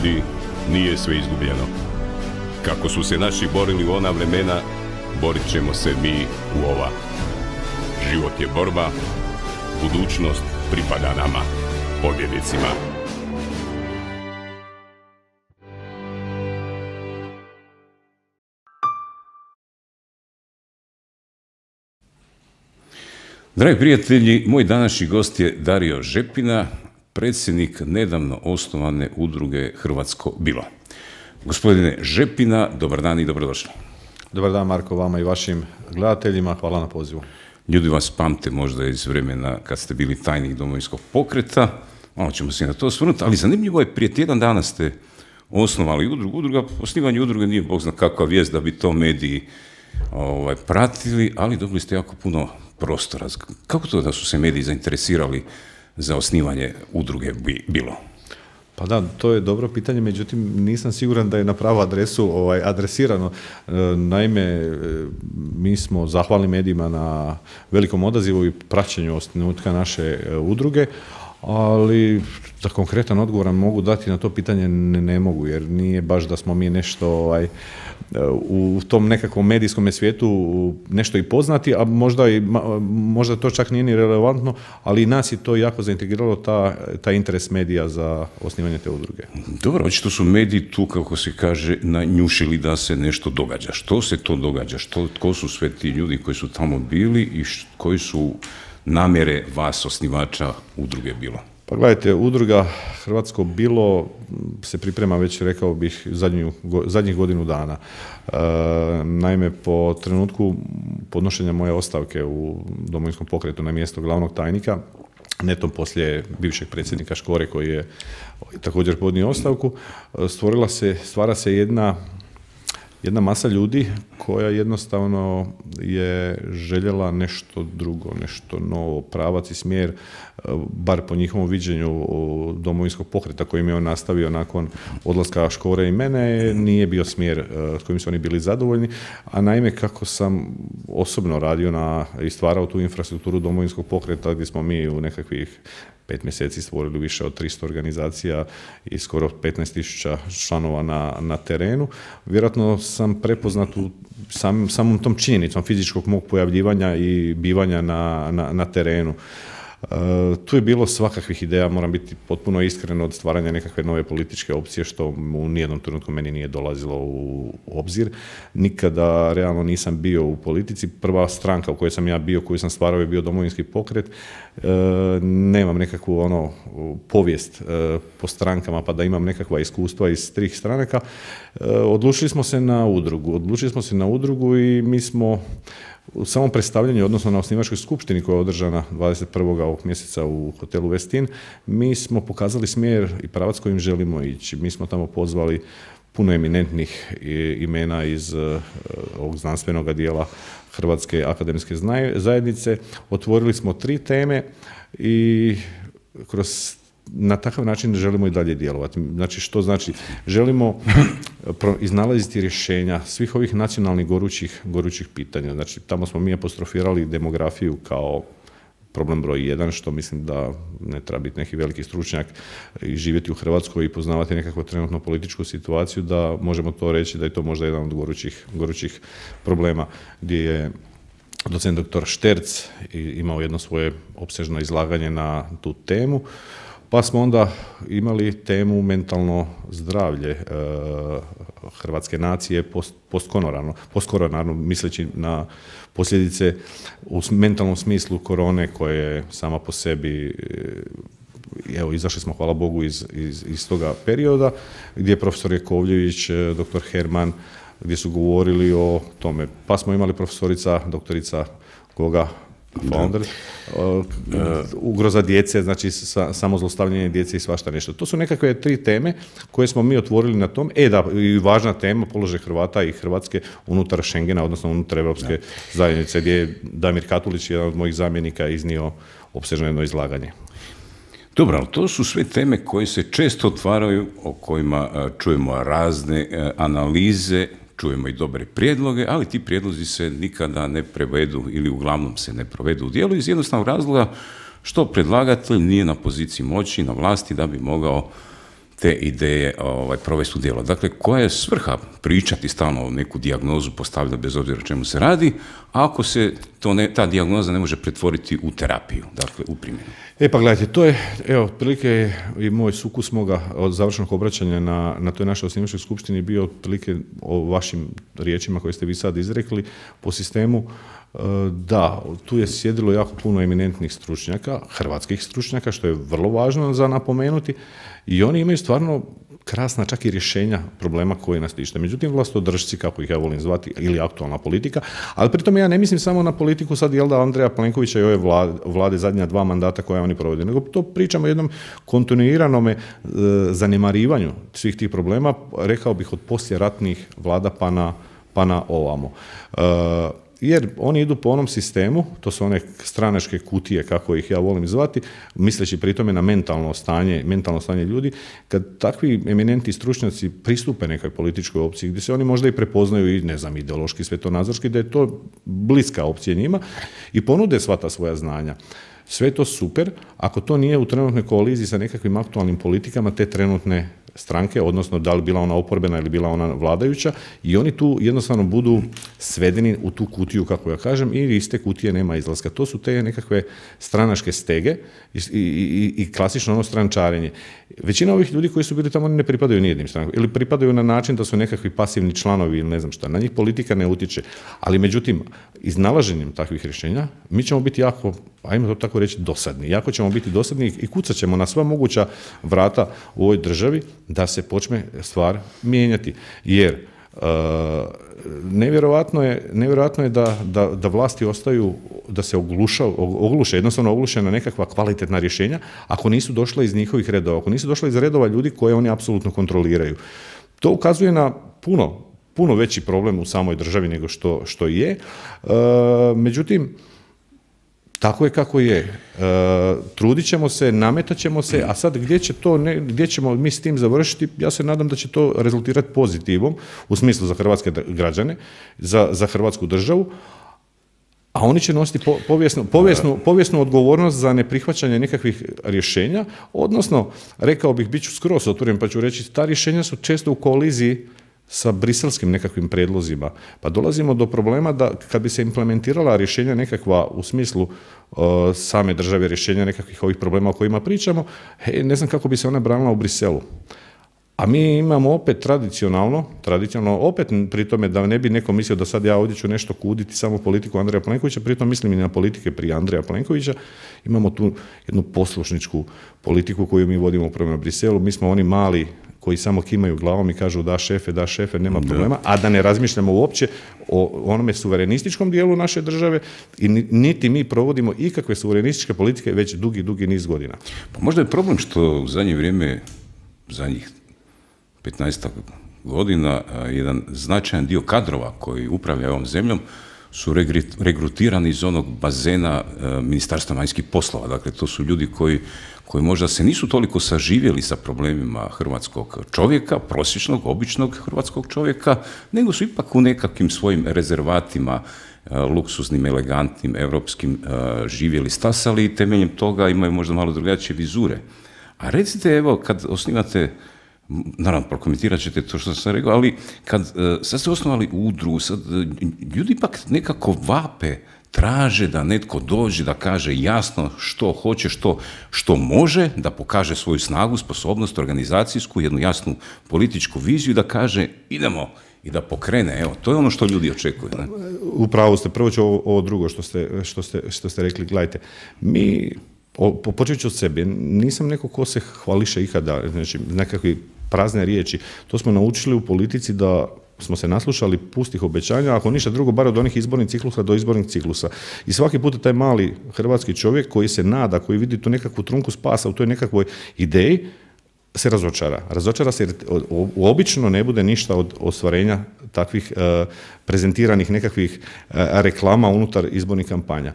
ljudi, nije sve izgubljeno. Kako su se naši borili u ona vremena, borit ćemo se mi u ova. Život je borba, budućnost pripada nama, pobjednicima. Dragi prijatelji, moj današnji gost je Dario Žepina, predsjednik nedavno osnovane udruge Hrvatsko bilo. Gospodine Žepina, dobar dan i dobrodošli. Dobar dan, Marko, vama i vašim gledateljima. Hvala na pozivu. Ljudi vas pamte možda iz vremena kad ste bili tajnik Domovinskog pokreta, malo ćemo se na to osvrnuti, ali zanimljivo je, prije tjedan dana ste osnovali udrugu. Osnivanje udruge nije bog zna kakva vijest da bi to mediji pratili, ali dobili ste jako puno prostora. Kako to da su se mediji zainteresirali za osnivanje udruge bilo? Pa da, to je dobro pitanje, međutim nisam siguran da je na pravu adresu adresirano. Naime, mi smo zahvalni medijima na velikom odazivu i praćenju osnutka naše udruge, ali za konkretan odgovor mogu dati na to pitanje ne mogu, jer nije baš da smo mi nešto u tom nekakvom medijskom svijetu nešto i poznati, a možda to čak nije ni relevantno, ali i nas je to jako zaintegriralo, taj interes medija za osnivanje te udruge. Dobro, očito su mediji tu, kako se kaže, nanjušili da se nešto događa. Što se to događa? Tko su sve ti ljudi koji su tamo bili i koji su namjere vas, osnivača udruge bilo? Pa gledajte, udruga Hrvatsko bilo se priprema već, rekao bih, zadnjih godinu dana. Naime, po trenutku podnošenja moje ostavke u Domovinskom pokretu na mjesto glavnog tajnika, netom poslije bivšeg predsjednika Škore koji je također podnio ostavku, stvara se jedna masa ljudi koja jednostavno je željela nešto drugo, nešto novo, pravac i smjer, bar po njihovom viđenju Domovinskog pokreta kojim je on nastavio nakon odlaska Škore i mene, nije bio smjer s kojim su oni bili zadovoljni, a naime kako sam osobno radio i stvarao tu infrastrukturu Domovinskog pokreta gdje smo mi u nekakvih 5 mjeseci stvorili više od 300 organizacija i skoro 15.000 članova na terenu. Vjerojatno sam prepoznat u samom tom činjenicom fizičkog mog pojavljivanja i bivanja na terenu. Tu je bilo svakakvih ideja, moram biti potpuno iskren, od stvaranja nekakve nove političke opcije, što u nijednom trenutku meni nije dolazilo u obzir. Nikada realno nisam bio u politici. Prva stranka u kojoj sam ja bio, koju sam stvarao, je bio Domovinski pokret. Nemam nekakvu povijest po strankama, pa da imam nekakva iskustva iz tih stranaka. Odlučili smo se na udrugu i mi smo u samom predstavljanju, odnosno na osnivačkoj skupštini koja je održana 21. ovog mjeseca u hotelu Westin, mi smo pokazali smjer i pravac kojim želimo ići. Mi smo tamo pozvali puno eminentnih imena iz ovog znanstvenog dijela Hrvatske akademske zajednice. Otvorili smo 3 teme i na takav način želimo i dalje djelovati. Znači, što znači? Želimo iznalaziti rješenja svih ovih nacionalnih gorućih pitanja. Znači, tamo smo mi apostrofirali demografiju kao problem broj 1, što mislim da ne treba biti neki veliki stručnjak i živjeti u Hrvatskoj i poznavati nekakvu trenutno političku situaciju, da možemo to reći da je to možda jedan od gorućih problema, gdje je docent dr. Šterc imao jedno svoje opsežno izlaganje na tu temu. Pa smo onda imali temu mentalno zdravlje hrvatske nacije postkoronarno, misleći na posljedice u mentalnom smislu korone, koje je sama po sebi, evo, izašli smo, hvala Bogu, iz toga perioda, gdje je profesor Jakovljević, dr. Herman, gdje su govorili o tome. Pa smo imali profesorica, doktorica Goga Founder, ugroza djece, znači samozlostavljanje djece i svašta nešto. To su nekakve 3 teme koje smo mi otvorili na tom. I važna tema, položaj Hrvata i Hrvatske unutar Schengena, odnosno unutar Europske zajednice, gdje je Damir Katulić, jedan od mojih zamjenika, iznio opsežno jedno izlaganje. Dobro, ali to su sve teme koje se često otvaraju, o kojima čujemo razne analize, čujemo i dobre prijedloge, ali ti prijedlozi se nikada ne prevedu ili uglavnom se ne provedu u djelu iz jednostavnog razloga što predlagatelj nije na poziciji moći, na vlasti, da bi mogao te ideje provesti u djelo. Dakle, koja je svrha pričati stalno neku dijagnozu, postavljati bez obzira o čemu se radi, ako se ta dijagnoza ne može pretvoriti u terapiju, dakle u primjenu. Pa gledajte, to je, evo, otprilike je i moj sukus moga od završenog obraćanja na toj našoj osnivačkoj skupštini bio otprilike o vašim riječima koje ste vi sad izrekli po sistemu. Da, tu je sjedilo jako puno eminentnih stručnjaka, hrvatskih stručnjaka, što je vrlo važno za napomenuti, i oni imaju stvarno krasna čak i rješenja problema koji nas tište. Međutim, vlastodržci, kako ih ja volim zvati, ili aktualna politika, ali pritom ja ne mislim samo na politiku sad, jel da, Andreja Plenkovića i ove vlade zadnja 2 mandata koje oni provode, nego to pričamo o jednom kontinuiranome zanemarivanju svih tih problema, rekao bih od poslijeratnih vlada pa na ovamo. Jer oni idu po onom sistemu, to su one stranačke kutije, kako ih ja volim zvati, misleći pri tome na mentalno stanje ljudi, kad takvi eminentni stručnjaci pristupe nekoj političkoj opciji, gdje se oni možda i prepoznaju i, ne znam, ideološki, svetonazorski, da je to bliska opcija njima i ponude sva ta svoja znanja. Sve je to super, ako to nije u trenutnoj koaliziji sa nekakvim aktualnim politikama te trenutne stranke, odnosno da li bila ona oporbena ili bila ona vladajuća, i oni tu jednostavno budu svedeni u tu kutiju, kako ja kažem, i iz te kutije nema izlaska. To su te nekakve stranačke stege i klasično ono strančarenje. Većina ovih ljudi koji su bili tamo, oni ne pripadaju nijednim strankama, ili pripadaju na način da su nekakvi pasivni članovi ili ne znam šta. Na njih politika ne utječe. Ali međutim, iznalaženjem takvih rješenja mi ćemo biti jako, ajmo to tako reći, dosadni. Jako ćemo biti dosadni i kucat ćemo na sva moguća vrata u ovoj državi da se počne stvar mijenjati. Jer nevjerojatno je da vlasti ostaju, da se ogluše na nekakva kvalitetna rješenja ako nisu došla iz njihovih redova, ako nisu došla iz redova ljudi koje oni apsolutno kontroliraju. To ukazuje na puno veći problem u samoj državi nego što je. Međutim, tako je kako je. Trudit ćemo se, nametat ćemo se, a sad gdje ćemo mi s tim završiti, ja se nadam da će to rezultirati pozitivom, u smislu za hrvatske građane, za hrvatsku državu, a oni će nositi povijesnu odgovornost za neprihvaćanje nekakvih rješenja, odnosno, rekao bih, bit ću skroz otvoren pa ću reći, ta rješenja su često u koliziji sa briselskim nekakvim prijedlozima. Pa dolazimo do problema da kad bi se implementirala rješenja nekakva u smislu same države, rješenja nekakvih ovih problema o kojima pričamo, ne znam kako bi se ona branila u Briselu. A mi imamo opet tradicionalno, opet pri tome da ne bi neko mislio da sad ja ovdje ću nešto kuditi samo politiku Andreja Plenkovića, pritom mislim i na politike prije Andreja Plenkovića, imamo tu jednu poslušničku politiku koju mi vodimo prema Briselu, mi smo oni mali koji samo kimaju glavom i kažu da šefe, nema problema, a da ne razmišljamo uopće o onome suverenističkom dijelu naše države i niti mi provodimo ikakve suverenističke politike već dugi niz godina. Pa možda je problem što u zadnje vrijeme, zadnjih 15 godina, jedan značajan dio kadrova koji upravlja ovom zemljom su regrutirani iz onog bazena Ministarstva vanjskih poslova. Dakle, to su ljudi koji možda se nisu toliko saživjeli sa problemima hrvatskog čovjeka, prosječnog, običnog hrvatskog čovjeka, nego su ipak u nekakvim svojim rezervatima, luksuznim, elegantnim, europskim, živjeli, stasali i temeljem toga imaju možda malo drugačije vizure. A recite, evo, kad osnivate, naravno, prokomentirat ćete to što sam rekao, ali kad sad ste osnovali udrugu, sad ljudi ipak nekako vape, traže da netko dođe, da kaže jasno što hoće, što može, da pokaže svoju snagu, sposobnost, organizacijsku, jednu jasnu političku viziju i da kaže idemo i da pokrene. Evo, to je ono što ljudi očekuju. Ne? Upravo ste, prvo ću ovo drugo što ste rekli, gledajte, mi, počet ću od sebe, nisam neko ko se hvališe ikada, znači nekakve prazne riječi, to smo naučili u politici da smo se naslušali pustih obećanja, ako ništa drugo, bar od onih izbornih ciklusa do izbornih ciklusa. I svaki put taj mali hrvatski čovjek koji se nada, koji vidi tu nekakvu trunku spasa u toj nekakvoj ideji, se razočara. Razočara se jer obično ne bude ništa od ostvarenja takvih prezentiranih nekakvih reklama unutar izbornih kampanja.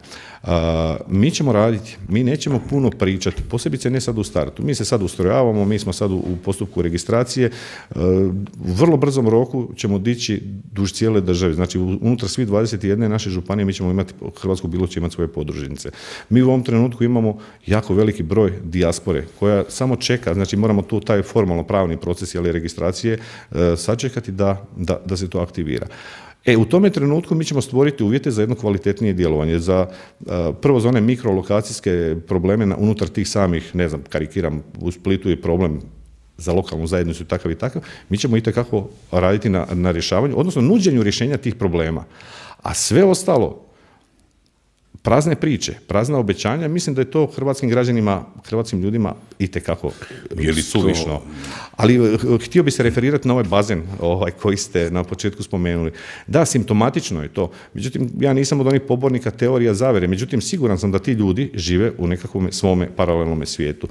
Mi ćemo raditi, mi nećemo puno pričati, posebice ne sad u startu. Mi se sad ustrojavamo, mi smo sad u postupku registracije, u vrlo brzom roku ćemo dići duž cijele države. Znači, unutar svih 21 naše županije mi ćemo imati, Hrvatsko bilo će imati svoje podružnice. Mi u ovom trenutku imamo jako veliki broj dijaspore koja samo čeka, znači moramo tu taj formalno pravni proces ili registracije sačekati da se to aktivira. U tome trenutku mi ćemo stvoriti uvjete za jedno kvalitetnije djelovanje, prvo za one mikrolokacijske probleme unutar tih samih, ne znam, karikiram, u Splitu je problem za lokalnu zajednicu takav i takav, mi ćemo itekako raditi na rješavanju, odnosno nuđenju rješenja tih problema. A sve ostalo, prazne priče, prazna obećanja, mislim da je to hrvatskim građanima, hrvatskim ljudima itekako suvišno. Ali htio bi se referirati na ovaj bazen koji ste na početku spomenuli. Da, simptomatično je to. Međutim, ja nisam od onih pobornika teorija zavere. Međutim, siguran sam da ti ljudi žive u nekakvom svome paralelnom svijetu.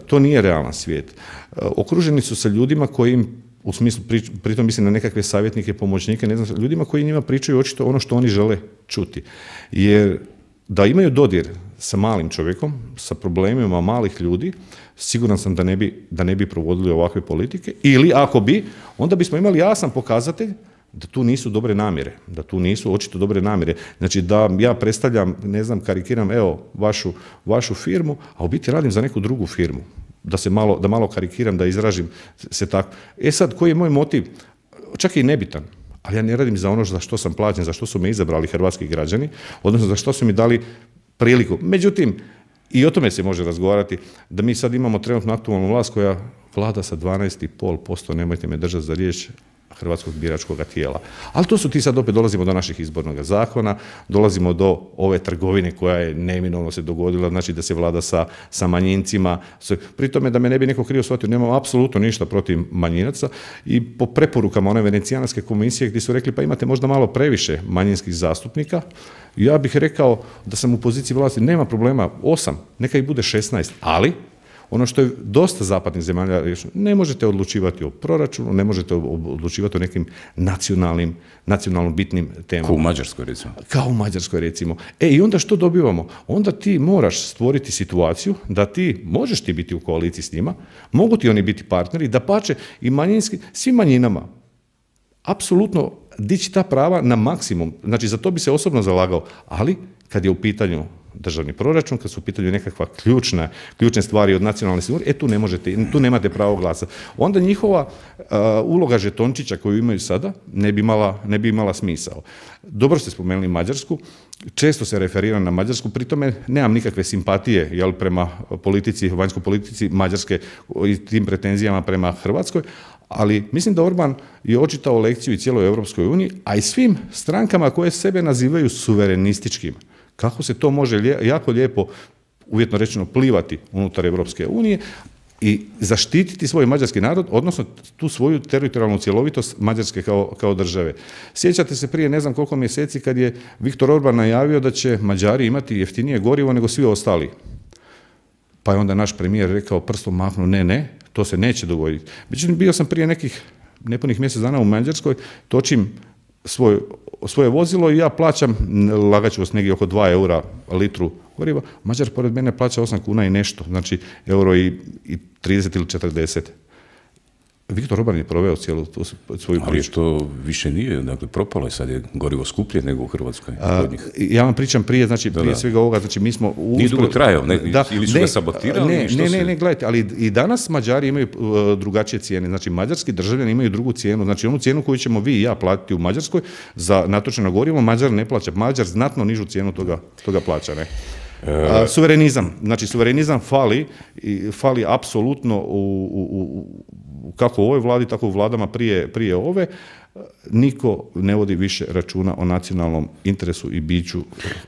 To nije realan svijet. Okruženi su sa ljudima koji im, u smislu, pritom mislim na nekakve savjetnike, pomoćnike, ne znam, ljudima koji njima pričaju očito ono što oni žele čuti. Jer da imaju dodir sa malim čovjekom, sa problemima malih ljudi, siguran sam da ne bi provodili ovakve politike, ili ako bi, onda bismo imali jasan pokazatelj da tu nisu dobre namjere, da tu nisu očito dobre namjere. Znači da ja predstavljam, ne znam, karikiram, evo, vašu firmu, a u biti radim za neku drugu firmu. Da malo karikiram, da izražim se tako. Sad, koji je moj motiv? Čak i nebitan, ali ja ne radim za ono za što sam plaćen, za što su me izabrali hrvatski građani, odnosno za što su mi dali priliku. Međutim, i o tome se može razgovarati, da mi sad imamo trenutno aktualnu vlast koja vlada sa 12,5%, nemojte me držati za riječ, hrvatskog biračkog tijela. Ali to su ti sad opet, dolazimo do naših izbornog zakona, dolazimo do ove trgovine koja je neminovno se dogodila, znači da se vlada sa manjincima. Pri tome, da me ne bi neko krivo shvatio, nemam apsolutno ništa protiv manjinaca i po preporukama one Venecijanske komisije gdje su rekli pa imate možda malo previše manjinskih zastupnika, ja bih rekao da sam u poziciji vlasti, nema problema, 8, neka ih bude 16, ali ono što je dosta zapadnih zemalja rješeno, ne možete odlučivati o proračunu, ne možete odlučivati o nekim nacionalno bitnim temama. Kao u Mađarskoj, recimo. Kao u Mađarskoj, recimo. I onda što dobivamo? Onda ti moraš stvoriti situaciju da ti, možeš ti biti u koaliciji s njima, mogu ti oni biti partneri, dapače i manjinski, svim manjinama, apsolutno dići ta prava na maksimum. Znači, za to bi se osobno zalagao, ali kad je u pitanju državni proračun, kad su u pitanju nekakva ključne stvari od nacionalne sigurnosti, tu nemate pravo glasa. Onda njihova uloga žetončića koju imaju sada ne bi imala smisao. Dobro ste spomenuli Mađarsku, često se referiram na Mađarsku, pri tome nemam nikakve simpatije prema vanjskoj politici Mađarske i tim pretenzijama prema Hrvatskoj, ali mislim da Orban je očitao lekciju i cijeloj Europskoj uniji, a i svim strankama koje sebe nazivaju suverenističkim. Kako se to može jako lijepo, uvjetno rečeno, plivati unutar Europske unije i zaštititi svoj mađarski narod, odnosno tu svoju teritorijalnu cjelovitost Mađarske kao države. Sjećate se prije ne znam koliko mjeseci kad je Viktor Orban najavio da će Mađari imati jeftinije gorivo nego svi ostali. Pa je onda naš premijer rekao, prstom mahnuo, ne, to se neće dogoditi. Međutim, bio sam prije nekih nepunih mjesec dana u Mađarskoj, točim svoje vozilo i ja plaćam, lagat ću vas, negdje oko 2 eura litru goriva, Mađar pored mene plaća 8 kuna i nešto, znači euro i 30 ili 40. Viktor Orban je proveo cijelu tu svoju priču. Ali to više nije, dakle propalo je, sad je gorivo skuplje nego u Hrvatskoj. Ja vam pričam prije svega ovoga, znači mi smo... Nije dugo trajao, ili su ga sabotirali? Ne, gledajte, ali i danas Mađari imaju drugačije cijene, znači mađarski državljani imaju drugu cijenu, znači onu cijenu koju ćemo vi i ja platiti u Mađarskoj za natočeno gorivo, Mađar ne plaća, Mađar znatno nižu cijenu toga plaća, ne? Suverenizam fali apsolutno kako u ovoj vladi, tako u vladama prije ove. Niko ne vodi više računa o nacionalnom interesu i biću.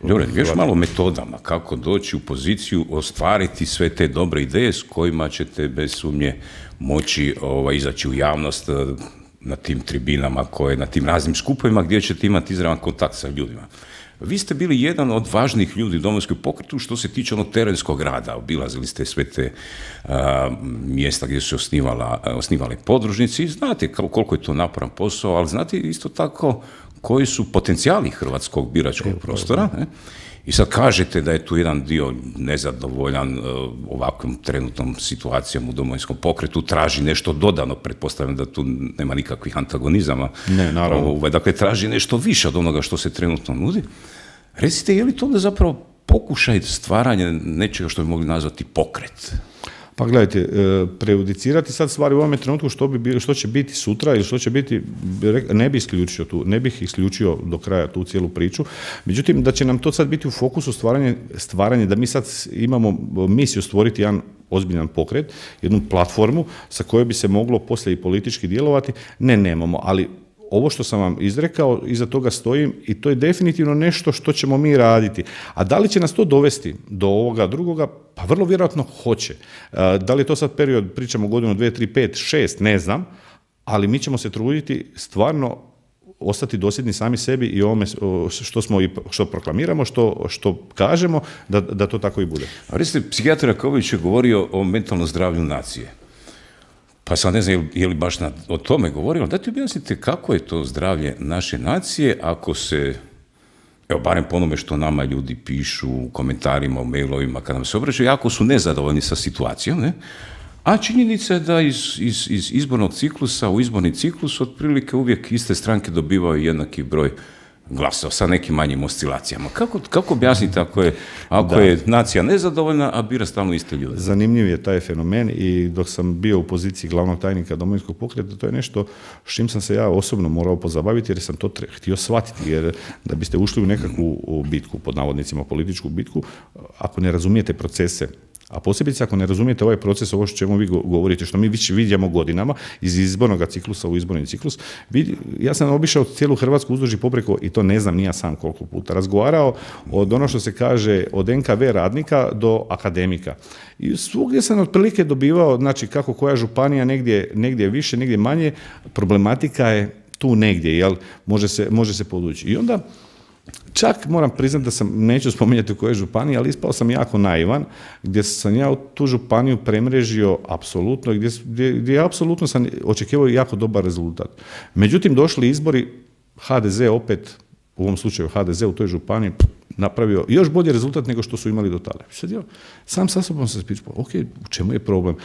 Dobro, još malo metodama kako doći u poziciju ostvariti sve te dobre ideje s kojima ćete bez sumnje moći izaći u javnost na tim tribinama, na tim raznim skupovima gdje ćete imati izravan kontakt sa ljudima. Vi ste bili jedan od važnih ljudi u Domovinskom pokretu što se tiče onog terenskog rada. Obilazili ste sve te mjesta gdje su osnivale podružnici. Znate koliko je to naporan posao, ali znate isto tako koji su potencijali hrvatskog biračkog prostora. Ne? I sad kažete da je tu jedan dio nezadovoljan ovakvom trenutnom situacijom u Domovinskom pokretu, traži nešto dodano, pretpostavljam da tu nema nikakvih antagonizama. Ne, naravno. Dakle, traži nešto više od onoga što se trenutno nudi. Recite, je li to onda zapravo pokušaj stvaranja nečega što bi mogli nazvati pokret? Pa gledajte, prejudicirati sad stvari u ovome trenutku što će biti sutra ili što će biti, ne bih isključio do kraja tu cijelu priču. Međutim, da će nam to sad biti u fokusu stvaranje da mi sad imamo misiju stvoriti jedan ozbiljan pokret, jednu platformu sa kojoj bi se moglo poslije i politički djelovati, nemamo, ali ovo što sam vam izrekao, iza toga stojim i to je definitivno nešto što ćemo mi raditi. A da li će nas to dovesti do ovoga drugoga? Pa vrlo vjerojatno hoće. Da li je to sad period, pričamo godinu, 2, 3, 5, 6, ne znam, ali mi ćemo se truditi stvarno ostati dosljedni sami sebi i ovome što proklamiramo, što kažemo, da to tako i bude. A recite, psihijatar Jakobović je govorio o mentalnom zdravlju nacije. Pa sam ne znam je li baš o tome govorio, ali da ti objasnite kako je to zdravlje naše nacije ako se, evo barem po onome što nama ljudi pišu u komentarima, u mailovima, kad nam se obraćaju, jako su nezadovoljni sa situacijom, ne? A činjenica je da iz izbornog ciklusa u izborni ciklus otprilike uvijek iste stranke dobivaju jednaki broj glasova sa nekim manjim oscilacijama. Kako objasniti ako je nacija nezadovoljna, a bira stalno iste ljude? Zanimljiv je taj fenomen i dok sam bio u poziciji glavnog tajnika Domovinskog pokreta, to je nešto s čim sam se ja osobno morao pozabaviti jer sam to htio shvatiti, jer da biste ušli u nekakvu bitku, pod navodnicima političku bitku, ako ne razumijete procese, a posebice ako ne razumijete ovaj proces, ovo što čemu vi govorite, što mi već vidimo godinama iz izbornog ciklusa u izborni ciklus, ja sam obišao cijelu Hrvatsku uzduž i popreko i to ne znam ni ja sam koliko puta. Razgovarao od ono što se kaže od NKV radnika do akademika. I svugdje sam otprilike dobivao, znači kako koja županija negdje više, negdje manje, problematika je tu negdje, jel, može se podvući. I onda čak moram priznati da sam, neću spominjati u kojoj županiji, ali ispao sam jako naivan, gdje sam ja tu županiju premrežio apsolutno, gdje apsolutno sam očekivao jako dobar rezultat. Međutim, došli izbori, HDZ opet, u ovom slučaju HDZ u toj županiji, napravio još bolji rezultat nego što su imali do tada. Sad ja sam sa sobom se pitao, ok, u čemu je problem?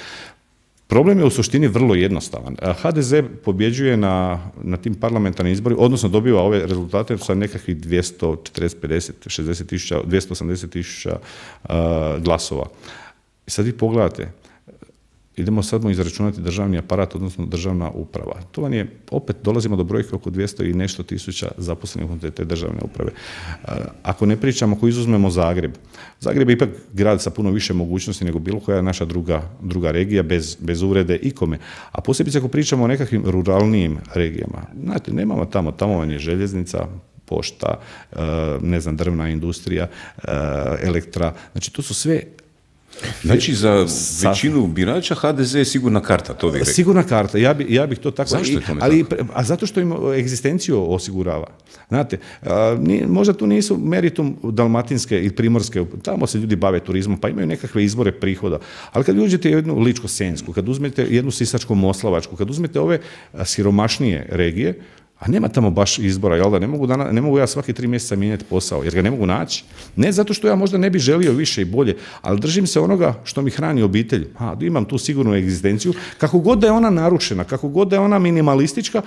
Problem je u suštini vrlo jednostavan. HDZ pobjeđuje na tim parlamentarnim izborima, odnosno dobiva ove rezultate sa nekakvih 240, 50, 60 tisuća, 280 tisuća glasova. I sad vi pogledate, idemo sad izračunati državni aparat, odnosno državna uprava. To vam je, opet dolazimo do brojke oko 200 i nešto tisuća zaposlenih unutar te državne uprave. Ako ne pričamo, ako izuzmemo Zagreb je ipak grad sa puno više mogućnosti nego bilo koja naša druga regija, bez uvrede ikome. A posebice ako pričamo o nekakvim ruralnijim regijama. Znate, nemamo tamo vam je željeznica, pošta, ne znam, drvna industrija, elektra. Znači, to su sve. Znači, za većinu birača HDZ je sigurna karta, to vi rekli. Sigurna karta, ja bih to tako. Zašto je tome tako? A zato što im egzistenciju osigurava. Znate, možda tu nisu meritum dalmatinske ili primorske, tamo se ljudi bave turizmom, pa imaju nekakve izvore prihoda. Ali kad uđete jednu Ličko-senjsku, kad uzmete jednu Sisačko-moslavačku, kad uzmete ove siromašnije regije, a nema tamo baš izbora, jel da? Ne mogu ja svaki 3 mjeseca mijenjati posao, jer ga ne mogu naći. Ne zato što ja možda ne bi želio više i bolje, ali držim se onoga što mi hrani obitelj. Imam tu sigurnu egzistenciju, kako god da je ona narušena, kako god da je ona minimalistička,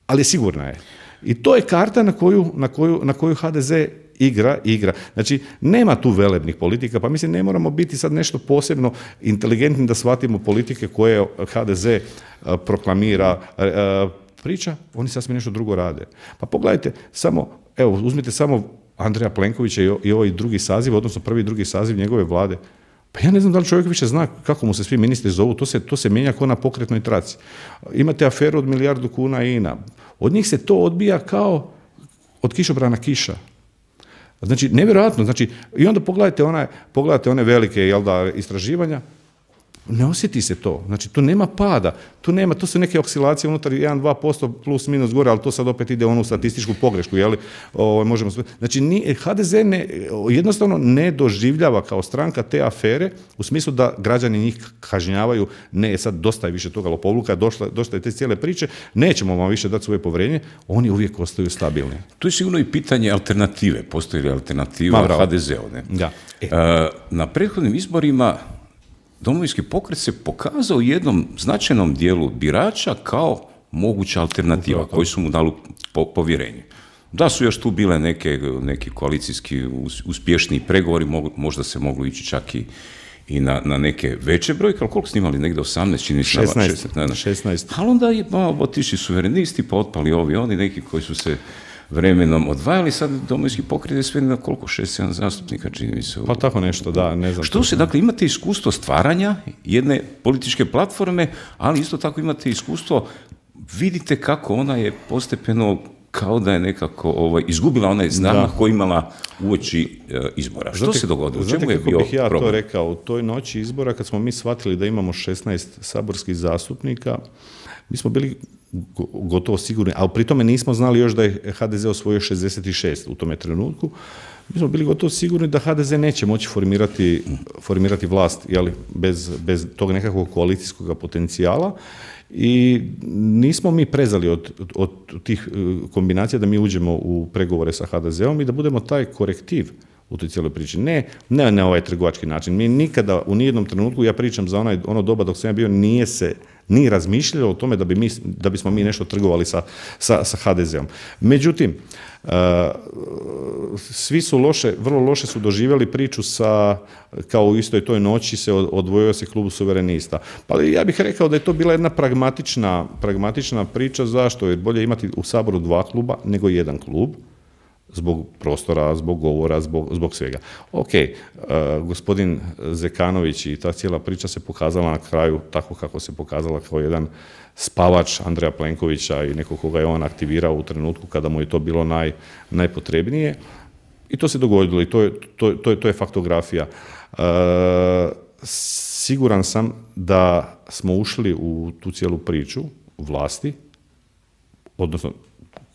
ali sigurna je. I to je karta na koju HDZ igra. Znači, nema tu velebnih politika, pa mislim ne moramo biti sad nešto posebno inteligentni da shvatimo politike koje HDZ proklamira, priča, oni sasvim nešto drugo rade. Pa pogledajte, uzmite samo Andreja Plenkovića i ovaj drugi saziv, odnosno prvi i drugi saziv njegove vlade. Pa ja ne znam da li čovjek više zna kako mu se svi ministri zovu, to se mijenja kao na pokretnoj traci. Imate aferu od 1 milijardu kuna INA. Od njih se to odbija kao od kišobrana kiša. Znači, nevjerojatno. Znači, i onda pogledajte one velike istraživanja, ne osjeti se to. Znači, tu nema pada. To su neke oscilacije unutar 1-2% plus minus gore, ali to sad opet ide u statističku pogrešku. Znači, HDZ jednostavno ne doživljava kao stranka te afere u smislu da građani njih kažnjavaju. Ne, sad dosta je više toga lopovluka, dosta je te cijele priče, nećemo vam više dati svoje povjerenje, oni uvijek ostaju stabilni. Tu je sigurno i pitanje alternative. Postoji li alternativa HDZ-u? Da. Na prethodnim izborima Domovinski pokret se pokazao u jednom značajnom dijelu birača kao moguća alternativa koji su mu dali povjerenje. Da su još tu bile neki koalicijski uspješniji pregovori, možda se moglo ići čak i na neke veće brojke, ali koliko ste imali, negdje 18, čini se 16. Ali onda je otišli suverenisti, pa otpali ovi oni, neki koji su se vremenom odvajali, sad Domovinski pokret je sve na koliko, 6-7 zastupnika, čini mi se. Pa tako nešto, da, ne znam. Što se, dakle, imate iskustvo stvaranja jedne političke platforme, ali isto tako imate iskustvo, vidite kako ona je postepeno kao da je nekako izgubila onaj zamah koji imala uoči izbora. Što se dogodilo? Čemu je bio bih ja problem? to rekao? U toj noći izbora, kad smo mi shvatili da imamo 16 saborskih zastupnika, mi smo bili gotovo sigurni, ali pri tome nismo znali još da je HDZ osvojio 66 u tome trenutku. Mi smo bili gotovo sigurni da HDZ neće moći formirati vlast, jeli, bez tog nekakvog koalicijskog potencijala. I nismo mi prezali od tih kombinacija da mi uđemo u pregovore sa HDZ-om i da budemo taj korektiv u toj cijeloj priči. Ne na ovaj trgovački način. Mi nikada u nijednom trenutku, ja pričam za ono doba dok sam ja bio, nije se ni razmišljalo o tome da bismo mi nešto trgovali sa HDZ-om. Međutim, svi su vrlo loše su doživjeli priču kao u istoj toj noći odvojio se klub suverenista. Pa ja bih rekao da je to bila jedna pragmatična priča. Zašto? Jer bolje imati u Saboru 2 kluba nego jedan klub. Zbog prostora, zbog govora, zbog svega. Ok, gospodin Zekanović i ta cijela priča se pokazala na kraju tako kako se pokazala, kao jedan spavač Andreja Plenkovića i nekog koga je on aktivirao u trenutku kada mu je to bilo najpotrebnije. I to se dogodilo i to je faktografija. Siguran sam da smo ušli u tu cijelu priču vlasti, odnosno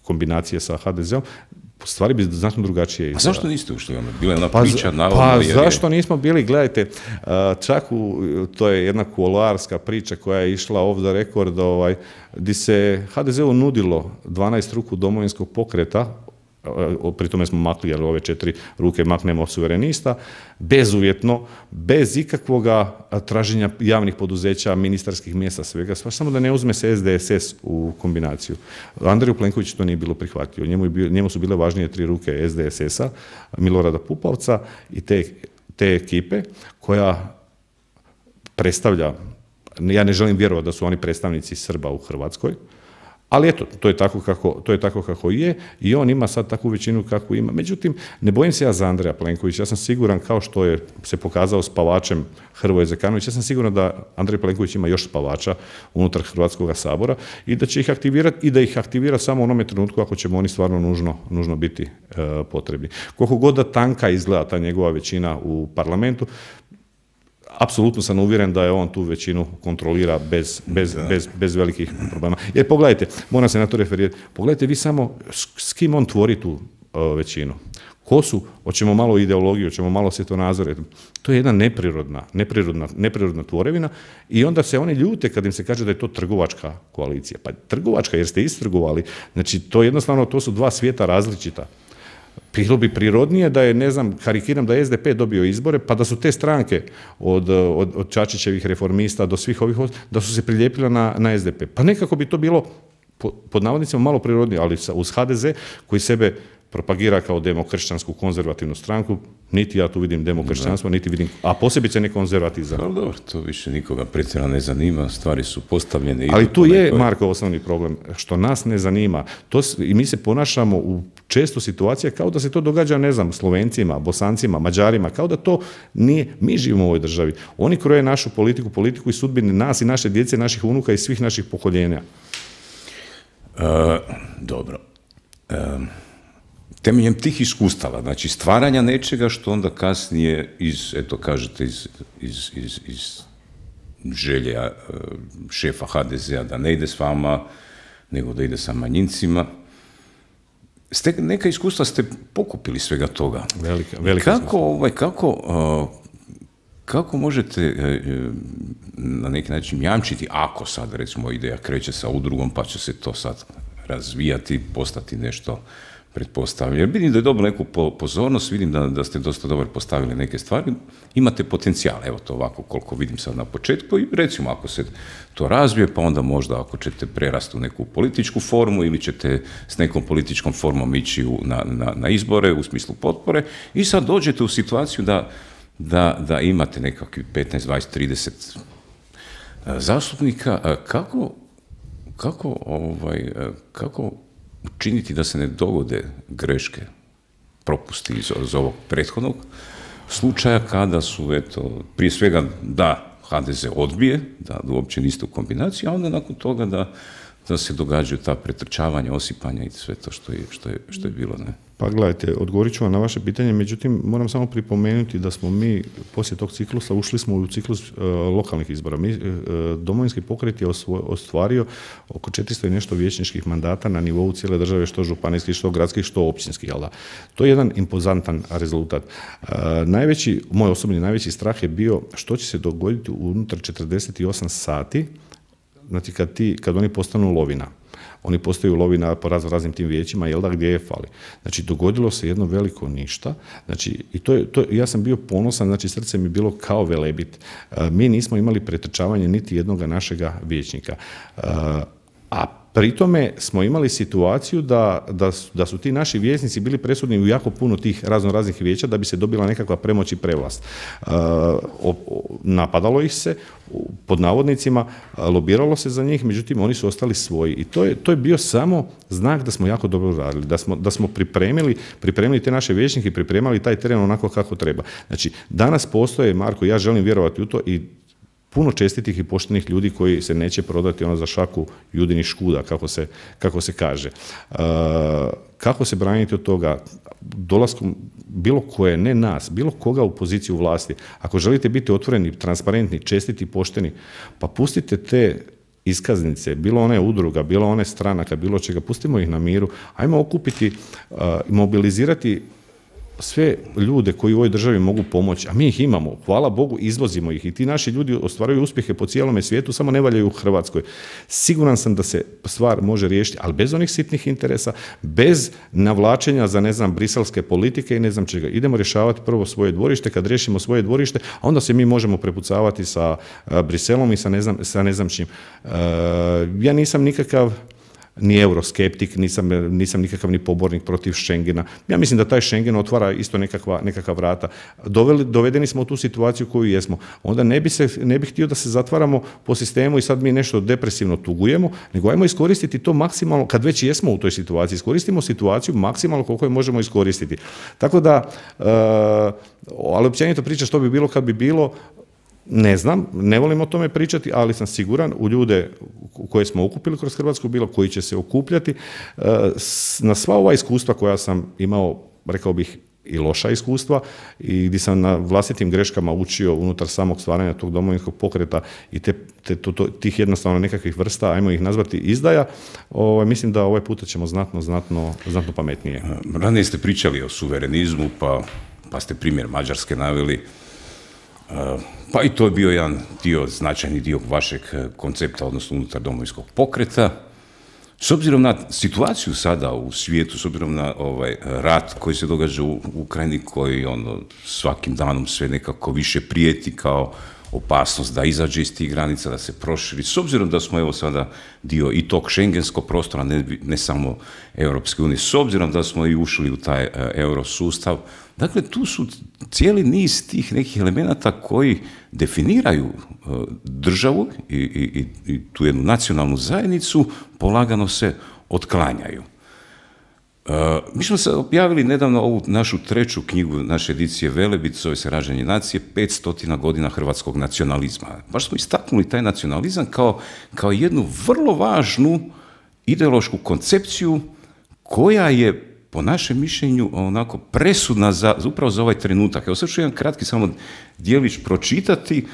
kombinacije sa HDZ-om, stvari bi znatno drugačije izgleda. A zašto niste ušli? Bila je ona priča navodno. Zašto nismo bili? Gledajte, čak to je jedna kuloarska priča koja je išla off the record, gdje se HDZ-u nudilo 12 ruku Domovinskog pokreta, pri tome smo makli, jer ove 4 ruke maknemo suverenista, bezuvjetno, bez ikakvoga traženja javnih poduzeća, ministarskih mjesta, svega, samo da ne uzme se SDSS u kombinaciju. Andreju Plenkoviću to nije bilo prihvatljivo. Njemu su bile važnije 3 ruke SDSS-a, Milorada Pupovca i te ekipe koja predstavlja, ja ne želim vjerovati da su oni predstavnici Srba u Hrvatskoj, ali eto, to je tako kako je i on ima sad takvu većinu kakvu ima. Međutim, ne bojim se ja za Andreja Plenkovića. Ja sam siguran, kao što je se pokazao spavačem Hrvoje Zekanović, ja sam siguran da Andrej Plenković ima još spavača unutar Hrvatskog sabora i da će ih aktivirati i da ih aktivira samo u onome trenutku ako ćemo oni stvarno nužno biti potrebni. Koliko god da tanka izgleda ta njegova većina u parlamentu, apsolutno sam uvjeren da je on tu većinu kontrolira bez velikih problema. Jer pogledajte, moram se na to referirati, pogledajte vi samo s kim on tvori tu većinu. Ko su? Hoćemo malo ideologiju, hoćemo malo svjetonazore. To je jedna neprirodna tvorevina i onda se oni ljute kad im se kaže da je to trgovačka koalicija. Pa trgovačka jer ste istrgovali. Znači, to jednostavno, to su 2 svijeta različita. Bilo bi prirodnije da je, ne znam, karikiram da je SDP dobio izbore, pa da su te stranke od Čačićevih reformista do svih ovih, da su se prilijepile na SDP. Pa nekako bi to bilo, pod navodnicima, malo prirodnije, ali uz HDZ koji sebe propagira kao demokršćansku konzervativnu stranku, niti ja tu vidim demokršćanstvo, niti vidim, a posebice ne konzervatizam. Ali dobro, to više nikoga pretjerano ne zanima, stvari su postavljene. Ali tu je, Marko, osnovni problem, što nas ne zanima. I mi se ponašamo u često situacija kao da se to događa, ne znam, Slovencima, Bosancima, Mađarima, kao da to nije, mi živimo u ovoj državi. Oni kroje našu politiku i sudbine nas i naše djece, naših unuka i svih naših pokoljenja. Dobro. Temeljem tih iskustava, znači stvaranja nečega što onda kasnije iz želja šefa HDZ-a da ne ide s vama, nego da ide sa manjincima. Neka iskustva ste pokupili svega toga. Velika kako možete na neki način jamčiti, ako sad recimo ideja kreće sa udrugom pa će se to sad razvijati, postati nešto pretpostavljam. Jer vidim da je dobilo neku pozornost, vidim da ste dosta dobro postavili neke stvari, imate potencijal, evo to ovako koliko vidim sad na početku i recimo ako se to razvije, pa onda možda ako ćete prerasti u neku političku formu ili ćete s nekom političkom formom ići na izbore u smislu potpore i sad dođete u situaciju da da imate nekakvi 15, 20, 30 zastupnika. Kako učiniti da se ne dogode greške, propusti iz ovog prethodnog slučaja, kada su, eto, prije svega da HDZ odbije, da uopće niste u kombinaciji, a onda nakon toga da se događaju ta pretrčavanja, osipanja i sve to što je bilo, ne? Pa gledajte, odgovorit ću vam na vaše pitanje, međutim moram samo pripomenuti da smo mi poslije tog ciklusa ušli smo u ciklus lokalnih izbora. Domovinski pokret je ostvario oko 400 i nešto vijećničkih mandata na nivou cijele države, što županijskih, što gradskih, što općinskih. Jel da? To je jedan impozantan rezultat. Moj osobni najveći strah je bio što će se dogoditi unutar 48 sati, znači kad oni postanu lovina. Oni postaju lovina po raznim tim vijećima, jel da, gdje je fali. Znači, dogodilo se jedno veliko ništa. Znači, i ja sam bio ponosan, znači, srce mi je bilo kao Velebit. Mi nismo imali pretrčavanje niti jednoga našega vijećnika. A pri tome smo imali situaciju da su ti naši vijećnici bili presudni u jako puno tih raznih vijeća da bi se dobila nekakva premoć i prevlast. Napadalo ih se, pod navodnicima, lobiralo se za njih, međutim oni su ostali svoji. I to je bio samo znak da smo jako dobro radili, da smo pripremili te naše vijećnike i pripremali taj teren onako kako treba. Znači, danas postoje, Marko, ja želim vjerovati u to, i puno čestitih i poštenih ljudi koji se neće prodati za šaku judinih škuda, kako se kaže. Kako se braniti od toga? Dolaskom bilo koje, ne nas, bilo koga u poziciju vlasti. Ako želite biti otvoreni, transparentni, čestiti, pošteni, pa pustite te iskaznice, bilo one udruga, bilo one stranaka, bilo čega, pustimo ih na miru, ajmo okupiti, mobilizirati sve ljude koji u ovoj državi mogu pomoći, a mi ih imamo, hvala Bogu, izvozimo ih i ti naši ljudi ostvaruju uspjehe po cijelome svijetu, samo ne valjaju u Hrvatskoj. Siguran sam da se stvar može riješiti, ali bez onih sitnih interesa, bez navlačenja za, ne znam, briselske politike i ne znam čega. Idemo rješavati prvo svoje dvorište, kad riješimo svoje dvorište, a onda se mi možemo prepucavati sa Briselom i sa ne znam čim. Ja nisam nikakav ni euroskeptik, nisam nikakav ni pobornik protiv Schengena. Ja mislim da taj Schengen otvara isto nekakva vrata. Dovedeni smo u tu situaciju koju jesmo. Onda ne bih htio da se zatvaramo po sistemu i sad mi nešto depresivno tugujemo, nego ajmo iskoristiti to maksimalno, kad već jesmo u toj situaciji, iskoristimo situaciju maksimalno koliko je možemo iskoristiti. Tako da, ali općenito priča što bi bilo kad bi bilo, ne znam, ne volim o tome pričati, ali sam siguran u ljude koje smo okupili kroz Hrvatsku bilo, koji će se okupljati, na sva ova iskustva koja sam imao, rekao bih, i loša iskustva, i gdje sam na vlastitim greškama učio unutar samog stvaranja tog domovinskog pokreta i tih jednostavno nekakvih vrsta, ajmo ih nazvati izdaja, mislim da ovaj puta ćemo znatno pametnije. Ranije ste pričali o suverenizmu, pa ste primjer Mađarske naveli. Pa i to je bio jedan značajni dio vašeg koncepta, odnosno unutar domovinskog pokreta. S obzirom na situaciju sada u svijetu, s obzirom na rat koji se događa u Ukrajini, koji svakim danom sve nekako više prijeti kao opasnost da izađe iz tih granica, da se proširi, s obzirom da smo evo sada dio i tog šengenskog prostora, ne samo Europske unije, s obzirom da smo i ušli u taj eurosustav. Dakle, tu su cijeli niz tih nekih elemenata koji definiraju državu i tu jednu nacionalnu zajednicu, polagano se otklanjaju. Mi smo se objavili nedavno ovu našu treću knjigu, naše edicije Velebit, zove se Rađanje nacije, 500 godina hrvatskog nacionalizma. Baš smo istaknuli taj nacionalizam kao jednu vrlo važnu ideološku koncepciju koja je po našem mišljenju onako presudna upravo za ovaj trenutak. Evo sad ću jedan kratki samo dijelić pročitati.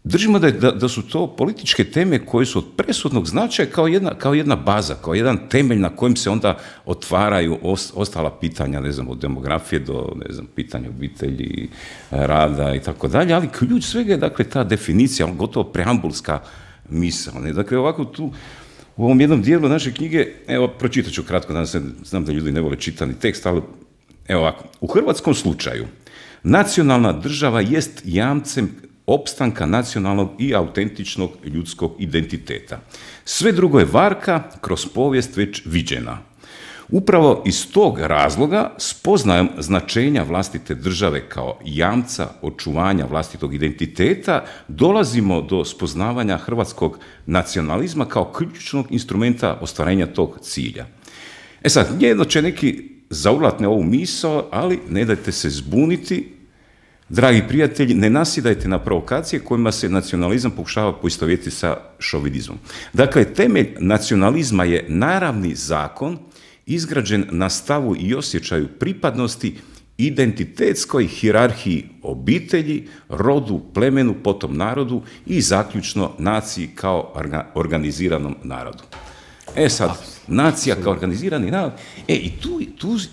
Držimo da su to političke teme koje su od presudnog značaja kao jedna baza, kao jedan temelj na kojem se onda otvaraju ostala pitanja, ne znam, od demografije do, ne znam, pitanja obitelji, rada i tako dalje, ali ključ svega je, dakle, ta definicija, gotovo preambulska misao. Dakle, ovako tu u ovom jednom dijelu naše knjige, evo, pročitat ću kratko, znam da ljudi ne vole čitani tekst, ali evo ovako. U hrvatskom slučaju nacionalna država jest jamcem opstanka nacionalnog i autentičnog ljudskog identiteta. Sve drugo je varka kroz povijest već viđena. Upravo iz tog razloga spoznajom značenja vlastite države kao jamca očuvanja vlastitog identiteta dolazimo do spoznavanja hrvatskog nacionalizma kao ključnog instrumenta ostvarenja tog cilja. Sad, jedno će neki zaurlatne ovu misao, ali ne dajte se zbuniti, dragi prijatelji, ne nasjedajte na provokacije kojima se nacionalizam pokušava poistovjetiti sa šovinizmom. Dakle, temelj nacionalizma je naravni zakon izgrađen na stavu i osjećaju pripadnosti identitetskoj hijerarhiji obitelji, rodu, plemenu, potom narodu i zaključno naciji kao organiziranom narodu. Sad, nacija kao organizirani narod. I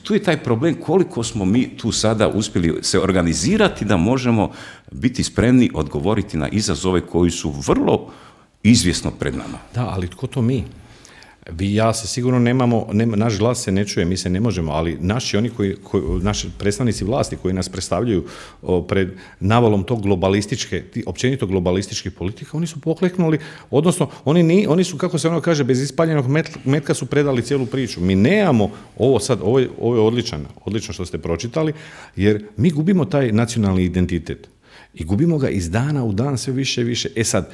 tu je taj problem koliko smo mi tu sada uspjeli se organizirati da možemo biti spremni odgovoriti na izazove koji su vrlo izvjesno pred nama. Da, ali tko to mi? Vi i ja se sigurno nemamo, naš glas se ne čuje, mi se ne možemo, ali naši predstavnici vlasti koji nas predstavljaju pred navalom tog općenito globalističkih politika, oni su pokleknuli, odnosno oni su, kako se ono kaže, bez ispaljenog metka su predali cijelu priču. Mi nemamo ovo je odlično što ste pročitali, jer mi gubimo taj nacionalni identitet. I gubimo ga iz dana u dan sve više i više. Sad,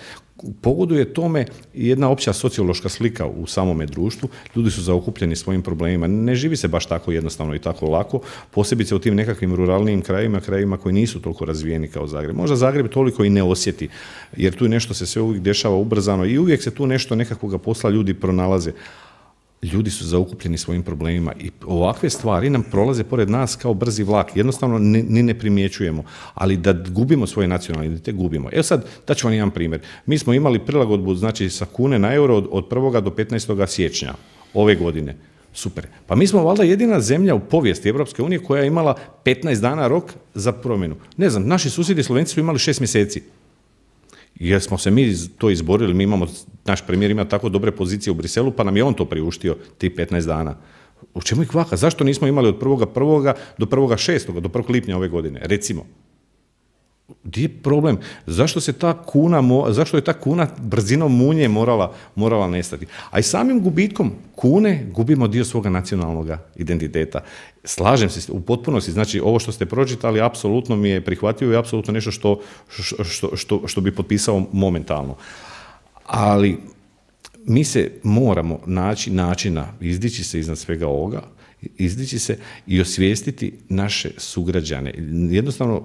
pogoduje tome jedna opća sociološka slika u samome društvu. Ljudi su zaokupljeni svojim problemima. Ne živi se baš tako jednostavno i tako lako, posebice u tim nekakvim ruralnijim krajevima koji nisu toliko razvijeni kao Zagreb. Možda Zagreb toliko i ne osjeti, jer tu nešto se sve uvijek dešava ubrzano i uvijek se tu nešto nekakvoga posla ljudi pronalaze. Ljudi su zaokupljeni svojim problemima i ovakve stvari nam prolaze pored nas kao brzi vlak. Jednostavno ni ne primjećujemo, ali da gubimo svoj nacionalni identitet, gubimo. Sad, daću vam jedan primjer. Mi smo imali prilagodbu, znači, sa kune na euro od 1. do 15. siječnja ove godine. Super. Pa mi smo valjda jedina zemlja u povijesti Europske unije koja je imala 15 dana rok za promjenu. Ne znam, naši susjedi Slovenci su imali 6 mjeseci. Jer smo se mi to izborili, naš premijer ima tako dobre pozicije u Briselu, pa nam je on to priuštio, tih 15 dana. U čemu je kvaka? Zašto nismo imali od 1.1. do 1.6. do 1. lipnja ove godine, recimo? Gdje je problem? Zašto je ta kuna brzinom munje morala nestati? A i samim gubitkom kune gubimo dio svoga nacionalnog identiteta. Slažem se u potpunosti, znači ovo što ste pročitali apsolutno mi je prihvatljivo i apsolutno nešto što bi potpisao momentalno. Ali mi se moramo naći načina, izdići se iznad svega ovoga, izdići se i osvijestiti naše sugrađane. Jednostavno,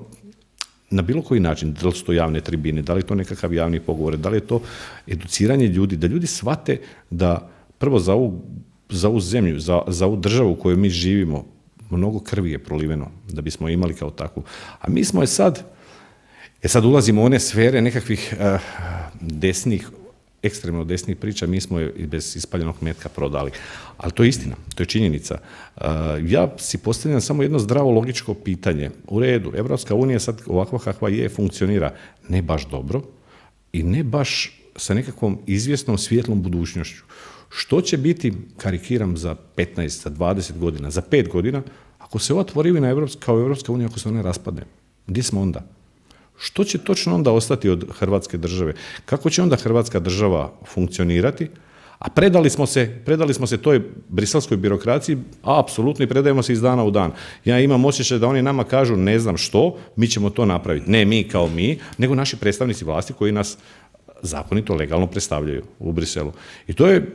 na bilo koji način, da li su to javne tribine, da li je to nekakav javni pogovor, da li je to educiranje ljudi, da ljudi shvate da prvo za ovu zemlju, za ovu državu u kojoj mi živimo, mnogo krvi je proliveno da bismo imali kao takvu. A mi smo sad ulazimo u one sfere nekakvih ekstremno desnih priča, mi smo je bez ispaljenog metka prodali. Ali to je istina, to je činjenica. Ja si postavljam samo jedno zdravo logičko pitanje. U redu, Evropska unija sad ovakva kakva je funkcionira ne baš dobro i ne baš sa nekakvom izvjesnom svijetlom budućnošću. Što će biti, karikiram, za 15, za 20 godina, za 5 godina, ako se ova tvorivina kao Evropska unija, ako se ona raspadne? Gdje smo onda? Što će točno onda ostati od Hrvatske države? Kako će onda Hrvatska država funkcionirati? A predali smo se toj briselskoj birokraciji, apsolutno, i predajemo se iz dana u dan. Ja imam osjećaj da oni nama kažu ne znam što, mi ćemo to napraviti. Ne mi kao mi, nego naši predstavnici vlasti koji nas zakonito, legalno predstavljaju u Briselu. I to je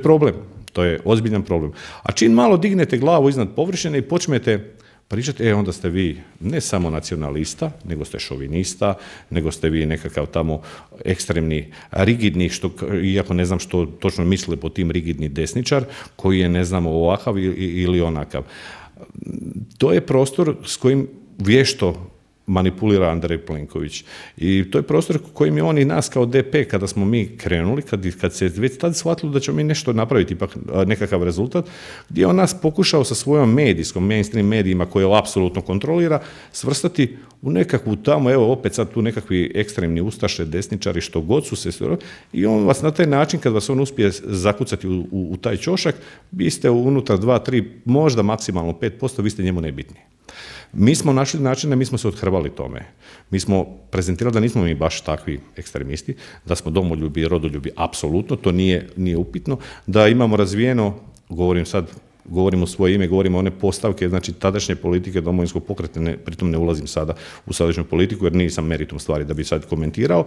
problem, to je ozbiljan problem. A čim malo dignete glavu iznad površine i počnete pričati, onda ste vi ne samo nacionalista, nego ste šovinista, nego ste vi nekakav tamo ekstremni, rigidni, iako ne znam što točno misle po tim rigidni desničar, koji je ne znam ovakav ili onakav. To je prostor s kojim vješto manipulira Andrej Plenković. I to je prostor kojim je on i nas kao DP, kada smo mi krenuli, kad se već tad shvatilo da ćemo mi nešto napraviti, ipak nekakav rezultat, gdje je on nas pokušao sa svojom mainstream medijima koje on apsolutno kontrolira, svrstati u nekakvu tamo, evo opet sad tu nekakvi ekstremni ustaše, desničari, što god su se, i on vas na taj način, kad vas on uspije zakucati u taj ćošak, vi ste unutar 2, 3, možda maksimalno 5%, vi ste njemu nebitni. Mi smo našli načine, mi smo se othrvali tome. Mi smo prezentirali da nismo mi baš takvi ekstremisti, da smo domoljubi i rodoljubi, apsolutno, to nije upitno, da imamo razvijeno, govorim sad govorim u svoje ime, govorim o one postavke, znači tadašnje politike Domovinskog pokreta, pritom ne ulazim sada u sadašnju politiku jer nisam meritum stvari da bi sad komentirao,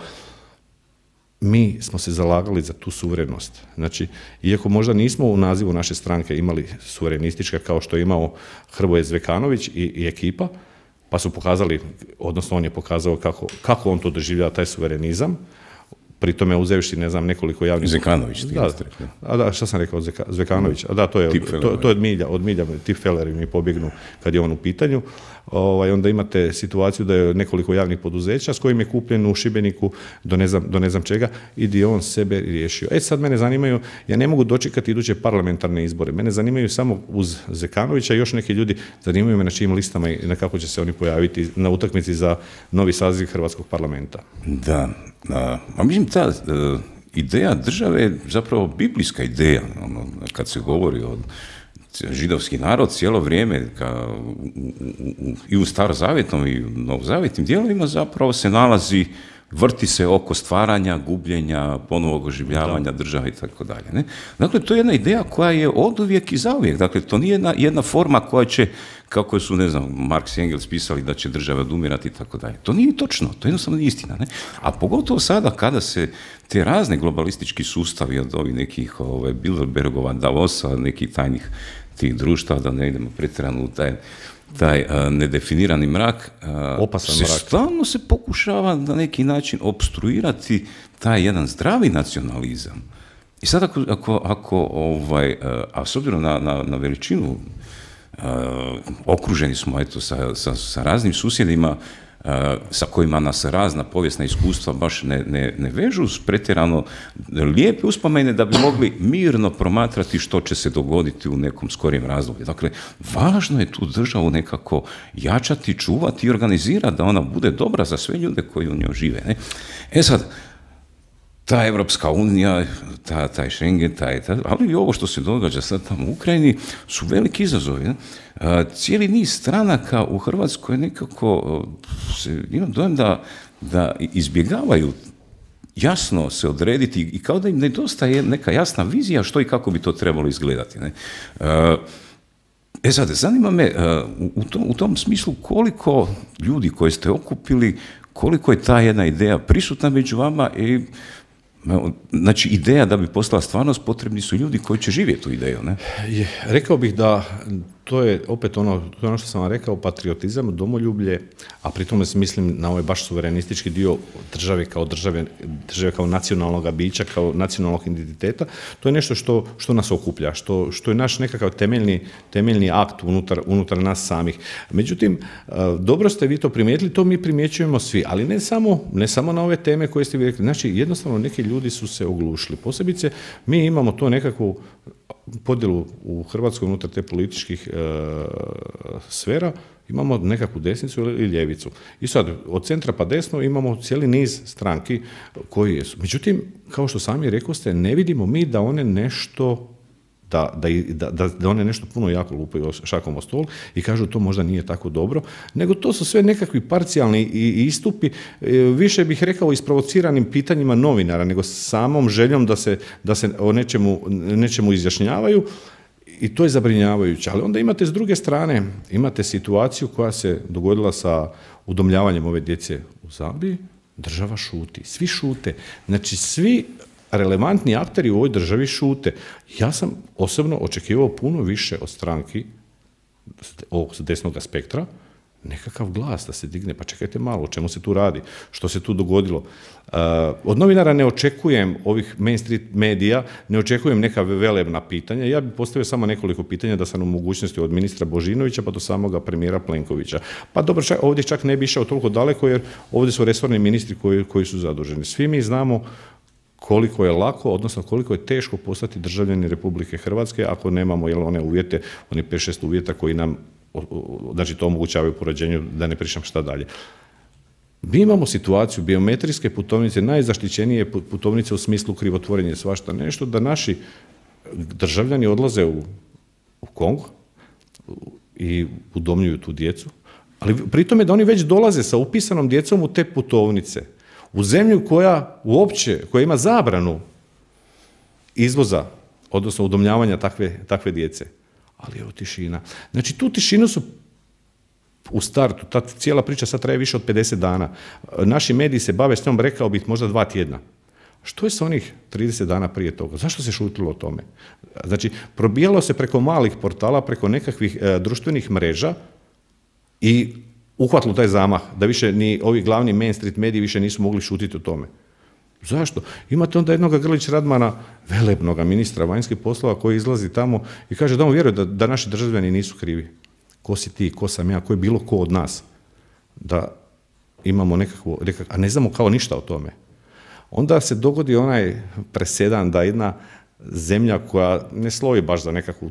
mi smo se zalagali za tu suverenost. Znači, iako možda nismo u nazivu naše stranke imali suverenistička kao što je imao Hrvoje Zvekanović i ekipa, pa su pokazali, odnosno on je pokazao kako on to doživljava, taj suverenizam, pri tome uzevši, ne znam, nekoliko javnih... Zekanović, ti da, šta sam rekao, Zvekanović, a da, to je od milja, tipfeleri mi pobjegnu kad je on u pitanju. Onda imate situaciju da je nekoliko javnih poduzeća s kojim je kupljen u Šibeniku do ne znam čega i di on sebe riješio. Sad mene zanimaju, ja ne mogu dočekati iduće parlamentarne izbore, mene zanimaju samo uz Zekanovića i još neki ljudi, zanimaju me na čijim listama i na kako će se oni pojaviti na utakmici za novi saziv Hrvatskog parlamenta. Da, a mislim ta ideja države je zapravo biblijska ideja, kad se govori o židovski narod cijelo vrijeme i u starozavjetnom i u novozavjetnim dijelovima zapravo se nalazi, vrti se oko stvaranja, gubljenja, ponovnog oživljavanja države i tako dalje. Dakle, to je jedna ideja koja je oduvijek i zauvijek. Dakle, to nije jedna forma koja će, kako su, ne znam, Marx i Engels pisali da će država odumirati i tako dalje. To nije točno, to je jednostavno istina. Ne? A pogotovo sada kada se te razne globalistički sustavi od ovih nekih Bilderbergova, Davosa, nekih tajnih tih društva, da ne idemo pretjerano u taj nedefinirani mrak, stalno se pokušava na neki način opstruirati taj jedan zdravi nacionalizam. I sad a s obzirom na veličinu, okruženi smo sa raznim susjedima sa kojima nas razna povijesna iskustva baš ne vežu s pretjerano lijepe uspomene da bi mogli mirno promatrati što će se dogoditi u nekom skorijem razdoblju. Dakle, važno je tu državu nekako jačati, čuvati i organizirati da ona bude dobra za sve ljude koji u njoj žive. Ne? Sad, ta Evropska unija, taj Schengen, ali i ovo što se događa sad tamo u Ukrajini su veliki izazovi. Ne? Cijeli niz stranaka u Hrvatskoj nekako imam dojam da izbjegavaju jasno se odrediti i kao da im nedostaje neka jasna vizija što i kako bi to trebalo izgledati. Ne? Sad, zanima me u tom smislu koliko ljudi koje ste okupili, koliko je ta jedna ideja prisutna među vama i znači, ideja da bi postala stvarnost, potrebni su ljudi koji će živjeti tu ideju, ne? Rekao bih da to je opet ono što sam vam rekao, patriotizam, domoljublje, a pri tome mislim na ovaj baš suverenistički dio države kao nacionalnog bića, kao nacionalnog identiteta, to je nešto što nas okuplja, što je naš nekakav temeljni akt unutar nas samih. Međutim, dobro ste vi to primijetili, to mi primjećujemo svi, ali ne samo na ove teme koje ste vi rekli. Znači, jednostavno neki ljudi su se oglušili. Posebice, mi imamo to nekakvu podjelu u Hrvatskoj unutar te političkih sfera, imamo nekakvu desnicu ili ljevicu. I sad, od centra pa desno imamo cijeli niz stranki koji jesu. Međutim, kao što sami rekoste, ne vidimo mi da one nešto da one nešto puno jako lupaju šakom o stol i kažu to možda nije tako dobro, nego to su sve nekakvi parcijalni istupi, više bih rekao isprovociranim pitanjima novinara, nego samom željom da se o nečemu izjašnjavaju i to je zabrinjavajuće. Ali onda imate s druge strane, imate situaciju koja se dogodila sa udomljavanjem ove djece u Zambiji, država šuti, svi šute. Znači svi relevantni akteri u ovoj državi šute. Ja sam osobno očekivao puno više od stranki ovog desnog spektra, nekakav glas da se digne, pa čekajte malo, o čemu se tu radi, što se tu dogodilo. Od novinara ne očekujem, ovih mainstream medija, ne očekujem neka velebna pitanja, ja bih postavio samo nekoliko pitanja da sam u mogućnosti od ministra Božinovića pa do samoga premijera Plenkovića. Pa dobro, ovdje čak ne bi išao toliko daleko jer ovdje su resorni ministri koji su zaduženi. Svi mi znamo koliko je lako, odnosno koliko je teško postati državljani Republike Hrvatske ako nemamo one uvjete, oni 5-6 uvjeta koji nam, znači to omogućavaju po rođenju, da ne pričam šta dalje. Mi imamo situaciju biometrijske putovnice, najzaštićenije putovnice u smislu krivotvorenja svašta nešto, da naši državljani odlaze u Kongo i udomljuju tu djecu, ali pri tome da oni već dolaze sa upisanom djecom u te putovnice, u zemlju koja ima zabranu izvoza, odnosno udomljavanja takve djece. ali evo tišina. Znači tu tišinu su u startu, ta cijela priča sad traje više od 50 dana. Naši mediji se bave s njom, rekao bih, možda 2 tjedna. Što je sa onih 30 dana prije toga? Zašto se šutilo o tome? Znači, probijalo se preko malih portala, preko nekakvih društvenih mreža i uhvatilo taj zamah, da više ni ovi glavni Main Street mediji više nisu mogli šutiti o tome. Zašto? Imate onda jednog Grlić Radmana, velebnoga ministra vanjskih poslova, koji izlazi tamo i kaže da on vjeruje da naši državljani nisu krivi. Ko si ti, ko sam ja, ko je bilo ko od nas, da imamo nekakvo, a ne znamo kao ništa o tome. Onda se dogodi onaj presedan da jedna zemlja koja ne slovi baš za nekakvu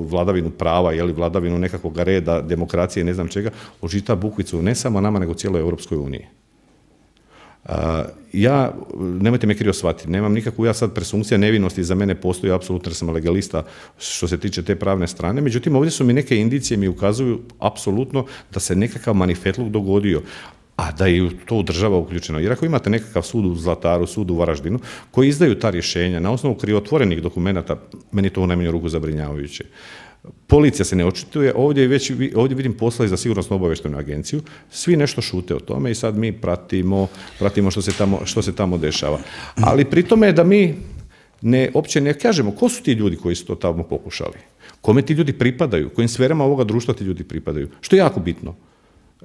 vladavinu prava ili vladavinu nekakvog reda, demokracije, ne znam čega, ožita bukvicu ne samo nama, nego cijeloj Europskoj uniji. Ja, nemojte me krivo shvatiti, nemam nikakvu ja sad presumpcija nevinosti, za mene postoji apsolutno jer sam legalista što se tiče te pravne strane, međutim ovdje su mi neke indicije mi ukazuju apsolutno da se nekakav manifetluk dogodio, a da je to država uključeno. Jer ako imate nekakav sud u Zlataru, sud u Varaždinu, koji izdaju ta rješenja na osnovu krivotvorenih dokumenata, meni to u najmanju ruku zabrinjavajuće. Policija se ne očituje, ovdje vidim posla i za sigurnosno obavještajnu agenciju, svi nešto šute o tome i sad mi pratimo što se tamo dešava. Ali pri tome je da mi uopće ne kažemo ko su ti ljudi koji su to tamo pokušali, kome ti ljudi pripadaju, kojim sferama ovoga društva ti ljudi pripadaju, što je jako bitno.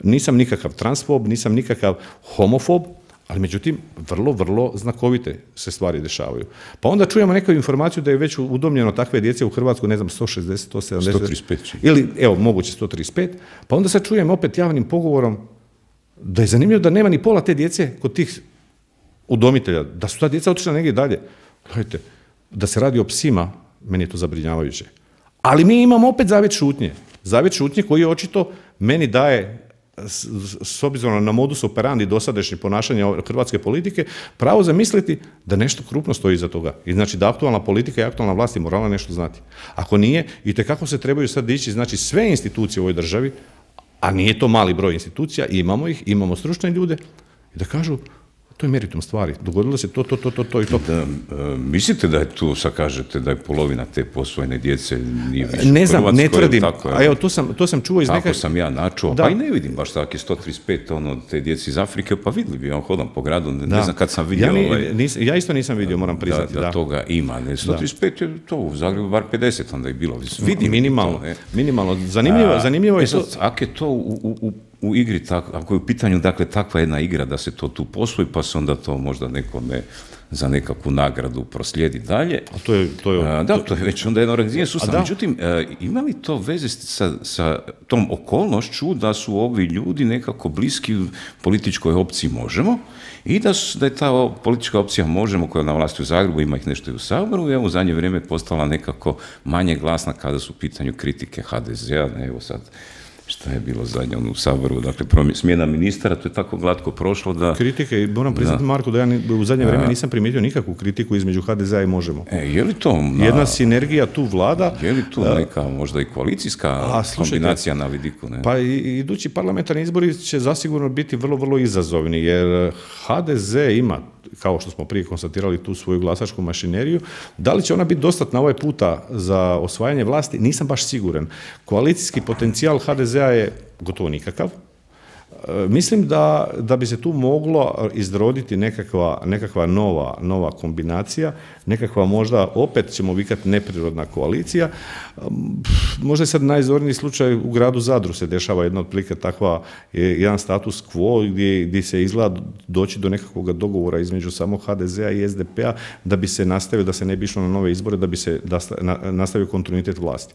Nisam nikakav transfob, nisam nikakav homofob, ali međutim, vrlo znakovite se stvari dešavaju. Pa onda čujemo neku informaciju da je već udomljeno takve djece u Hrvatsku, ne znam, 160, 170... 135. Ili, evo, moguće 135. Pa onda sad čujem opet javnim pogovorom da je zanimljivo da nema ni pola te djece kod tih udomitelja, da su ta djeca otišla negdje dalje. Gledajte, da se radi o psima, meni je to zabrinjavajuće. Ali mi imamo opet zavjet šutnje. Zavjet šutnje koji očito meni daje, s obzirom na modus operandi dosadašnje ponašanja hrvatske politike, pravo zamisliti da nešto krupno stoji iza toga. I znači da aktualna politika i aktualna vlast je morala nešto znati. Ako nije, itekako se trebaju sad dići, znači sve institucije u ovoj državi, a nije to mali broj institucija, imamo ih, imamo stručne ljude, i da kažu, to je meritum stvari, dogodilo se to i to. Mislite da je tu, sad kažete, da je polovina te posvojene djece nije više ne znam, u Hrvatskoj, ne tvrdim, tako, a evo to sam čuo iz neka... Tako sam ja načuo, pa i ne vidim baš tako, 135 te djece iz Afrike, pa vidjeli bi, hodam po gradu, ne znam kad sam vidio... Ja isto nisam vidio, moram priznati. Da toga ima, 135 je to, u Zagrebu bar 50 onda je bilo, vidim minimalno, zanimljivo je to... Ako je to u igri, ako je u pitanju, dakle, takva jedna igra da se to tu posvoji, pa se onda to možda nekome za nekakvu nagradu proslijedi dalje. To je već onda jedan organiziran sustav. Međutim, ima li to veze sa tom okolnošću da su ovi ljudi nekako bliski političkoj opciji Možemo i da je ta politička opcija Možemo, koja je na vlasti u Zagrebu, ima ih nešto i u Saboru, i evo u zadnje vrijeme postala nekako manje glasna kada su u pitanju kritike HDZ-a, evo sad šta je bilo zadnje u Saboru, dakle smjena ministara, to je tako glatko prošlo da... Kritike, moram priznati, Marko, da ja u zadnje vrijeme nisam primijetio nikakvu kritiku između HDZ-a i Možemo. Je li to... Jedna sinergija tu vlada... Je li tu neka možda i koalicijska kombinacija na vidiku? Ne? Pa idući parlamentarni izbori će zasigurno biti vrlo izazovni, jer HDZ ima, kao što smo prije konstatirali, tu svoju glasačku mašineriju. Da li će ona biti dostatna ovaj puta za osvajanje vlasti? Nisam baš siguran. Koalicijski potencijal HDZ-a je gotovo nikakav. Mislim da bi se tu moglo izroditi nekakva nova kombinacija, nekakva možda, opet ćemo vikati, neprirodna koalicija. Možda je sad najzorniji slučaj u gradu Zadru se dešava jedna otprilike takva, jedan status quo gdje se izgleda doći do nekakvog dogovora između samog HDZ-a i SDP-a da bi se nastavio, da se ne bi išlo na nove izbore, da bi se nastavio kontinuitet vlasti.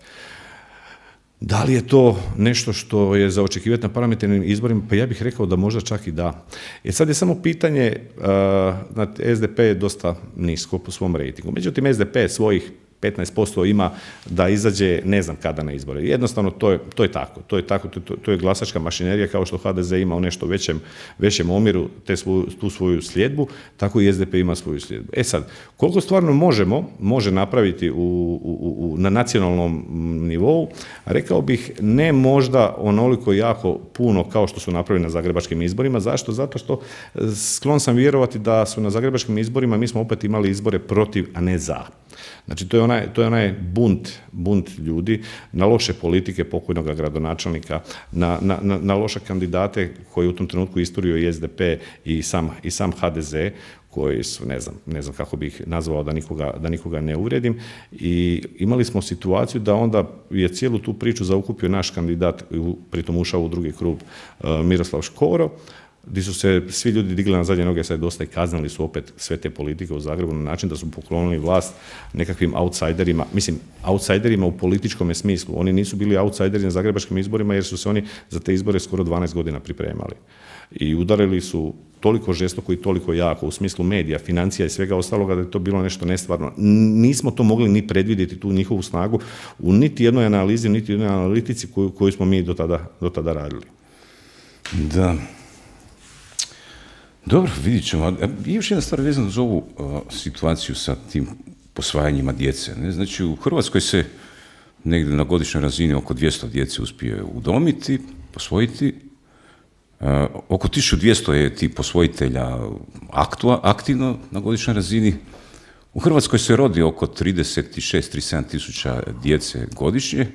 Da li je to nešto što je za očekivati na parlamentarnim izborima? Pa ja bih rekao da možda čak i da. Sad je samo pitanje, SDP je dosta nisko po svom rejtingu. Međutim, SDP svojih 15% ima da izađe ne znam kada na izbore. Jednostavno, to je tako. To je glasačka mašinerija, kao što HDZ ima u nešto većem omjeru tu svoju sljedbu, tako i SDP ima svoju sljedbu. Sad, koliko stvarno može napraviti na nacionalnom nivou, rekao bih ne možda onoliko jako puno kao što su napravili na zagrebačkim izborima. Zašto? Zato što sklon sam vjerovati da su na zagrebačkim izborima, mi smo opet imali izbore protiv, a ne za. Znači, to je onaj bunt ljudi na loše politike pokojnog gradonačelnika, na loše kandidate koji u tom trenutku isturio i SDP i sam HDZ, koji su, ne znam kako bih nazvao da nikoga ne uvredim, i imali smo situaciju da onda je cijelu tu priču zaokupio naš kandidat, pritom ušao u drugi krug, Miroslav Škoro, gdje su se svi ljudi digli na zadnje noge, sad dosta i kaznili su opet sve te politike u Zagrebu na način da su poklonili vlast nekakvim outsiderima, outsiderima u političkom smislu. Oni nisu bili outsideri na zagrebačkim izborima jer su se oni za te izbore skoro 12 godina pripremali. I udarili su toliko žestoko i toliko jako u smislu medija, financija i svega ostaloga da je to bilo nešto nestvarno. Nismo to mogli ni predvidjeti, tu njihovu snagu, u niti jednoj analizi, niti jednoj analitici koju smo mi do tada radili. Da. Dobro, vidit ćemo. I još jedna stvar vezana za ovu situaciju sa tim posvajanjima djece. Ne? Znači, u Hrvatskoj se negdje na godišnjoj razini oko 200 djece uspije udomiti, posvojiti. Oko 1200 je ti posvojitelja aktivno na godišnjoj razini. U Hrvatskoj se rodi oko 36-37 tisuća djece godišnje.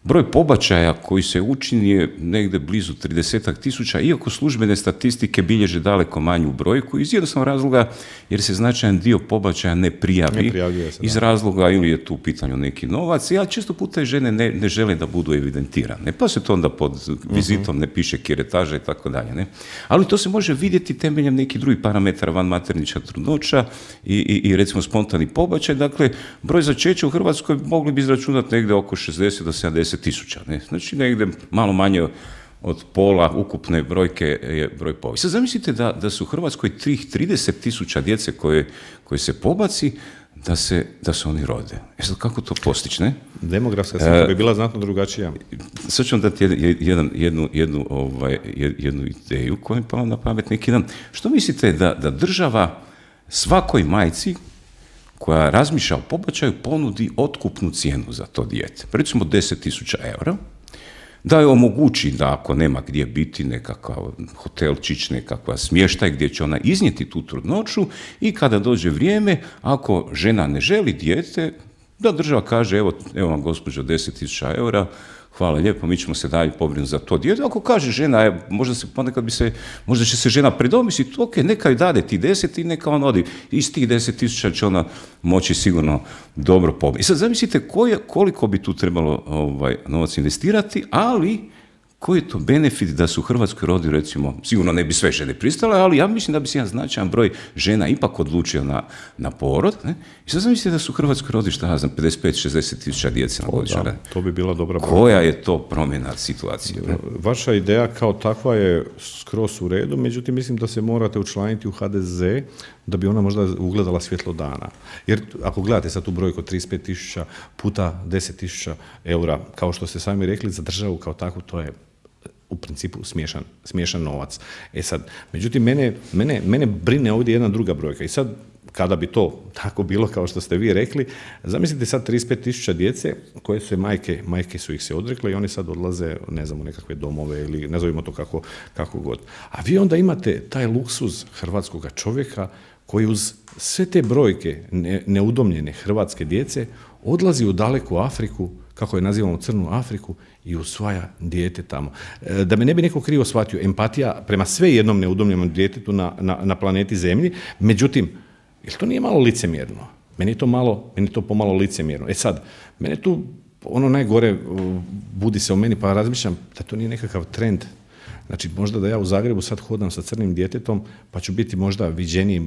Broj pobačaja koji se učini je negdje blizu 30 tisuća, iako službene statistike bilježe daleko manju brojku, iz jednostavnog razloga jer se značajan dio pobačaja ne prijavi iz razloga ili je tu u pitanju neki novac, a često puta žene ne žele da budu evidentirane, pa se to onda pod vizitom ne piše kiretaža i tako dalje. Ali to se može vidjeti temeljem nekih drugih parametara, vanmaternička trudnoća i recimo spontani pobačaj. Dakle, broj začeća u Hrvatskoj mogli bi izračunati negdje oko 60 do 70 tisuća. Znači negdje malo manje od pola ukupne brojke je broj pobačaja. Sad zamislite da su u Hrvatskoj 30 tisuća djece koje se pobaci, da se oni rode. Sad kako to postići, ne? Demografska slika bi bila znatno drugačija. Sad ću vam dati jednu ideju koja mi pala na pamet neki dan. Što mislite da država svakoj majci koja razmišlja o pobačaju ponudi otkupnu cijenu za to dijete, recimo 10.000 eura, da je omogući da ako nema gdje biti nekakav hotelčić, nekakva smještaj gdje će ona iznijeti tu trudnoću i kada dođe vrijeme, ako žena ne želi dijete, da država kaže evo vam gospođo 10.000 eura, hvala lijepo, mi ćemo se dalje pobrinuti za to dijete. Ako kaže žena, možda će se žena predomisliti, ok, neka joj dade ti 10 i neka on odi. Iz tih 10.000 će ona moći sigurno dobro pobrinuti. I sad zamislite koliko bi tu trebalo novac investirati, ali koji je to benefit da se u Hrvatskoj rodi, recimo, sigurno ne bi sve žene pristale, ali ja mislim da bi se jedan značajan broj žena ipak odlučio na porod. Ne? I sad zamislite da su u Hrvatskoj rodi, 55-60 tisuća djece na godišnjoj razini. To bi bila dobra brojka. Koja je to promjena situacije? Ne? Vaša ideja kao takva je skroz u redu, međutim mislim da se morate učlaniti u HDZ da bi ona možda ugledala svjetlo dana. Jer ako gledate sad tu brojku 35.000 puta 10.000 eura, kao što ste sami rekli, za državu kao takvu, to je u principu smiješan novac. Sad, međutim, mene brine ovdje jedna druga brojka. I sad, kada bi to tako bilo kao što ste vi rekli, zamislite sad 35.000 djece koje su majke su ih se odrekle i oni sad odlaze, ne znam, u nekakve domove ili nazovimo to kako god. A vi onda imate taj luksuz hrvatskoga čovjeka koji uz sve te brojke neudomljene hrvatske djece odlazi u daleku Afriku, kako je nazivamo Crnu Afriku, i usvaja dijete tamo. Da me ne bi neko krivo shvatio, empatija prema sve jednom neudomljenom djetetu na planeti Zemlji, međutim, jer to nije malo licemjerno? Meni je to pomalo licemjerno. Sad, mene tu ono najgore budi se u meni, pa razmišljam da to nije nekakav trend. Znači, možda da ja u Zagrebu sad hodam sa crnim djetetom, pa ću biti možda viđeniji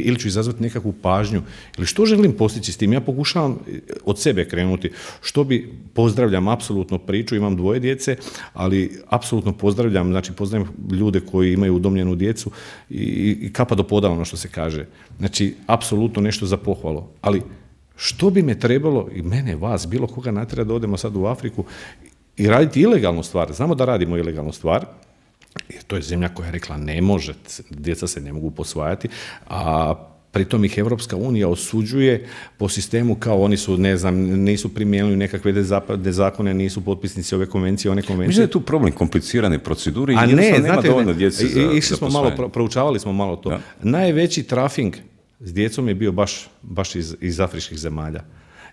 ili ću izazvati nekakvu pažnju. Ili što želim postići s tim? Ja pokušavam od sebe krenuti. Pozdravljam apsolutno priču, imam 2 djece, ali apsolutno pozdravljam ljude koji imaju udomljenu djecu i kapa do poda, ono što se kaže. Znači, apsolutno nešto za pohvalu. Ali što bi me trebalo, i mene, vas, bilo koga natjera da odemo sad u Afriku i raditi ilegalnu stvar? Znamo da radimo ilegalnu stvar, jer to je zemlja koja je rekla ne može, djeca se ne mogu posvajati, a pritom ih Evropska unija osuđuje po sistemu kao oni su, ne znam, nisu primijenili nekakve zakone, nisu potpisnici ove konvencije, one konvencije. Mislim da je tu problem komplicirane procedure i jednostavno nema dovoljno djece za išli smo malo, proučavali smo malo to. Da. Najveći trafing s djecom je bio baš iz afričkih zemalja.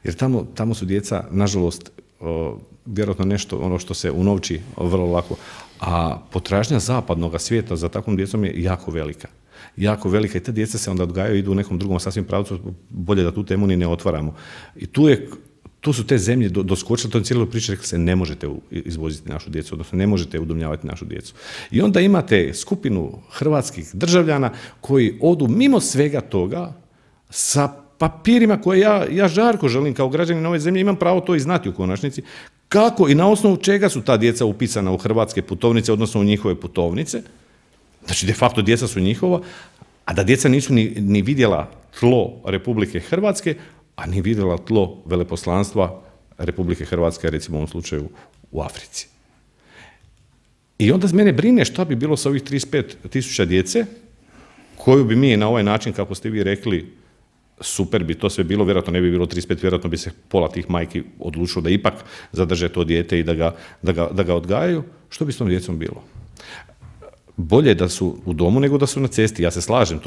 Jer tamo su djeca, nažalost, vjerojatno nešto ono što se unovči vrlo lako, a potražnja zapadnog svijeta za takvom djecom je jako velika. Jako velika i te djeca se onda odgajaju i idu u nekom drugom sasvim pravcu, bolje da tu temu ni ne otvaramo. I tu su te zemlje doskočile, to je cijelo priča, rekli se ne možete izvoziti našu djecu, odnosno ne možete udomljavati našu djecu. I onda imate skupinu hrvatskih državljana koji odu mimo svega toga sa papirima koje ja žarko želim kao građanin ove zemlje, imam pravo to i znati u konačnici, kako i na osnovu čega su ta djeca upisana u hrvatske putovnice, odnosno u njihove putovnice. Znači, de facto djeca su njihova, a da djeca nisu ni vidjela tlo Republike Hrvatske, a ni vidjela tlo veleposlanstva Republike Hrvatske, recimo u ovom slučaju u Africi. I onda mene brine šta bi bilo sa ovih 35.000 djece, koju bi mi na ovaj način, kako ste vi rekli, super bi to sve bilo, vjerojatno ne bi bilo 35, vjerojatno bi se pola tih majki odlučilo da ipak zadrže to dijete i da ga odgajaju. Što bi s tom djecom bilo? Bolje da su u domu nego da su na cesti, ja se slažem,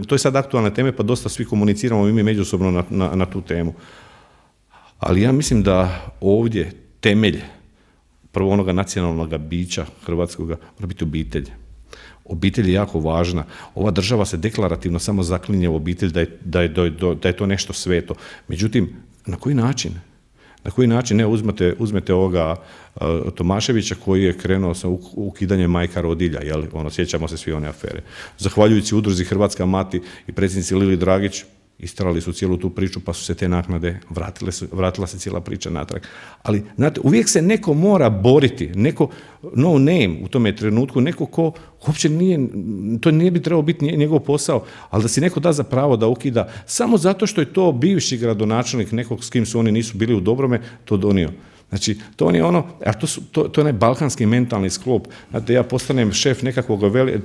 to je sad aktualna tema, pa dosta svi komuniciramo i mi međusobno na tu temu. Ali ja mislim da ovdje temelj prvo onoga nacionalnog bića hrvatskoga mora biti obitelj. Obitelj je jako važna. Ova država se deklarativno samo zaklinje u obitelj da je to nešto sveto. Međutim, na koji način? Na koji način? Ne, uzmete ovoga Tomaševića koji je krenuo sa ukidanjem majka rodilja, jel? Sjećamo se svi one afere. Zahvaljujući udruzi Hrvatska mati i predsjednici Lili Dragić, istrali su cijelu tu priču, pa su se te naknade vratila se cijela priča natrag. Ali, znate, uvijek se neko mora boriti, neko no name u tome trenutku, neko ko uopće to nije bi trebao biti njegov posao, ali da si neko da za pravo da ukida, samo zato što je to bivši gradonačelnik nekog s kim su oni nisu bili u dobrome, to donio. Znači, to je ono, a to je onaj balkanski mentalni sklop. Znate, ja postanem šef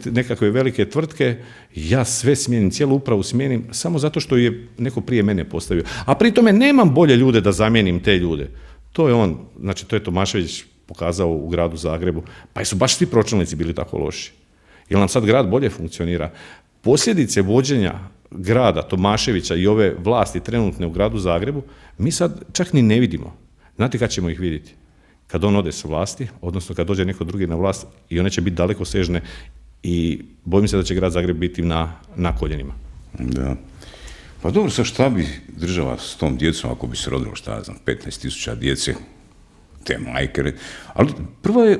nekakve velike tvrtke, ja sve smijenim, cijelu upravu smijenim, samo zato što je neko prije mene postavio. A pri tome nemam bolje ljude da zamijenim te ljude. To je on, znači to je Tomašević pokazao u gradu Zagrebu. Pa su baš svi pročelnici bili tako loši. Jel nam sad grad bolje funkcionira? Posljedice vođenja grada Tomaševića i ove vlasti trenutne u gradu Zagrebu, mi sad čak ni ne vidimo. Znate kad ćemo ih vidjeti? Kad on ode sa vlasti, odnosno kad dođe neko drugi na vlast i one će biti dalekosežne i bojim se da će grad Zagreb biti na koljenima. Da. Pa dobro, sad šta bi država s tom djecom, ako bi se rodilo, 15.000 djece, te majke, ali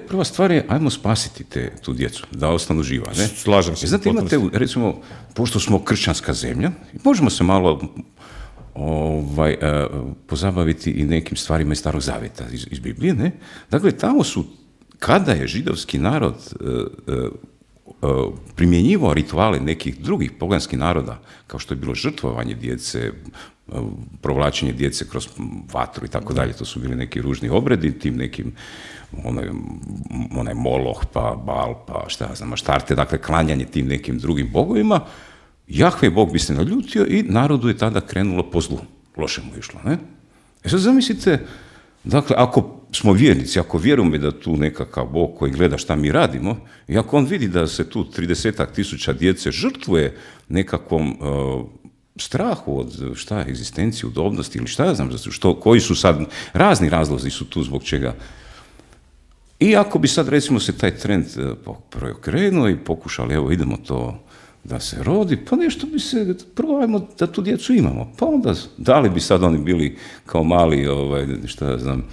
prva stvar je, ajmo spasiti tu djecu, da ostanu živa, ne? Slažem se. Znate, imate, recimo, pošto smo kršćanska zemlja, možemo se malo pozabaviti i nekim stvarima iz Starog Zavjeta, iz Biblije, ne? Dakle, tamo su, kada je židovski narod primjenjivao rituale nekih drugih poganskih naroda, kao što je bilo žrtvovanje djece, provlačenje djece kroz vatru i tako dalje, to su bili neki ružni obredi, tim nekim onaj Moloh, pa Bal, pa šta ja znam, Aštarte, dakle, klanjanje tim nekim drugim bogovima. Jahve Bog bi se naljutio i narodu je tada krenulo po zlu. Loše mu išlo, ne? Sad zamislite, dakle, ako smo vjernici, ako vjerujemo da tu nekakav Bog koji gleda šta mi radimo, i ako on vidi da se tu 30.000 djece žrtvuje nekakvom strahu od egzistencije, udobnosti ili šta ja znam, koji su sad, razni razlozi su tu zbog čega. I ako bi sad, recimo, se taj trend preokrenuo i pokušali, evo, idemo to da se rodi, pa nešto bi se, prvo ajmo da tu djecu imamo, pa onda da li bi sad oni bili kao mali, šta ja znam,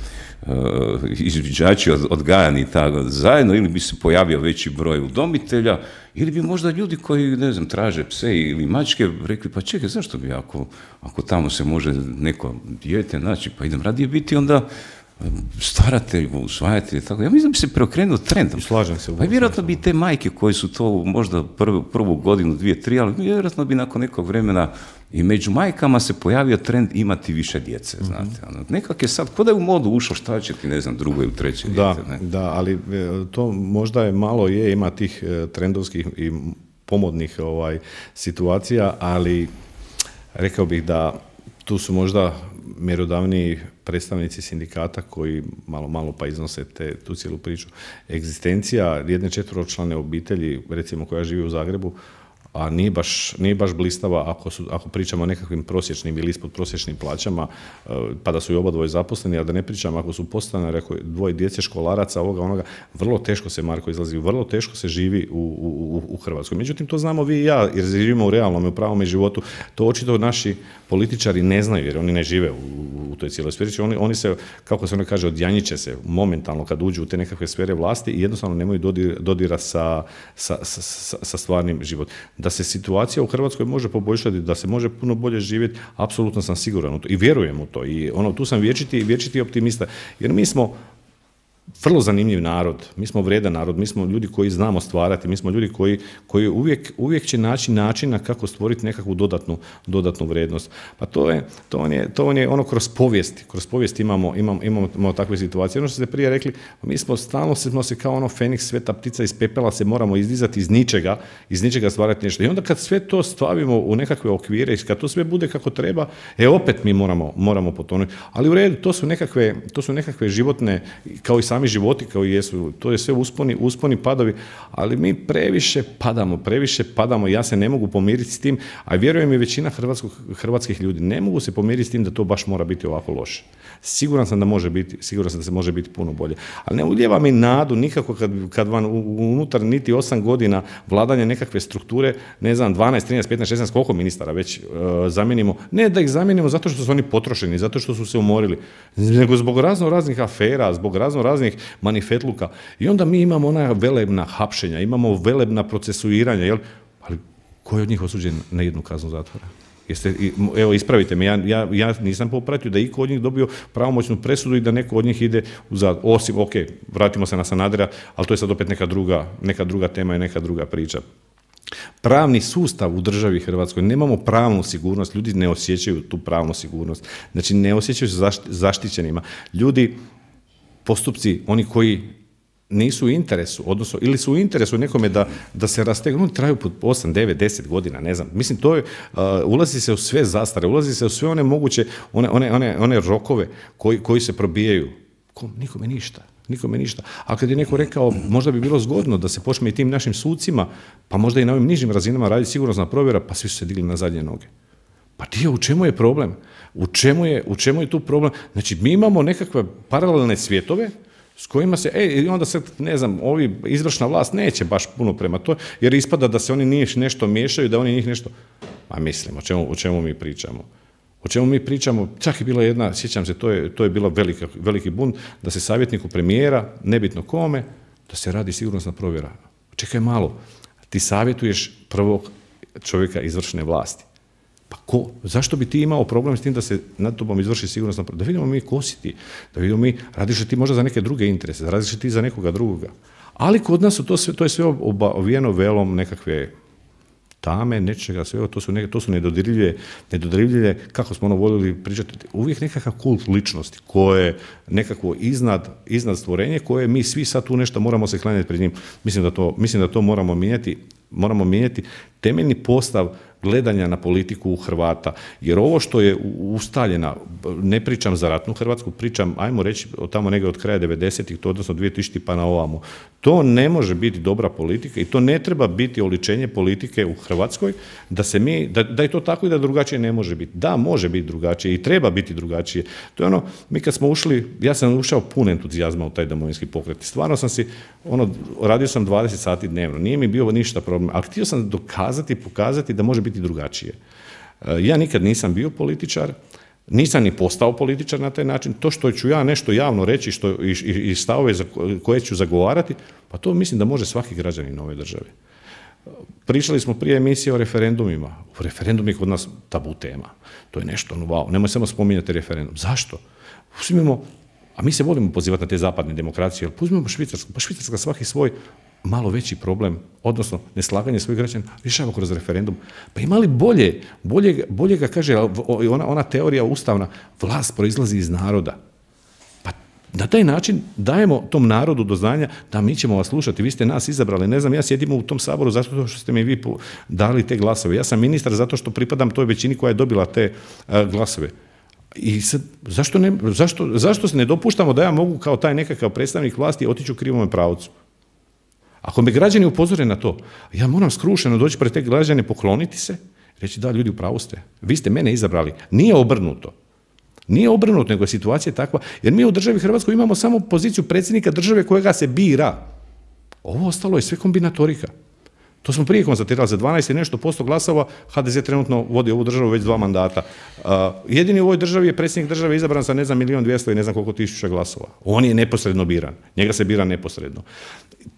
izviđači odgajani tako zajedno, ili bi se pojavio veći broj udomitelja, ili bi možda ljudi koji, ne znam, traže pse ili mačke, rekli, pa čekaj, zašto bi ako tamo se može neko dijete naći, pa idem radije biti onda staratelj, usvajatelj, tako. Ja mislim da bi se preokrenuo trendom. Slažem se. Pa vjerojatno bi te majke koje su to možda prvu godinu, 2, 3, ali vjerojatno bi nakon nekog vremena i među majkama se pojavio trend imati više djece, znate. Nekak je sad, ko da je u modu ušao, šta će ti, ne znam, drugo ili treće djete. Da, ali to možda je malo ima tih trendovskih i pomodnih situacija, ali rekao bih da tu su možda mjerodavniji predstavnici sindikata koji malo pa iznose tu cijelu priču. Egzistencija jedne 4-člane obitelji, recimo koja živi u Zagrebu, a nije baš blistava ako pričamo o nekakvim prosječnim ili ispod prosječnim plaćama, pa da su i oba zaposleni, ali da ne pričamo ako su podstanari, ako dvoje djece, školaraca, ovoga, onoga, vrlo teško se, Marko, izlazi, vrlo teško se živi u Hrvatskoj. Međutim, to znamo vi i ja, jer živimo u realnom i u pravom životu. To očito naši političari ne znaju, jer oni ne žive u toj cijeloj sferi. Oni se, kako se ono kaže, odjanjiće se momentalno kad uđu u te nekakve sfere vlasti i jednostavno nemaju dodira sa stvarnim životom. Da se situacija u Hrvatskoj može poboljšati, da se može puno bolje živjeti, apsolutno sam siguran u to i vjerujem u to. I tu sam vječiti optimista, jer mi smo vrlo zanimljiv narod, mi smo vredan narod, mi smo ljudi koji znamo stvarati, mi smo ljudi koji uvijek će naći načina kako stvoriti nekakvu dodatnu vrijednost. Pa to vam je ono kroz povijest imamo takve situacije. Ono što ste prije rekli, mi stalno smo se kao ono Feniks, sveta ptica iz pepela se moramo izdizati iz ničega stvarati nešto. I onda kad sve to stavimo u nekakve okvire i kad to sve bude kako treba, opet mi moramo potonuti. Ali u redu, to su nekakve životne, kao i sami životi kao i jesu, to je sve usponi, padovi, ali mi previše padamo, ja se ne mogu pomiriti s tim, a vjerujem i većina hrvatskih ljudi, ne mogu se pomiriti s tim da to baš mora biti ovako loše. Siguran sam da se može biti puno bolje. Ali ne ulijeva mi nadu nikako kad vam unutar niti 8 godina vladanja nekakve strukture, ne znam, 12, 13, 15, 16, koliko ministara već zamijenimo, ne da ih zamijenimo zato što su oni potrošeni, zato što su se umorili, nego zbog raznih afera, zbog raznih manifetluka. I onda mi imamo ona velebna hapšenja, imamo velebna procesuiranja, jel? Ali ko je od njih osuđen na 1 kaznu zatvora? Evo, ispravite me, ja nisam popratio da iko od njih dobio pravomoćnu presudu i da neko od njih ide u zatvor. Osim, ok, vratimo se na Sanadera, ali to je sad opet neka druga tema i neka druga priča. Pravni sustav u državi Hrvatskoj, nemamo pravnu sigurnost, ljudi ne osjećaju tu pravnu sigurnost, znači ne osjećaju se zaštićenima. Ljudi, postupci, oni koji nisu u interesu, odnosno ili su u interesu nekome da se rastegnu, oni traju po 8, 9, 10 godina, ne znam. Mislim, to je, ulazi se u sve zastare, ulazi se u sve one moguće, one rokove koji se probijaju. Nikome ništa. A kad je neko rekao, možda bi bilo zgodno da se počne i tim našim sucima, pa možda i na ovim nižim razinama raditi sigurnosna provjera, pa svi su se digli na zadnje noge. Pa u čemu je problem? U čemu je tu problem? Znači, mi imamo nekakve paralelne svjetove s kojima se, i onda se, ne znam, izvršna vlast neće baš puno prema to, jer ispada da se oni njih nešto miješaju, da oni njih nešto... A mislim, o čemu mi pričamo? O čemu mi pričamo? Čak je bila jedna, sjećam se, to je bilo veliki bunt, da se savjetniku premijera, nebitno kome, da se radi sigurnosna provjera. Čekaj malo, ti savjetuješ prvog čovjeka izvršne vlasti. Pa ko? Zašto bi ti imao problem s tim da se nad tobom izvrši sigurnosna provjera? Da vidimo mi ko si ti, da vidimo mi, radiš li ti možda za neke druge interese, radiš li ti za nekoga drugoga. Ali kod nas to je sve obavijeno velom nekakve tame, nečega, sve, to su nedodirljive, kako smo voljeli pričati, uvijek nekakav kult ličnosti, koje nekakvo iznad stvorenje, koje mi svi sad tu nešto moramo se klanjati pred njim. Mislim da to moramo mijenjati temeljni postav gledanja na politiku u Hrvata, jer ovo što je ustaljena, ne pričam za ratnu Hrvatsku, pričam, ajmo reći, tamo negdje od kraja 90-ih, to odnosno 2000 pa na ovamo. To ne može biti dobra politika i to ne treba biti oličenje politike u Hrvatskoj, da je to tako i da drugačije ne može biti. Da, može biti drugačije i treba biti drugačije. To je ono, mi kad smo ušli, ja sam ušao pun entuzijazma u taj Domovinski pokret. Stvarno sam si, radio sam 20 sati dnevno, nije mi bio ništa problem, ali htio sam pokazati da može biti drugačije. Ja nikad nisam bio političar, nisam ni postao političar na taj način. To što ću ja nešto javno reći i stavove koje ću zagovarati, pa to mislim da može svaki građanin ove države. Pričali smo prije emisije o referendumima. Referendum je kod nas tabu tema. To je nešto, wow, nemoj samo spominjati referendum. Zašto? A mi se volimo pozivati na te zapadne demokracije, ali uzmimo Švicarsku. Pa Švicarska svaki svoj malo veći problem, odnosno neslaganje svojih građana, rješava kroz referendum. Pa ima li bolje ga kaže ona teorija ustavna, vlast proizlazi iz naroda. Pa na taj način dajemo tom narodu do znanja da mi ćemo vas slušati, vi ste nas izabrali, ne znam, ja sjedim u tom saboru zato što ste mi vi dali te glasove. Ja sam ministar zato što pripadam toj većini koja je dobila te glasove. I sad, zašto se ne dopuštamo da ja mogu kao taj nekakav predstavnik vlasti otići u krivome pravcu? Ako me građani upozore na to, ja moram skrušeno doći pred te građane, pokloniti se, reći da, ljudi, u pravu ste, vi ste mene izabrali. Nije obrnuto. Nije obrnuto, nego je situacija takva, jer mi u državi Hrvatskoj imamo samo poziciju predsjednika države kojega se bira. Ovo ostalo je sve kombinatorika. To smo prije konstatirali, za 12 i nešto % glasova HDZ trenutno vodi ovu državu već 2 mandata. Jedini u ovoj državi je predsjednik države izabran sa 1.200.000 i ne znam koliko tisuća glasova. On je neposredno biran. Njega se bira neposredno.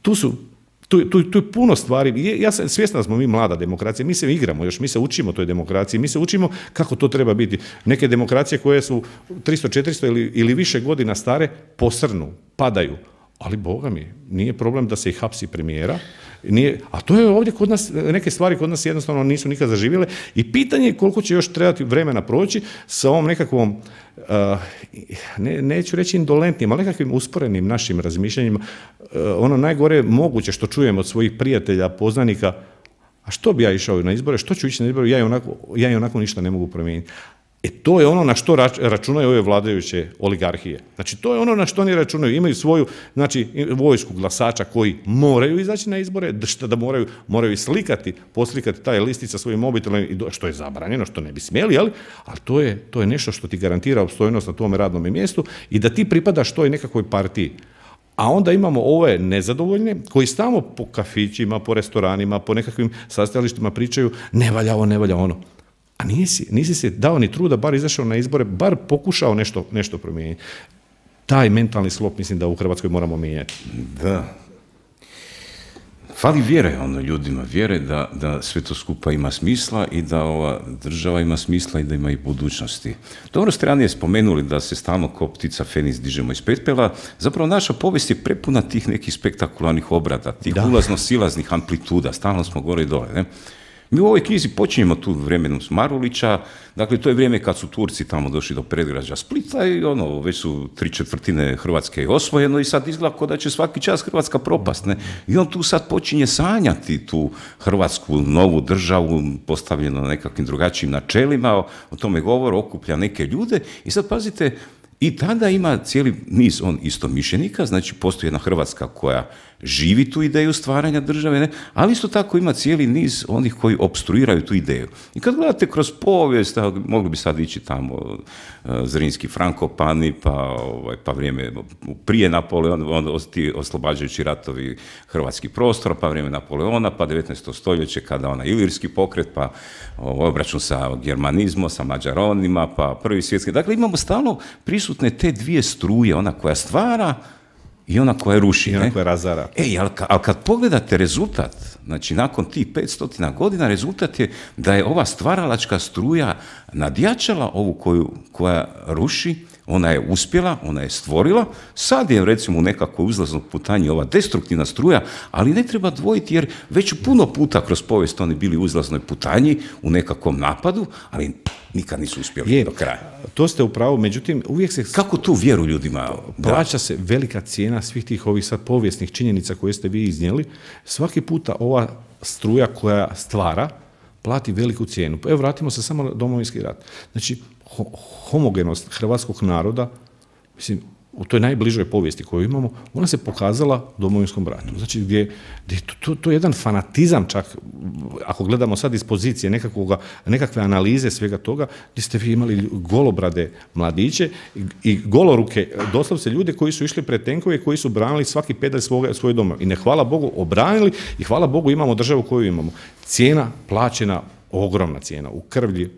Tu je puno stvari. Ja sam svjestan da smo mi mlada demokracija, mi se igramo još, mi se učimo toj demokraciji, mi se učimo kako to treba biti. Neke demokracije koje su 300, 400 ili više godina stare posrnu, padaju. Ali, Boga mi, nije problem da se i hapsi premijera. A to je ovdje kod nas, neke stvari kod nas jednostavno nisu nikad zaživjele i pitanje je koliko će još trebati vremena proći sa ovom nekakvom, neću reći indolentnim, ali nekakvim usporenim našim razmišljanjima. Ono najgore moguće što čujem od svojih prijatelja, poznanika, a što bi ja išao na izbore, što ću ići na izbore, ja i onako ništa ne mogu promijeniti. To je ono na što računaju ove vladajuće oligarhije. Znači, to je ono na što oni računaju. Imaju svoju, znači, vojsku glasača koji moraju izaći na izbore, da moraju poslikati taj listic sa svojim mobitelom, što je zabranjeno, što ne bi smjeli, ali to je nešto što ti garantira opstojnost na tome radnom mjestu i da ti pripadaš toj nekakvoj partiji. A onda imamo ove nezadovoljne koji stalno po kafićima, po restoranima, po nekakvim sastajalištima pričaju ne valja ovo, ne valja ono. A nisi se dao ni truda, bar izašao na izbore, bar pokušao nešto promijeniti. Taj mentalni sklop mislim da u Hrvatskoj moramo mijenjati. Da. Fali vjere ljudima, vjere da sve to skupa ima smisla i da ova država ima smisla i da ima i budućnosti. Dobro ste ranije spomenuli da se stalno kao ptica Feniks dižemo iz pepela. Zapravo naša povijest je prepuna tih nekih spektakularnih obrada, tih ulazno-silaznih amplituda, stalno smo gore i dole, ne? Mi u ovoj knjizi počinjemo tu vremenom Marulića, dakle to je vrijeme kad su Turci tamo došli do predgrađa Splita i već su 3/4 Hrvatske osvojeno i sad izgleda kao da će svaki čas Hrvatska propast, ne? I on tu sad počinje sanjati tu Hrvatsku novu državu postavljenu na nekakvim drugačijim načelima, o tome govor, okuplja neke ljude i sad pazite, i tada ima cijeli niz istomišljenika, znači postoji jedna Hrvatska koja živi tu ideju stvaranja države, ne? Ali isto tako ima cijeli niz onih koji opstruiraju tu ideju. I kad gledate kroz povijest, mogli bi sad ići tamo Zrinski Frankopani, pa vrijeme prije Napoleona, ti oslobađajući ratovi hrvatskih prostora, pa vrijeme Napoleona, pa 19. stoljeće kada Ilirski pokret, pa obračun sa germanizmom, sa Mađaronima, pa Prvi svjetski. Dakle, imamo stalno prisutne te dvije struje, ona koja stvara i ona koja ruši. I ona koja razara. Ali kad pogledate rezultat, znači nakon tih 500 godina, rezultat je da je ova stvaralačka struja nadjačala ovu koja ruši, ona je uspjela, ona je stvorila, sad je recimo u nekakvoj uzlaznoj putanji ova destruktivna struja, ali ne treba dvojiti jer već puno puta kroz povijest oni bili u uzlaznoj putanji, u nekakvom napadu, ali nikad nisu uspjeli do kraja. To ste u pravu, međutim uvijek se... Kako tu vjeru ljudima? Plaća se velika cijena svih tih ovih sad povijesnih činjenica koje ste vi iznijeli. Svaki puta ova struja koja stvara plati veliku cijenu. Evo, vratimo se samo na Domovinski rat. Znači, homogenost hrvatskog naroda, mislim, u toj najbližoj povijesti koju imamo, ona se pokazala u Domovinskom ratu. Znači, gdje to je jedan fanatizam čak, ako gledamo sad iz pozicije nekakve analize svega toga, gdje ste vi imali golobrade mladiće i goloruke, doslovce ljude koji su išli pred tenkove, koji su branili svaki pedalj svoje doma. I ne, hvala Bogu, obranili i hvala Bogu imamo državu koju imamo. Cijena plaćena, ogromna cijena,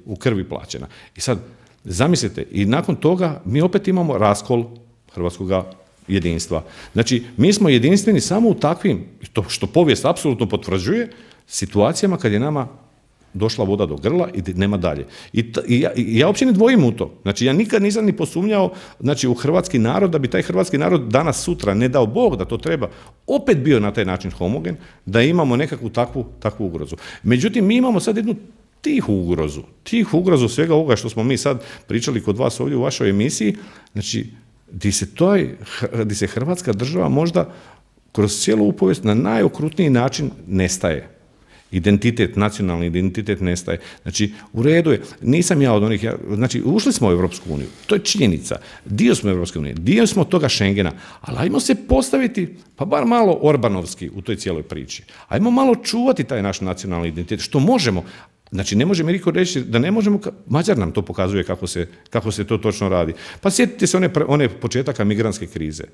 u krvi plaćena. I sad, zamislite, i nakon toga mi opet imamo raskol hrvatskog jedinstva. Znači, mi smo jedinstveni samo u takvim, što povijest apsolutno potvrđuje, situacijama kad je nama došla voda do grla i nema dalje. I ja uopće ne dvojim u to. Znači, ja nikad nisam ni posumnjao, znači, u hrvatski narod, da bi taj hrvatski narod danas, sutra, ne dao Bog da to treba, opet bio na taj način homogen, da imamo nekakvu takvu ugrozu. Međutim, mi imamo sad jednu tihu ugrozu svega ovoga što smo mi sad pričali kod vas ovdje u vašoj emisiji, znači, gdje se Hrvatska država možda kroz cijelu povijest na najokrutniji način nestaje. Identitet, nacionalni identitet nestaje. Znači, u redu je, nisam ja od onih, znači, ušli smo u Europsku uniju, to je činjenica, dio smo Europske unije, dio smo toga Schengena, ali ajmo se postaviti, pa bar malo orbanovski u toj cijeloj priči. Ajmo malo čuvati taj naš nacionalni identitet, što možemo. Znači, ne može mi niko reći da ne možemo, Mađar nam to pokazuje kako se to točno radi. Pa sjetite se one početaka migrantske krize.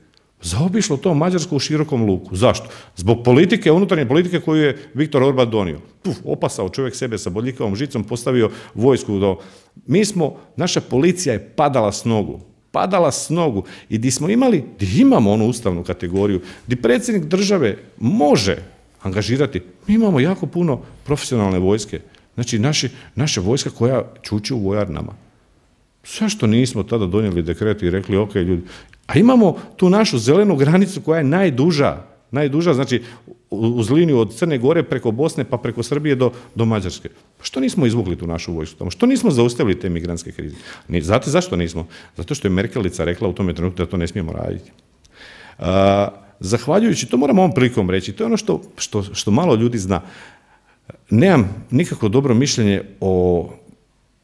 Zaobišlo to Mađarsku u širokom luku. Zašto? Zbog politike, unutarnje politike koju je Viktor Orban donio. Opasao čovjek sebe sa bodljikavom žicom, postavio vojsku. Naša policija je padala s nogu i gdje imamo onu ustavnu kategoriju, gdje predsjednik države može angažirati, mi imamo jako puno profesionalne vojske. Znači, naša vojska koja čuči u vojarnama. Zašto nismo tada donijeli dekret i rekli, ok, ljudi, a imamo tu našu zelenu granicu koja je najduža, znači uz liniju od Crne Gore preko Bosne pa preko Srbije do Mađarske. Što nismo izvukli tu našu vojsku tamo? Što nismo zaustavili te migrantske krize? Znate zašto nismo? Zato što je Merkelica rekla u tome trenutku da to ne smijemo raditi. Zahvaljujući, to moram ovom prilikom reći, to je ono što malo ljudi zna. Nemam nikako dobro mišljenje o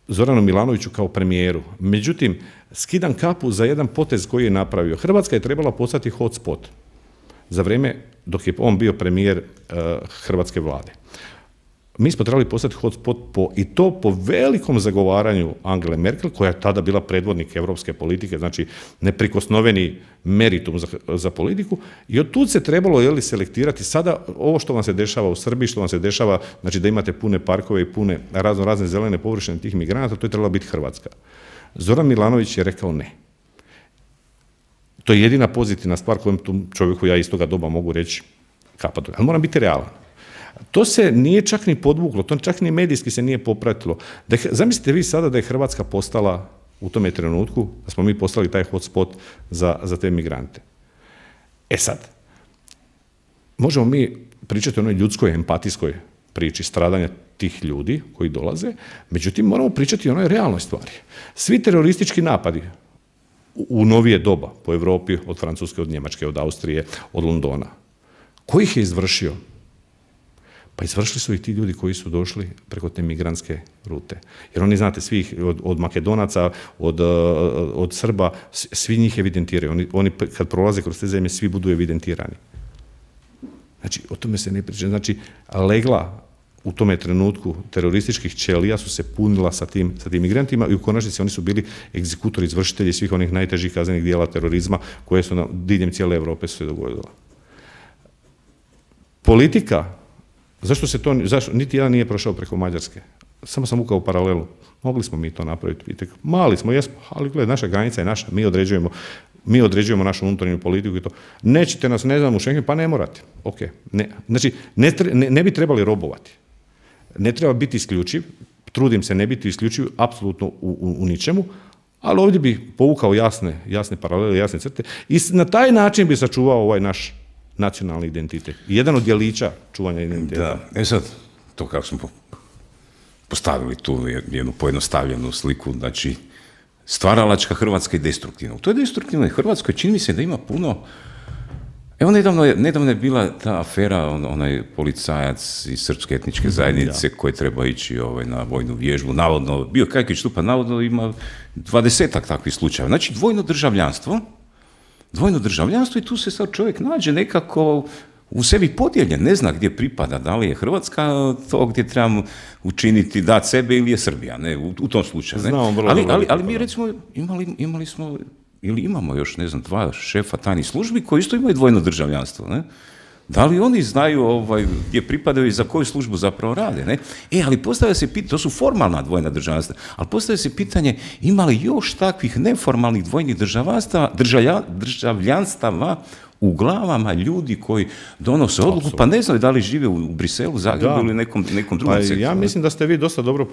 Zoranu Milanoviću kao premijeru. Međutim, skidam kapu za jedan potez koji je napravio. Hrvatska je trebala postati hotspot za vrijeme dok je on bio premijer hrvatske vlade. Mi smo trebali postati hotspot i to po velikom zagovaranju Angele Merkel, koja je tada bila predvodnik europske politike, znači neprikosnoveni meritum za politiku, i od tud se trebalo selektirati. Sada ovo što vam se dešava u Srbiji, što vam se dešava, znači da imate pune parkove i pune razne zelene površine tih migranata, to je trebala biti Hrvatska. Zoran Milanović je rekao ne. To je jedina pozitivna stvar kojom tu čovjeku ja iz toga doba mogu reći kapa dole. Ali moram biti realan. To se nije čak ni podvuklo, to čak ni medijski se nije popratilo. Zamislite vi sada da je Hrvatska postala u tome trenutku, da smo mi postali taj hotspot za te migrante. E sad, možemo mi pričati o onoj ljudskoj, empatijskoj priči stradanja tih ljudi koji dolaze, međutim moramo pričati o onoj realnoj stvari. Svi teroristički napadi u novije doba po Europi, od Francuske, od Njemačke, od Austrije, od Londona, ko ih je izvršio? Pa izvršili su i ti ljudi koji su došli preko te migrantske rute. Jer oni, znate, svih, od Makedonaca, od Srba, svi njih evidentiraju. Oni kad prolaze kroz te zemlje, svi budu evidentirani. Znači, o tome se ne priča. Znači, legla u tome trenutku terorističkih ćelija su se punila sa tim migrantima i u konačnici oni su bili egzekutori, izvršitelji svih onih najtežih kaznenih dijela terorizma koje su diljem cijele Europe su se dogodila. Politika, zašto niti jedan nije prošao preko Mađarske? Samo sam ukao paralelu. Mogli smo mi to napraviti. Mali smo, jesmo, ali gledaj, naša granica je naša, mi određujemo našu unutarnju politiku i to. Nećete nas, ne znam, u Schengen, pa ne morate. Ok. Znači, ne bi trebali robovati. Ne treba biti isključiv, trudim se ne biti isključiv apsolutno u ničemu, ali ovdje bi povukao jasne paralele, jasne crte i na taj način bi sačuvao ovaj naš nacionalni identitet. Jedan od djelića čuvanja identiteta. Da, sad, to kako smo postavili tu jednu pojednostavljenu sliku, znači stvaralačka Hrvatska i destruktivna. To je destruktivno. Hrvatskoj čini mi se da ima puno. Evo, nedavno je bila ta afera, onaj policajac iz srpske etničke zajednice koji treba ići na vojnu vježbu. Navodno, bio Kajkić tu, pa navodno ima 20-ak takvih slučajeva. Znači, dvojno državljanstvo i tu se sad čovjek nađe nekako u sebi podijeljen, ne zna gdje pripada, da li je Hrvatska to gdje trebamo učiniti, dati sebe ili je Srbija, ne, u tom slučaju. Ne? Ali mi recimo imali smo ili imamo još, ne znam, 2 šefa tajnih službi koji isto imaju dvojno državljanstvo, ne? Da li oni znaju gdje pripadaju i za koju službu zapravo rade, ne? Ali postavlja se pitanje, to su formalna dvojna državljanstva, ali postavlja se pitanje ima li još takvih neformalnih dvojnih državljanstava u glavama ljudi koji donose odluku, pa ne znaju da li žive u Briselu, Zagrebu ili nekom drugom sektoru. Ja mislim da ste vi dosta dobro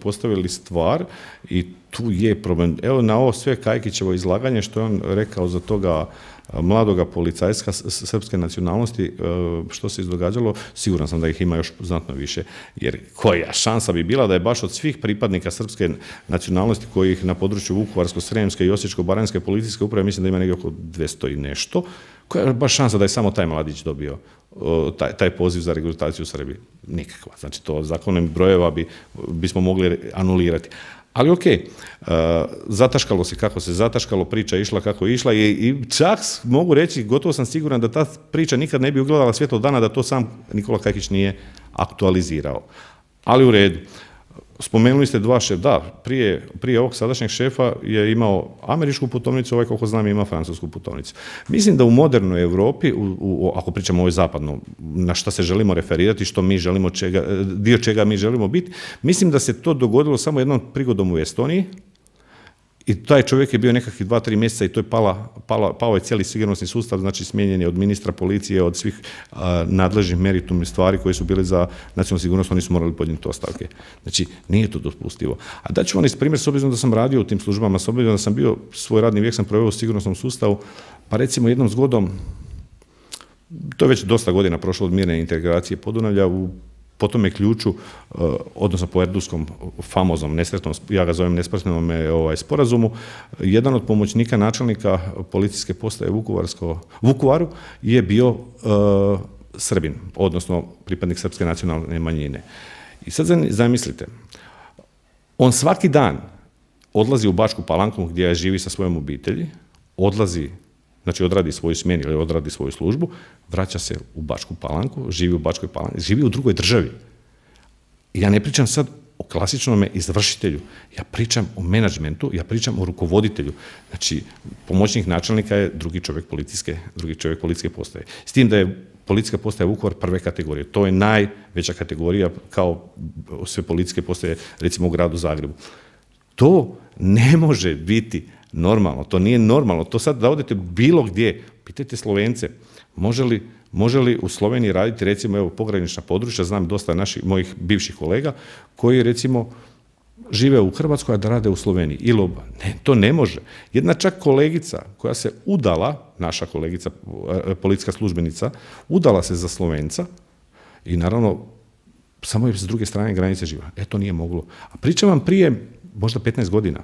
postavili stvar i tu je problem. Evo na ovo sve Kajkićevo izlaganje što je on rekao za toga mladoga policajska srpske nacionalnosti, što se izdogađalo, siguran sam da ih ima još znatno više. Jer koja šansa bi bila da je baš od svih pripadnika srpske nacionalnosti kojih na području Vukovarsko-srijemske i Osječko-baranjske policijske uprave mislim da ima negdje oko 200 i nešto, koja je baš šansa da je samo taj mladić dobio taj poziv za regrutaciju u Srbiji? Nikakva. Znači to zakonom brojeva bismo mogli anulirati. Ali ok, zataškalo se kako se zataškalo, priča išla kako je išla i čak mogu reći, gotovo sam siguran da ta priča nikad ne bi ugledala svjetlo dana da to sam Nikola Kajkić nije aktualizirao. Ali u redu. Spomenuli ste dva šefa, da, prije ovog sadašnjeg šefa je imao američku putovnicu, ovaj koliko znam ima francusku putovnicu. Mislim da u modernoj Europi, ako pričamo o ovoj zapadno, na šta se želimo referirati, što mi želimo, dio čega mi želimo biti, mislim da se to dogodilo samo jednom prigodom u Estoniji i taj čovjek je bio nekakvih 2-3 mjeseca i to je pao je cijeli sigurnosni sustav, znači smijenjen je od ministra policije, od svih nadležnih meritumnih stvari koje su bile za nacionalnu sigurnost, oni su morali podnijeti ostavke. Znači, nije to dopustivo. A daću vam iz primjer, s obzirom da sam radio u tim službama, s obzirom da sam bio, svoj radni vijek sam proveo u sigurnosnom sustavu, pa recimo jednom zgodom, to je već dosta godina prošlo od mirne integracije Podunavlja, po tome ključu, odnosno po Erduskom famoznom, nesretnom, ja ga zovem nesretnom sporazumu, jedan od pomoćnika načelnika policijske postaje Vukovaru je bio Srbin, odnosno pripadnik srpske nacionalne manjine. I sad zamislite, on svaki dan odlazi u Bačku Palanku gdje živi sa svojom obitelji, znači odradi svoju smjenu ili odradi svoju službu, vraća se u Bačku Palanku, živi u Bačkoj Palanci, živi u drugoj državi. Ja ne pričam sad o klasičnom izvršitelju, ja pričam o menadžmentu, ja pričam o rukovoditelju. Znači, pomoćnik načelnika je drugi čovjek policijske postaje. S tim da je policijska postaja Vukovar prve kategorije. To je najveća kategorija kao sve policijske postaje, recimo u gradu Zagrebu. To ne može biti normalno, to nije normalno. To sad da odete bilo gdje, pitajte Slovence, može li u Sloveniji raditi recimo evo pogranična područja, znam dosta mojih bivših kolega koji recimo žive u Hrvatskoj, a da rade u Sloveniji. Ne, to ne može. Jedna čak kolegica koja se udala, naša kolegica, policijska službenica, udala se za Slovenca i naravno samo je s druge strane granice živa. To nije moglo. A pričam vam prije možda 15 godina.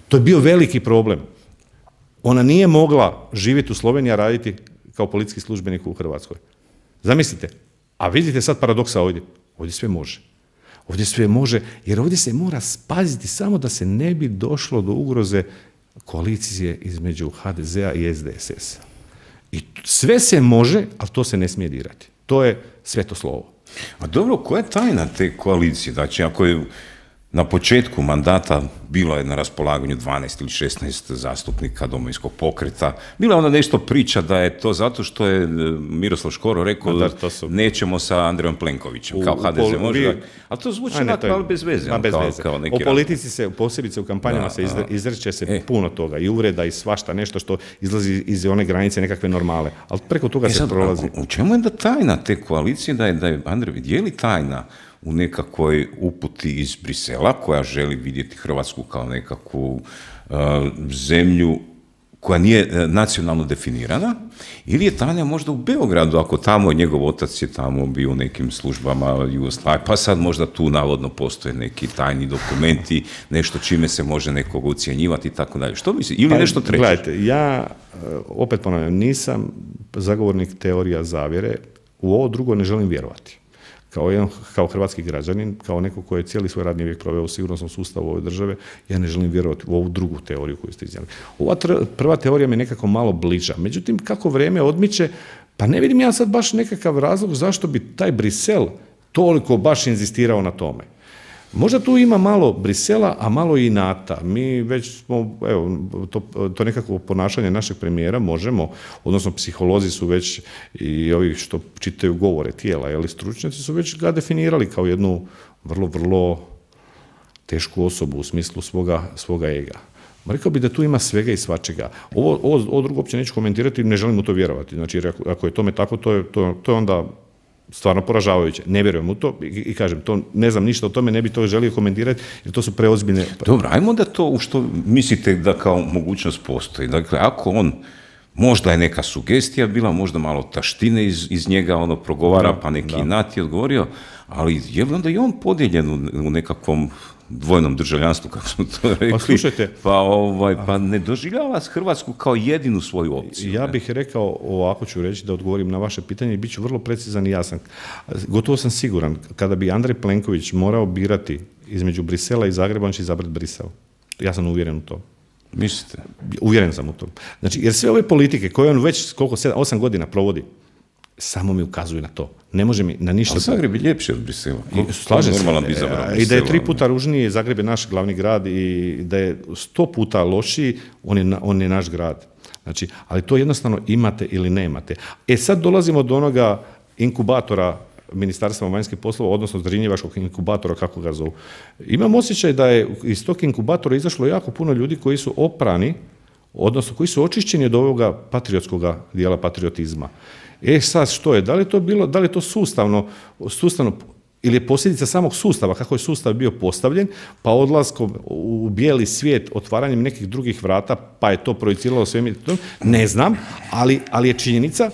To je bio veliki problem. Ona nije mogla živjeti u Sloveniji, a raditi kao policijski službenik u Hrvatskoj. Zamislite, a vidite sad paradoksa ovdje. Ovdje sve može. Ovdje sve može, jer ovdje se mora spaziti samo da se ne bi došlo do ugroze koalicije između HDZ-a i SDSS-a. I sve se može, ali to se ne smije dirati. To je sveto slovo. A dobro, koja je tajna te koalicije? Znači, ako je na početku mandata bilo je na raspolaganju 12 ili 16 zastupnika Domovinskog pokreta. Bila je onda nešto priča da je to zato što je Miroslav Škoro rekao nećemo sa Andrejom Plenkovićem, kao HDZ može. Ali to zvuči ali bez veze. O politici se, posebice u kampanjama izreće se puno toga i uvreda i svašta, nešto što izlazi iz one granice nekakve normale. Ali preko toga se prolazi. U čemu je da tajna te koalicije, da je Andrej, je li tajna u nekakvoj uputi iz Brisela koja želi vidjeti Hrvatsku kao nekakvu zemlju koja nije nacionalno definirana, ili je tajna možda u Beogradu, ako tamo njegov otac je tamo bio u nekim službama Jugoslavije, pa sad možda tu navodno postoje neki tajni dokumenti, nešto čime se može nekog ucjenjivati i tako dalje. Što misli? Ili nešto treće? Gledajte, ja opet ponavljam, nisam zagovornik teorija zavjere, u ovo drugo ne želim vjerovati. Kao hrvatski građanin, kao neko koji je cijeli svoj radni vijek proveo u sigurnosnom sustavu ove države, ja ne želim vjerovati u ovu drugu teoriju koju ste iznijeli. Ova prva teorija mi je nekako malo bliža. Međutim, kako vrijeme odmiče, pa ne vidim ja sad baš nekakav razlog zašto bi taj Brisel toliko baš inzistirao na tome. Možda tu ima malo Brisela, a malo i NATO. Mi već smo, evo, to nekako ponašanje našeg premijera možemo, odnosno psiholozi su već i ovi što čitaju govore tijela, ali stručnjaci su već ga definirali kao jednu vrlo, vrlo tešku osobu u smislu svoga ega. Rekao bih da tu ima svega i svačega. Ovo drugo uopće neću komentirati, ne želim u to vjerovati. Znači, ako je tome tako, to je onda stvarno poražavajuće. Ne vjerujem u to i kažem, to ne znam ništa o tome, ne bi to želio komentirati jer to su preozbiljne. Dobro, ajmo da to u što mislite da kao mogućnost postoji. Dakle, ako on, možda je neka sugestija bila, možda malo taštine iz njega progovara, pa neki Nati odgovorio, ali je li onda i on podijeljen u nekakvom dvojnom državljanstvu, kako smo to rekli, Pa slušajte, pa ne doživljava Hrvatsku kao jedinu svoju opciju. ja bih rekao, ovako ću reći da odgovorim na vaše pitanje i bit ću vrlo precizan i jasan. Gotovo sam siguran, kada bi Andrej Plenković morao birati između Brisela i Zagreba, on će izabrati Brisel. Ja sam uvjeren u to. Mislite? Uvjeren sam u to. Znači, jer sve ove politike koje on već 8 godina provodi, samo mi ukazuju na to. Ne može mi na ništa... Ali Zagreb je ljepši od Brisela. Slažem se. I da je 3 puta Brisela. ružniji, Zagreb je naš glavni grad i da je 100 puta lošiji, on je naš grad. Znači, ali to jednostavno imate ili nemate. Sad dolazimo do onoga inkubatora Ministarstva vanjskih poslova, odnosno Zrinjevačkog inkubatora, kako ga zovu. Imam osjećaj da je iz tog inkubatora izašlo jako puno ljudi koji su oprani, odnosno koji su očišćeni od ovoga patriotskog dijela patriotizma. Sad što je? Da li je to sustavno ili je posljedica samog sustava, kako je sustav bio postavljen, pa odlaskom u bijeli svijet, otvaranjem nekih drugih vrata, pa je to projiciralo sve, ne znam, ali je činjenica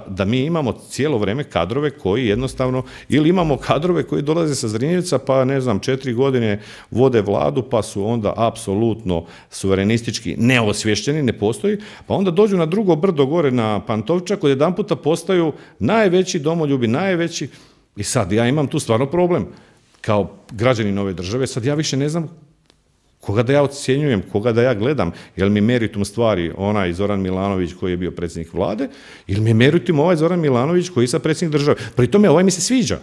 da mi imamo cijelo vrijeme kadrove koji jednostavno, ili imamo kadrove koji dolaze sa Zrinjevca, pa ne znam, 4 godine vode vladu, pa su onda apsolutno suverenistički neosvješćeni, ne postoji, pa onda dođu na drugo brdo gore na Pantovčak, od jedan puta postaju najveći domoljubi, najveći. I sad ja imam tu stvarno problem kao građanin ove države, sad ja više ne znam koga da ja ocjenjujem, koga da ja gledam, jel mi meritum stvari onaj Zoran Milanović koji je bio predsjednik vlade, ili mi je meritum ovaj Zoran Milanović koji je sad predsjednik države. Pri tome ovaj mi se sviđa.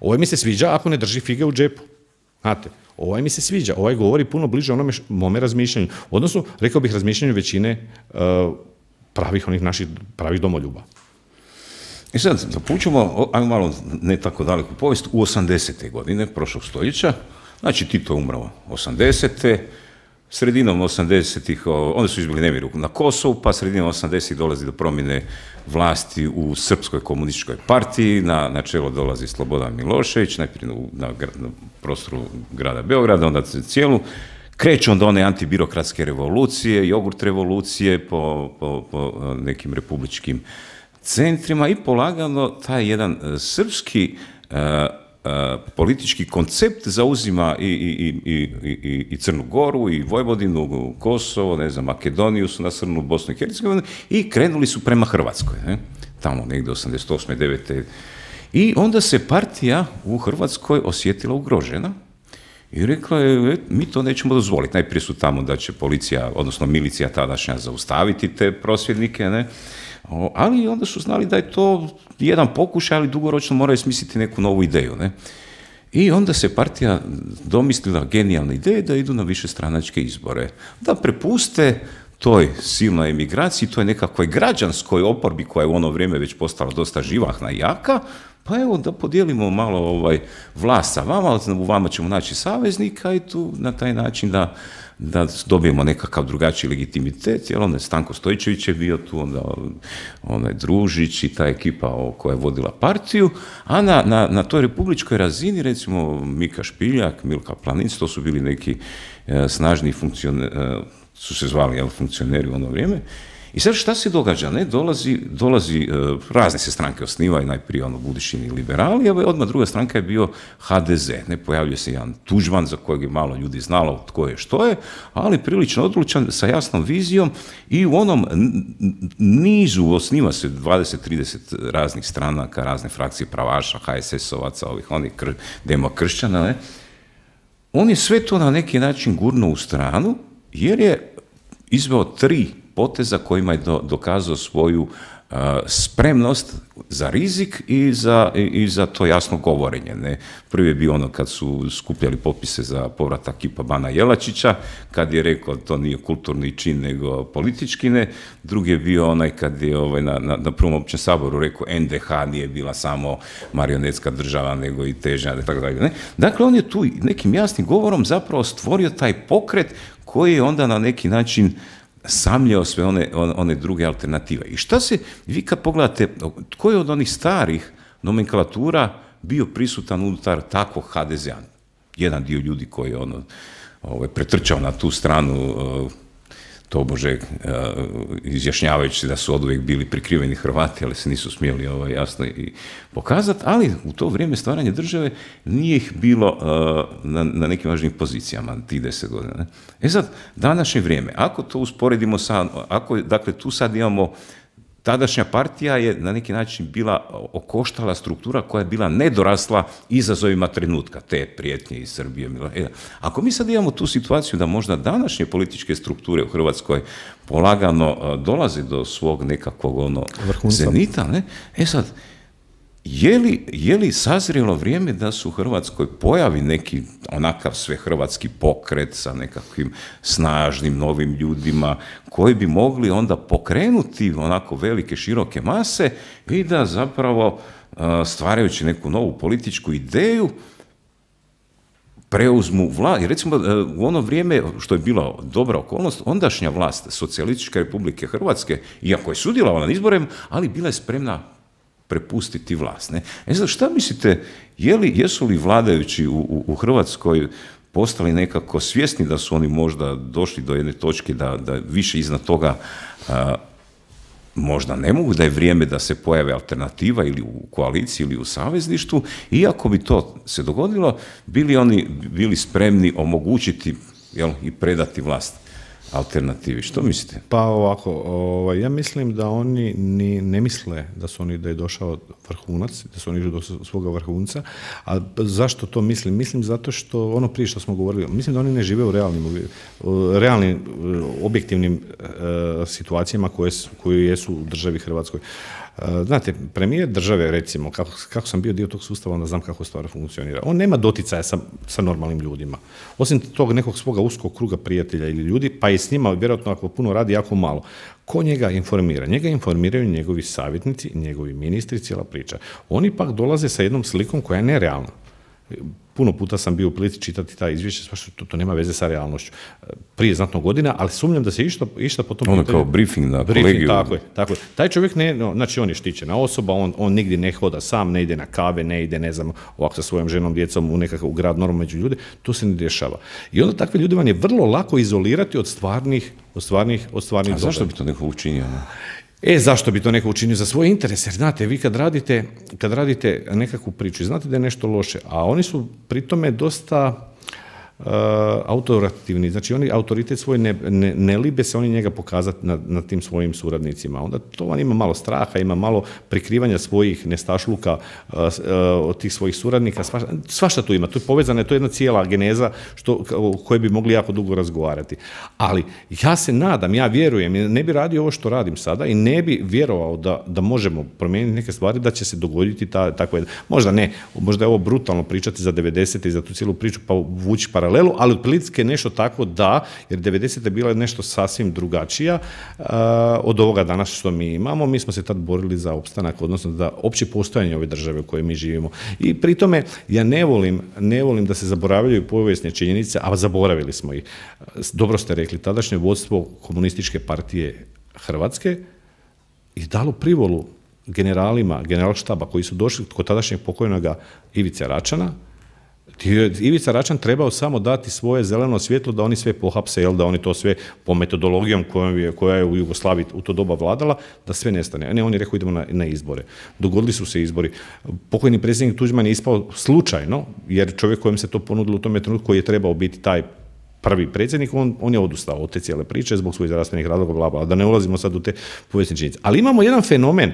Ovaj mi se sviđa ako ne drži fige u džepu. Znate, ovaj mi se sviđa, ovaj govori puno bliže onome mome razmišljanju. Odnosno, rekao bih razmišljanju većine pravih domoljuba. I sad, zapućemo, ajmo malo ne tako daleku povijest, u 80. godine prošlog stoljeća, znači Tito je umrao 80. Sredinom 80-ih, onda su izbili nemiri na Kosovu, pa sredinom 80-ih dolazi do promjene vlasti u Srpskoj komunističkoj partiji, na čelo dolazi Slobodan Milošević, najprije na prostoru grada Beograda, onda cijelu, kreću onda one antibirokratske revolucije, jogurt revolucije po nekim republičkim centrima i polagano taj jedan srpski politički koncept zauzima i Crnu Goru, i Vojvodinu, Kosovo, ne znam, Makedoniju su nasrnuli, Bosnu i Hercegovinu i krenuli su prema Hrvatskoj, tamo negdje 88. 9. I onda se partija u Hrvatskoj osjetila ugrožena i rekla je, mi to nećemo dozvoliti. Najprije su tamo da će policija, odnosno milicija tadašnja, zaustaviti te prosvjednike, ali onda su znali da je to jedan pokušaj, ali dugoročno moraju smisliti neku novu ideju. I onda se partija domislila genijalne ideje da idu na višestranačke izbore. Da prepuste toj silnoj emigraciji, toj nekakvoj građanskoj oporbi koja je u ono vrijeme već postala dosta živahna i jaka, pa evo da podijelimo malo vlast sa vama, u vama ćemo naći saveznika i tu na taj način da dobijemo nekakav drugačiji legitimitet, jer onda Stanko Stojčević je bio tu, onda onaj Družić i ta ekipa koja je vodila partiju, a na toj republičkoj razini, recimo Mika Špiljak, Milka Planinc, to su bili neki snažni su se zvali funkcioneri u ono vrijeme. I sad šta se događa? Dolazi razne se stranke osnivaju, najprije Budišini liberali, a odmah druga stranka je bio HDZ. Pojavljuje se jedan Tuđman za kojeg je malo ljudi znalo tko je što je, ali prilično odlučan, sa jasnom vizijom i u onom nizu osniva se 20-30 raznih stranaka, razne frakcije pravaša, HSS-ovaca, onih demokršćana. On je sve to na neki način gurnuo u stranu, jer je izveo 3 poteza kojima je dokazao svoju spremnost za rizik i za to jasno govorenje. Prvi je bio ono kad su skupljali popise za povratak kipa Bana Jelačića, kad je rekao to nije kulturni čin nego politički ne. Drugi je bio onaj kad je na prvom općem saboru rekao NDH nije bila samo marionetska država nego i težnja, tako dalje. Dakle, on je tu nekim jasnim govorom zapravo stvorio taj pokret koji je onda na neki način samljao sve one druge alternative. I šta se, vi kad pogledate, tko je od onih starih nomenklatura bio prisutan unutar takvog HDZ-a? Jedan dio ljudi koji je pretrčao na tu stranu tobože izjašnjavajući da su oduvijek bili prikriveni Hrvati, ali se nisu smjeli jasno i pokazati, ali u to vrijeme stvaranja države nije ih bilo na nekim važnim pozicijama, tih 10 godina. Ne? E sad, današnje vrijeme, ako to usporedimo dakle, tu sad imamo tadašnja partija je na neki način bila okoštala struktura koja je bila nedorasla izazovima trenutka, te prijetnje iz Srbije. Ako mi sad imamo tu situaciju da možda današnje političke strukture u Hrvatskoj polagano dolaze do svog nekakvog zenita, ne? Sad, je li sazrelo vrijeme da se u Hrvatskoj pojavi neki onakav svehrvatski pokret sa nekakvim snažnim novim ljudima koji bi mogli onda pokrenuti onako velike, široke mase i da zapravo stvarajući neku novu političku ideju preuzmu vlast. Recimo, u ono vrijeme, što je bila dobra okolnost, ondašnja vlast Socijalističke Republike Hrvatske, iako je sudjelovala na izborima, ali bila je spremna prepustiti vlast. Ne? Sad, šta mislite, jesu li vladajući u Hrvatskoj postali nekako svjesni da su oni možda došli do jedne točke da više iznad toga možda ne mogu, da je vrijeme da se pojave alternativa ili u koaliciji ili u savezništvu, iako bi to se dogodilo, bili spremni omogućiti i predati vlast alternativi. Što mislite? Pa ovako, ja mislim da oni ne misle da je došao vrhunac, da su oni išli do svoga vrhunca, a zašto to mislim? Mislim zato što, ono prije što smo govorili, mislim da oni ne žive u realnim objektivnim situacijama koje jesu u državi Hrvatskoj. Znate, premijer države, recimo, kako sam bio dio tog sustava, onda znam kako stvar funkcionira. On nema doticaja sa normalnim ljudima. Osim tog nekog svoga uskog kruga prijatelja ili ljudi, pa i s njima, vjerojatno ako puno radi, jako malo. Ko njega informira? Njega informiraju njegovi savjetnici, njegovi ministri, cijela priča. Oni pak dolaze sa jednom slikom koja je nerealna. Puno puta sam bio u prilici čitati ta izvješća, to nema veze sa realnošću. Prije znatno godina, ali sumnjam da se išta po tom pitanju. Ono kao briefing na kolegiju. Tako je. Taj čovjek znači on je štićena osoba, on nigdje ne hoda sam, ne ide na kave, ne ide, ne znam, ovako sa svojom ženom, djecom u grad normalno među ljude, to se ne dešava. I onda takve ljude vam je vrlo lako izolirati od stvarnih događaja. A zašto bi to neko učinio? Zašto bi to neko učinio? Za svoje interese. Jer znate, vi kad radite nekakvu priču, znate da je nešto loše, a oni su pri tome dosta autoritativni. Znači, oni autoritet svoj ne libe se oni njega pokazati nad tim svojim suradnicima. Onda to vam ima malo straha, ima malo prikrivanja svojih nestašluka od tih svojih suradnika. Svašta tu ima. Tu je povezana, to je jedna cijela geneza o kojoj bi mogli jako dugo razgovarati. Ali ja se nadam, ja vjerujem, ne bi radio ovo što radim sada i ne bi vjerovao da možemo promijeniti neke stvari, da će se dogoditi takve. Možda ne, možda je ovo brutalno pričati za 90. i za tu cijelu priču, pa vući paralelu, ali otprilike nešto tako jer 90. je bila nešto sasvim drugačija od ovoga danas što mi imamo. Mi smo se tad borili za opstanak, odnosno za opće postojanje ove države u kojoj mi živimo. I pri tome ja ne volim da se zaboravljaju povijesne činjenice, a zaboravili smo ih. Dobro ste rekli, tadašnje vodstvo Komunističke partije Hrvatske je dalo privolu generalima generalštaba koji su došli kod tadašnjeg pokojnoga Ivice Račana. Ivica Račan trebao samo dati svoje zeleno svjetlo da oni sve pohapse, da oni to sve po metodologijom koja je u Jugoslaviji u to doba vladala, da sve nestane. Ne, on je rekao idemo na izbore. Dogodili su se izbori. Pokojni predsjednik Tuđman je ispao slučajno, jer čovjek kojem se to ponudilo u tome trenutku koji je trebao biti taj prvi predsjednik, on je odustao od te cijele priče zbog svojih zdravstvenih razloga, bla, bla, da ne ulazimo sad u te povijesne činjenice. Ali imamo jedan fenomen,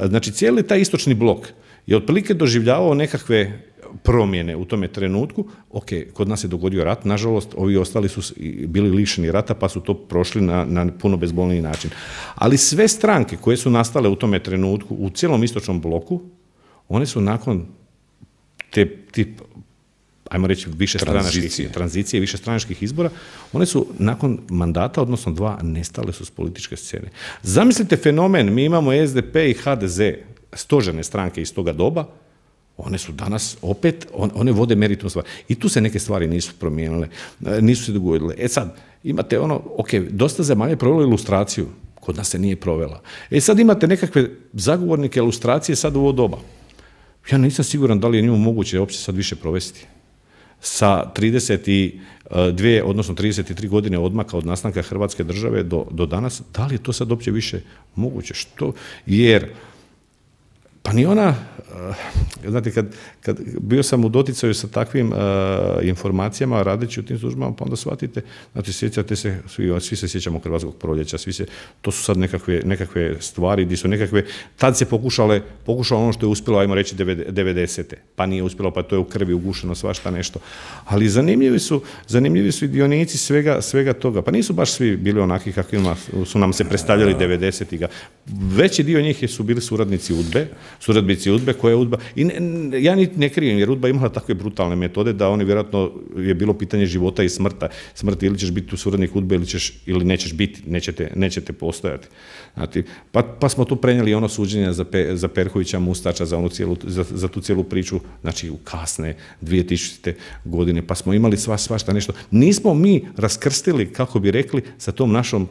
znači cijeli taj istočni blok je otprilike doživljavao nekakve promjene u tome trenutku. Ok, kod nas je dogodio rat, nažalost, ovi ostali su bili lišeni rata, pa su to prošli na puno bezbolniji način. Ali sve stranke koje su nastale u tome trenutku, u cijelom istočnom bloku, one su nakon ajmo reći, tranzicije, višestranačkih izbora, one su nakon mandata, odnosno 2, nestale su s političke scene. Zamislite fenomen, mi imamo SDP i HDZ, stožerne stranke iz toga doba, one su danas opet, one vode meritum stvari. I tu se neke stvari nisu promijenile, nisu se dogodile. Sad, imate dosta zemalja je provelo ilustraciju, kod nas se nije provela. Sad imate nekakve zagovornike ilustracije sad u ovo doba. Ja nisam siguran da li je njemu moguće uopće sad više provesti. sa 32, odnosno 33 godine odmaka od nastanka Hrvatske države do danas, da li je to sad uopće više moguće? Što? Jer pa ni ona, znate, kad bio sam u doticaju sa takvim informacijama, radeći u tim službama, pa onda shvatite, znači sjećate se, svi se sjećamo Hrvatskog proljeća, to su sad nekakve stvari, gdje su nekakve, tad se pokušalo ono što je uspjelo, ajmo reći, 90. Pa nije uspjelo, pa to je u krvi ugušeno, svašta nešto. Ali zanimljivi su i dionici svega toga. Pa nisu baš svi bili onaki kakvima su nam se predstavljali 90-ih. Veći dio njih su bili suradnici UDBE, koja je UDBA, i ja ne krijem, jer UDBA imala takve brutalne metode da oni vjerojatno je bilo pitanje života i smrti, ili ćeš biti suradnik UDBE ili nećeš biti, nećete postojati. Znači, pa smo tu prenijeli ono suđenje za Perkovića, Mustača, za tu cijelu priču, znači u kasne 2000. godine, pa smo imali svašta nešto. Nismo mi raskrstili, kako bi rekli, sa tom našom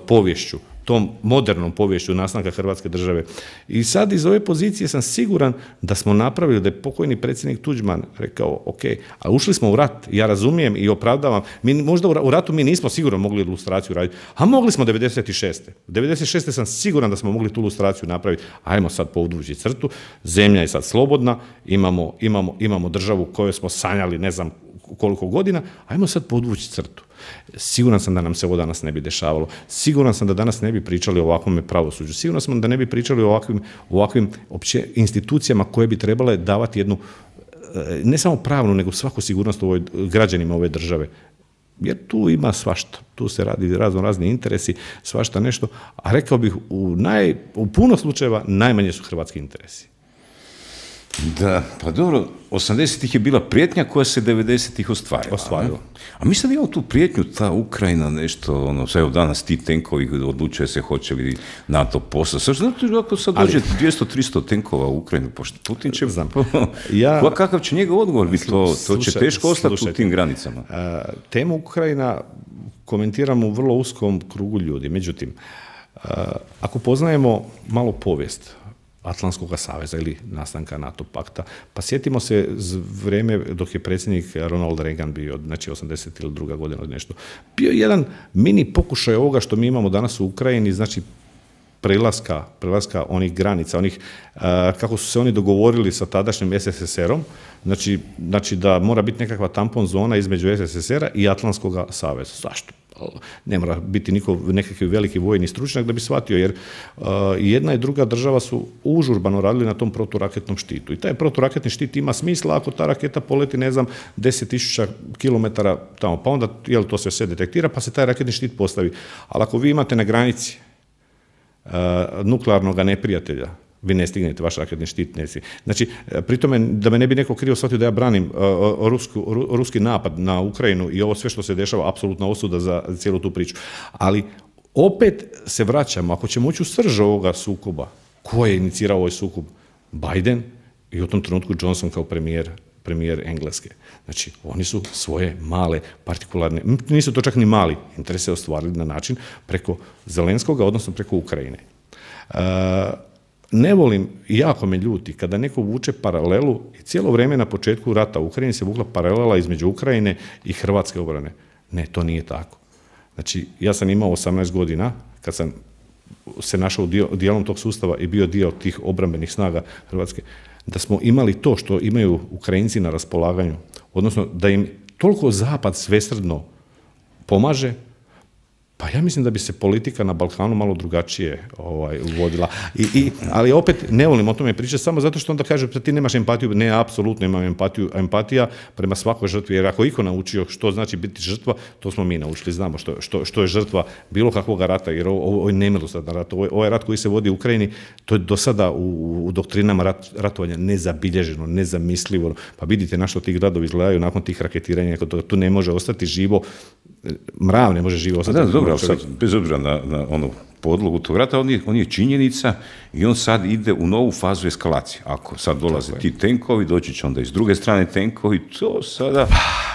povješću, tom modernom povješću nastanka Hrvatske države. I sad iz ove pozicije sam siguran da smo napravili, da je pokojni predsjednik Tuđman rekao, ok, a ušli smo u rat, ja razumijem i opravdavam, možda u ratu mi nismo sigurno mogli ilustraciju raditi, a mogli smo 96. 96. sam siguran da smo mogli tu ilustraciju napraviti, ajmo sad podvući crtu, zemlja je sad slobodna, imamo državu koju smo sanjali ne znam koliko godina, ajmo sad podvući crtu. Siguran sam da nam se ovo danas ne bi dešavalo. Siguran sam da danas ne bi pričali o ovakvom pravosuđu. Siguran sam da ne bi pričali o ovakvim opće institucijama koje bi trebale davati jednu, ne samo pravnu, nego svaku sigurnost građanima ove države. Jer tu ima svašta. Tu se radi razni interesi, svašta nešto. A rekao bih, u puno slučajeva najmanje su hrvatski interesi. Da, pa dobro, 80-ih je bila prijetnja koja se 90-ih ostvarila. A mi sad imamo tu prijetnju, ta Ukrajina, nešto, evo danas ti tenkovi odlučuje se hoće li NATO poslati. Znate, ako sad dođe 200-300 tenkova u Ukrajinu, pošto Putin će... Kakav će njegov odgovor biti? To će teško ostati u tim granicama. Temu Ukrajina komentiram u vrlo uskom krugu ljudi. Međutim, ako poznajemo malo povijest Atlantskog saveza ili nastanka NATO pakta. Pa sjetimo se vrijeme dok je predsjednik Ronald Reagan bio, znači 80 ili druga godina nešto. Bio jedan mini pokušaj ovoga što mi imamo danas u Ukrajini, znači prelaska onih granica, onih, kako su se oni dogovorili sa tadašnjim SSSR-om, znači da mora biti nekakva tampon zona između SSSR-a i Atlantskog saveza. Zašto? Ne mora biti nekakvi veliki vojni stručnjak da bi shvatio, jer jedna i druga država su užurbano radili na tom proturaketnom štitu. I taj proturaketni štit ima smisla ako ta raketa poleti, ne znam, 10.000 km tamo, pa onda to sve detektira, pa se taj raketni štit postavi. Ali ako vi imate na granici nuklearnog neprijatelja, vi ne stignete, vaš raketni štit ne stigne. Znači, pri tome, da me ne bi neko krivo shvatio da ja branim ruski napad na Ukrajinu i ovo sve što se dešava, apsolutna osuda za cijelu tu priču. Ali opet se vraćamo, ako ćemo ući u srž ovoga sukoba, ko je inicirao ovaj sukob? Biden i u tom trenutku Johnson kao premijer Engleske. Znači, oni su svoje male, partikularne, nisu to čak ni mali interese ostvarili na način preko Zelenskoga, odnosno preko Ukrajine. Ne volim, jako me ljuti, kada neko vuče paralelu i cijelo vrijeme na početku rata u Ukrajini se vukla paralela između Ukrajine i hrvatske obrane. Ne, to nije tako. Znači, ja sam imao 18 godina, kad sam se našao dijelom tog sustava i bio dio tih obrambenih snaga Hrvatske, da smo imali to što imaju Ukrajinci na raspolaganju, odnosno da im toliko Zapad svesrdno pomaže, pa ja mislim da bi se politika na Balkanu malo drugačije vodila. Ali opet ne volim o tome pričati samo zato što onda kaže da ti nemaš empatiju. Ne, apsolutno imam empatiju. Empatija prema svakoj žrtvi, jer ako iko naučio što znači biti žrtva, to smo mi naučili. Znamo što je žrtva bilo kakvog rata, jer ovo je nemilosrdan rat. Ovaj rat koji se vodi u Ukrajini, to je do sada u doktrinama ratovanja nezabilježeno, nezamislivo. Pa vidite na što ti gradovi izgledaju nakon tih raketiranja, tu ne može ostati živo. Mrav ne može živo ostati. Da, dobro, sad, bez obzira na onu podlogu tog rata, on je činjenica i on sad ide u novu fazu eskalacije. Ako sad dolaze ti tenkovi, doći će onda iz druge strane tenkovi, to sada...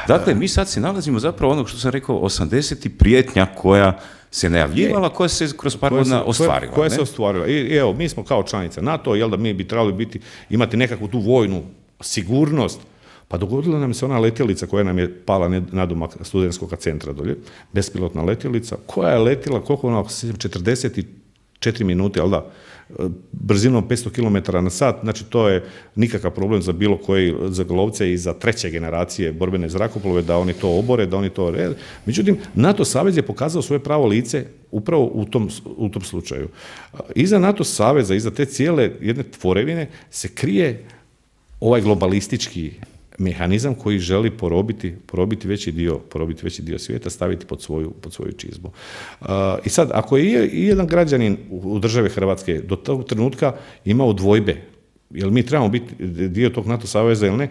Dakle, mi sad se nalazimo zapravo onog što sam rekao, 80. prijetnja koja se najavljivala, koja se kroz par godina ostvarila. Koja se ostvarila. I evo, mi smo kao članica NATO, jel da mi bi trebali imati nekakvu tu vojnu sigurnost, Pa dogodila nam se ona letjelica koja nam je pala nadomak studentskog centra dolje, bespilotna letjelica, koja je letjela, koliko ona, 44 minute, ali da, brzinom 500 km na sat, znači to je nikakav problem za bilo koji, za lovce i za treće generacije borbene zrakoplove, da oni to obore, da oni to rede. Međutim, NATO savez je pokazao svoje pravo lice upravo u tom slučaju. Iza NATO saveza, iza te cijele jedne tvorevine se krije ovaj globalistički mehanizam koji želi porobiti veći dio svijeta, staviti pod svoju čizmu. I sad, ako je i jedan građanin u države Hrvatske do tog trenutka imao dvojbe, jel mi trebamo biti dio tog NATO saveza ili ne,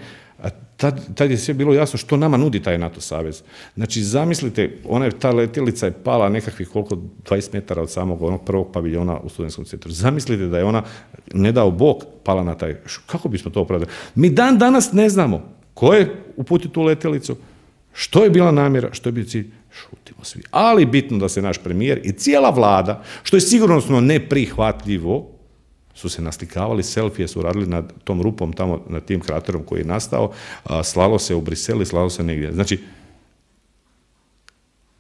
tad je sve bilo jasno što nama nudi taj NATO savez. Znači, zamislite, ta letjelica je pala nekakvih 20 metara od samog onog prvog paviljona u studentskom centru. Zamislite da je ona, ne dao Bog, pala na taj. Kako bismo to opravdali? Mi dan danas ne znamo ko je uputio tu letjelicu, što je bila namjera, što je bio cilj, šutimo svi. Ali bitno da se naš premijer i cijela vlada, što je sigurnosno neprihvatljivo, su se naslikavali, selfije su radili nad tom rupom, tamo nad tim kraterom koji je nastao, slalo se u Brisel, slalo se negdje. Znači,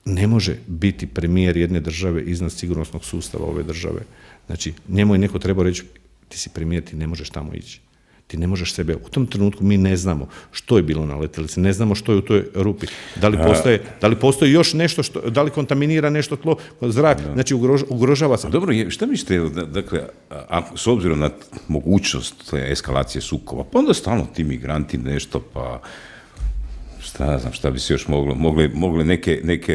ne može biti premijer jedne države iznad sigurnosnog sustava ove države. Znači, njemu je neko trebao reći, ti si premijer, ti ne možeš tamo ići. Ti ne možeš sebe, u tom trenutku mi ne znamo što je bilo na letjelici, ne znamo što je u toj rupi. Da li postoji još nešto, da li kontaminira nešto tlo, zrak, znači ugrožava se. Dobro, šta mislite, dakle, s obzirom na mogućnost eskalacije sukoba, pa onda stalno ti migranti nešto, pa šta bi se još mogli neke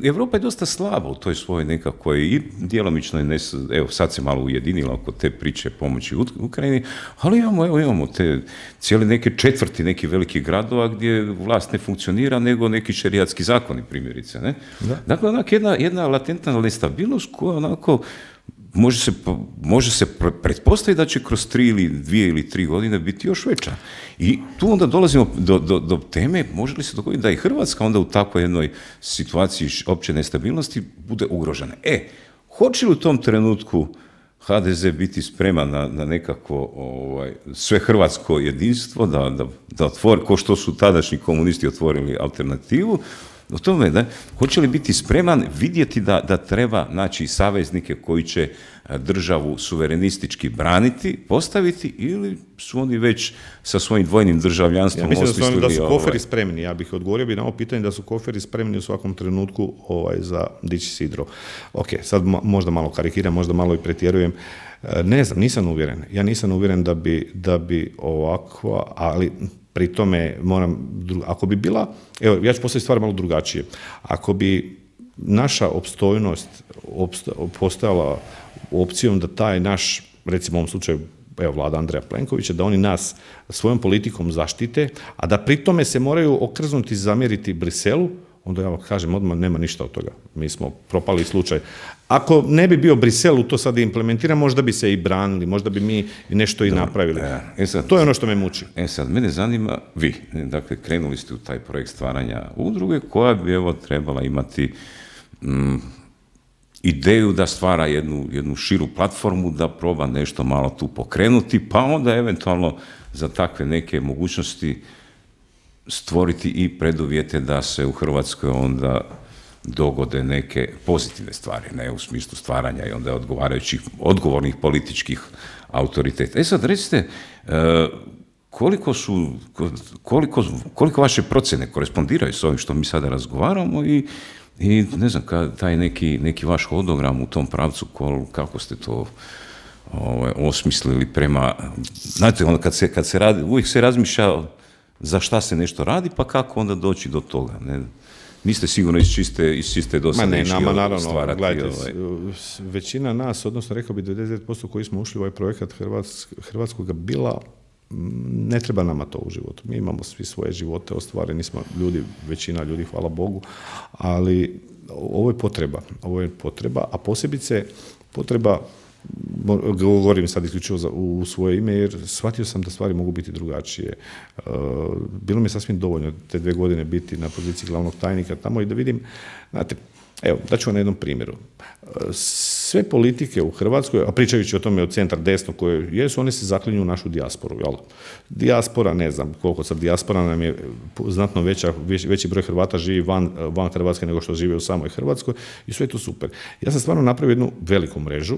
Europa je dosta slaba u toj svojoj nekakvoj i djelomično je, evo sad se malo ujedinila oko te priče pomoći Ukrajini, ali imamo te cijele neke četvrti nekih velikih gradova gdje vlast ne funkcionira nego neki šerijatski zakoni primjerice, ne? Da. Dakle, onak jedna latentna nestabilnost koja onako može se pretpostaviti da će kroz 2 ili 3 godine biti još veća. I tu onda dolazimo do teme, može li se dogoditi da i Hrvatska onda u takvoj jednoj situaciji opće nestabilnosti bude ugrožena. Hoće li u tom trenutku HDZ biti spreman na nekakvo sve hrvatsko jedinstvo, da otvori, ko što su tadašnji komunisti otvorili alternativu, o tome, da, hoće li biti spreman vidjeti da treba naći saveznike koji će državu suverenistički braniti, postaviti, ili su oni već sa svojim dvojnim državljanstvom osmislili... Ja mislim da su koferi spremni. Ja bih odgovorio na ovo pitanje da su koferi spremni u svakom trenutku za dići sidro. Ok, sad možda malo karikiram, možda malo i pretjerujem. Ne znam, nisam uvjeren. Ja nisam uvjeren da bi ovakva, ali... Pri tome ako bi bila, evo, ja ću postaviti stvar malo drugačije. Ako bi naša opstojnost postojala opcijom da taj naš, recimo u ovom slučaju, evo, vlada Andreja Plenkovića, da oni nas svojom politikom zaštite, a da pri tome se moraju okrznuti, zamjeriti Briselu, onda ja vam kažem, odmah nema ništa od toga. Mi smo propali slučaj. Ako ne bi bio Brisel u to sad implementiran, možda bi se i branili, možda bi mi nešto i napravili. To je ono što me muči. Sad, mene zanima, vi, dakle, krenuli ste u taj projekt stvaranja udruge koja bi, evo, trebala imati ideju da stvara jednu širu platformu, da proba nešto malo tu pokrenuti, pa onda eventualno za takve neke mogućnosti stvoriti i preduvjete da se u Hrvatskoj onda dogode neke pozitivne stvari, ne u smislu stvaranja i onda odgovornih političkih autoriteta. Sad recite, koliko vaše procjene korespondiraju s ovim što mi sada razgovaramo i ne znam, taj neki vaš hodogram u tom pravcu, kako ste to osmislili prema, znate, onda kad se radi, uvijek se razmišlja za šta se nešto radi, pa kako onda doći do toga, ne? Niste sigurno iz čiste dosadačke stvarati. Gledajte, većina nas, odnosno rekao bi 99% koji smo ušli u ovaj projekat Hrvatskoga bila, ne treba nama to u životu. Mi imamo svi svoje živote, ostvareni smo ljudi, većina ljudi, hvala Bogu, ali ovo je potreba, a posebice potreba, govorim sad isključivo u svoje ime, jer shvatio sam da stvari mogu biti drugačije. Bilo mi je sasvim dovoljno te 2 godine biti na poziciji glavnog tajnika tamo i da vidim, znate, evo, daću vam na jednom primjeru. sve politike u Hrvatskoj, a pričajući o tome od centra desno koje jesu, one se zaklinju u našu dijasporu. Jel? Dijaspora, ne znam koliko sad, dijaspora nam je znatno veći broj Hrvata živi van Hrvatske nego što žive u samoj Hrvatskoj i sve je to super. Ja sam stvarno napravio jednu veliku mrežu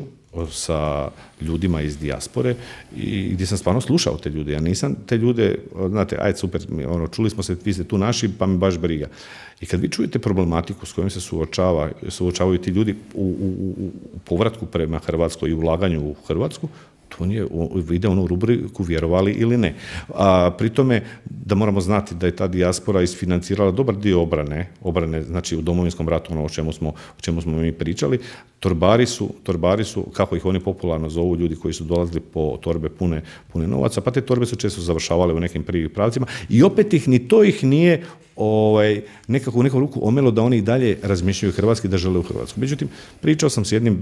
sa ljudima iz dijaspore i gdje sam stvarno slušao te ljude. Ja nisam te ljude, znate, ajde super, čuli smo se, vi ste tu naši, pa mi baš briga. I kad vi čujete problematiku s kojom se suočavaju ti ljudi u povratku prema Hrvatskoj i ulaganju u Hrvatsku, to ide u rubriku vjerovali ili ne. A pri tome da moramo znati da je ta dijaspora isfinancirala dobar dio obrane, znači u Domovinskom ratu, ono o čemu smo mi pričali. Torbari su, kako ih oni popularno zovu, ljudi koji su dolazili po torbe pune novaca, pa te torbe su često završavale u nekim prvim pravcima i opet ih nije nekako u neku ruku omelo da oni i dalje razmišljaju hrvatski, da žele u Hrvatsku. Međutim, pričao sam s jednim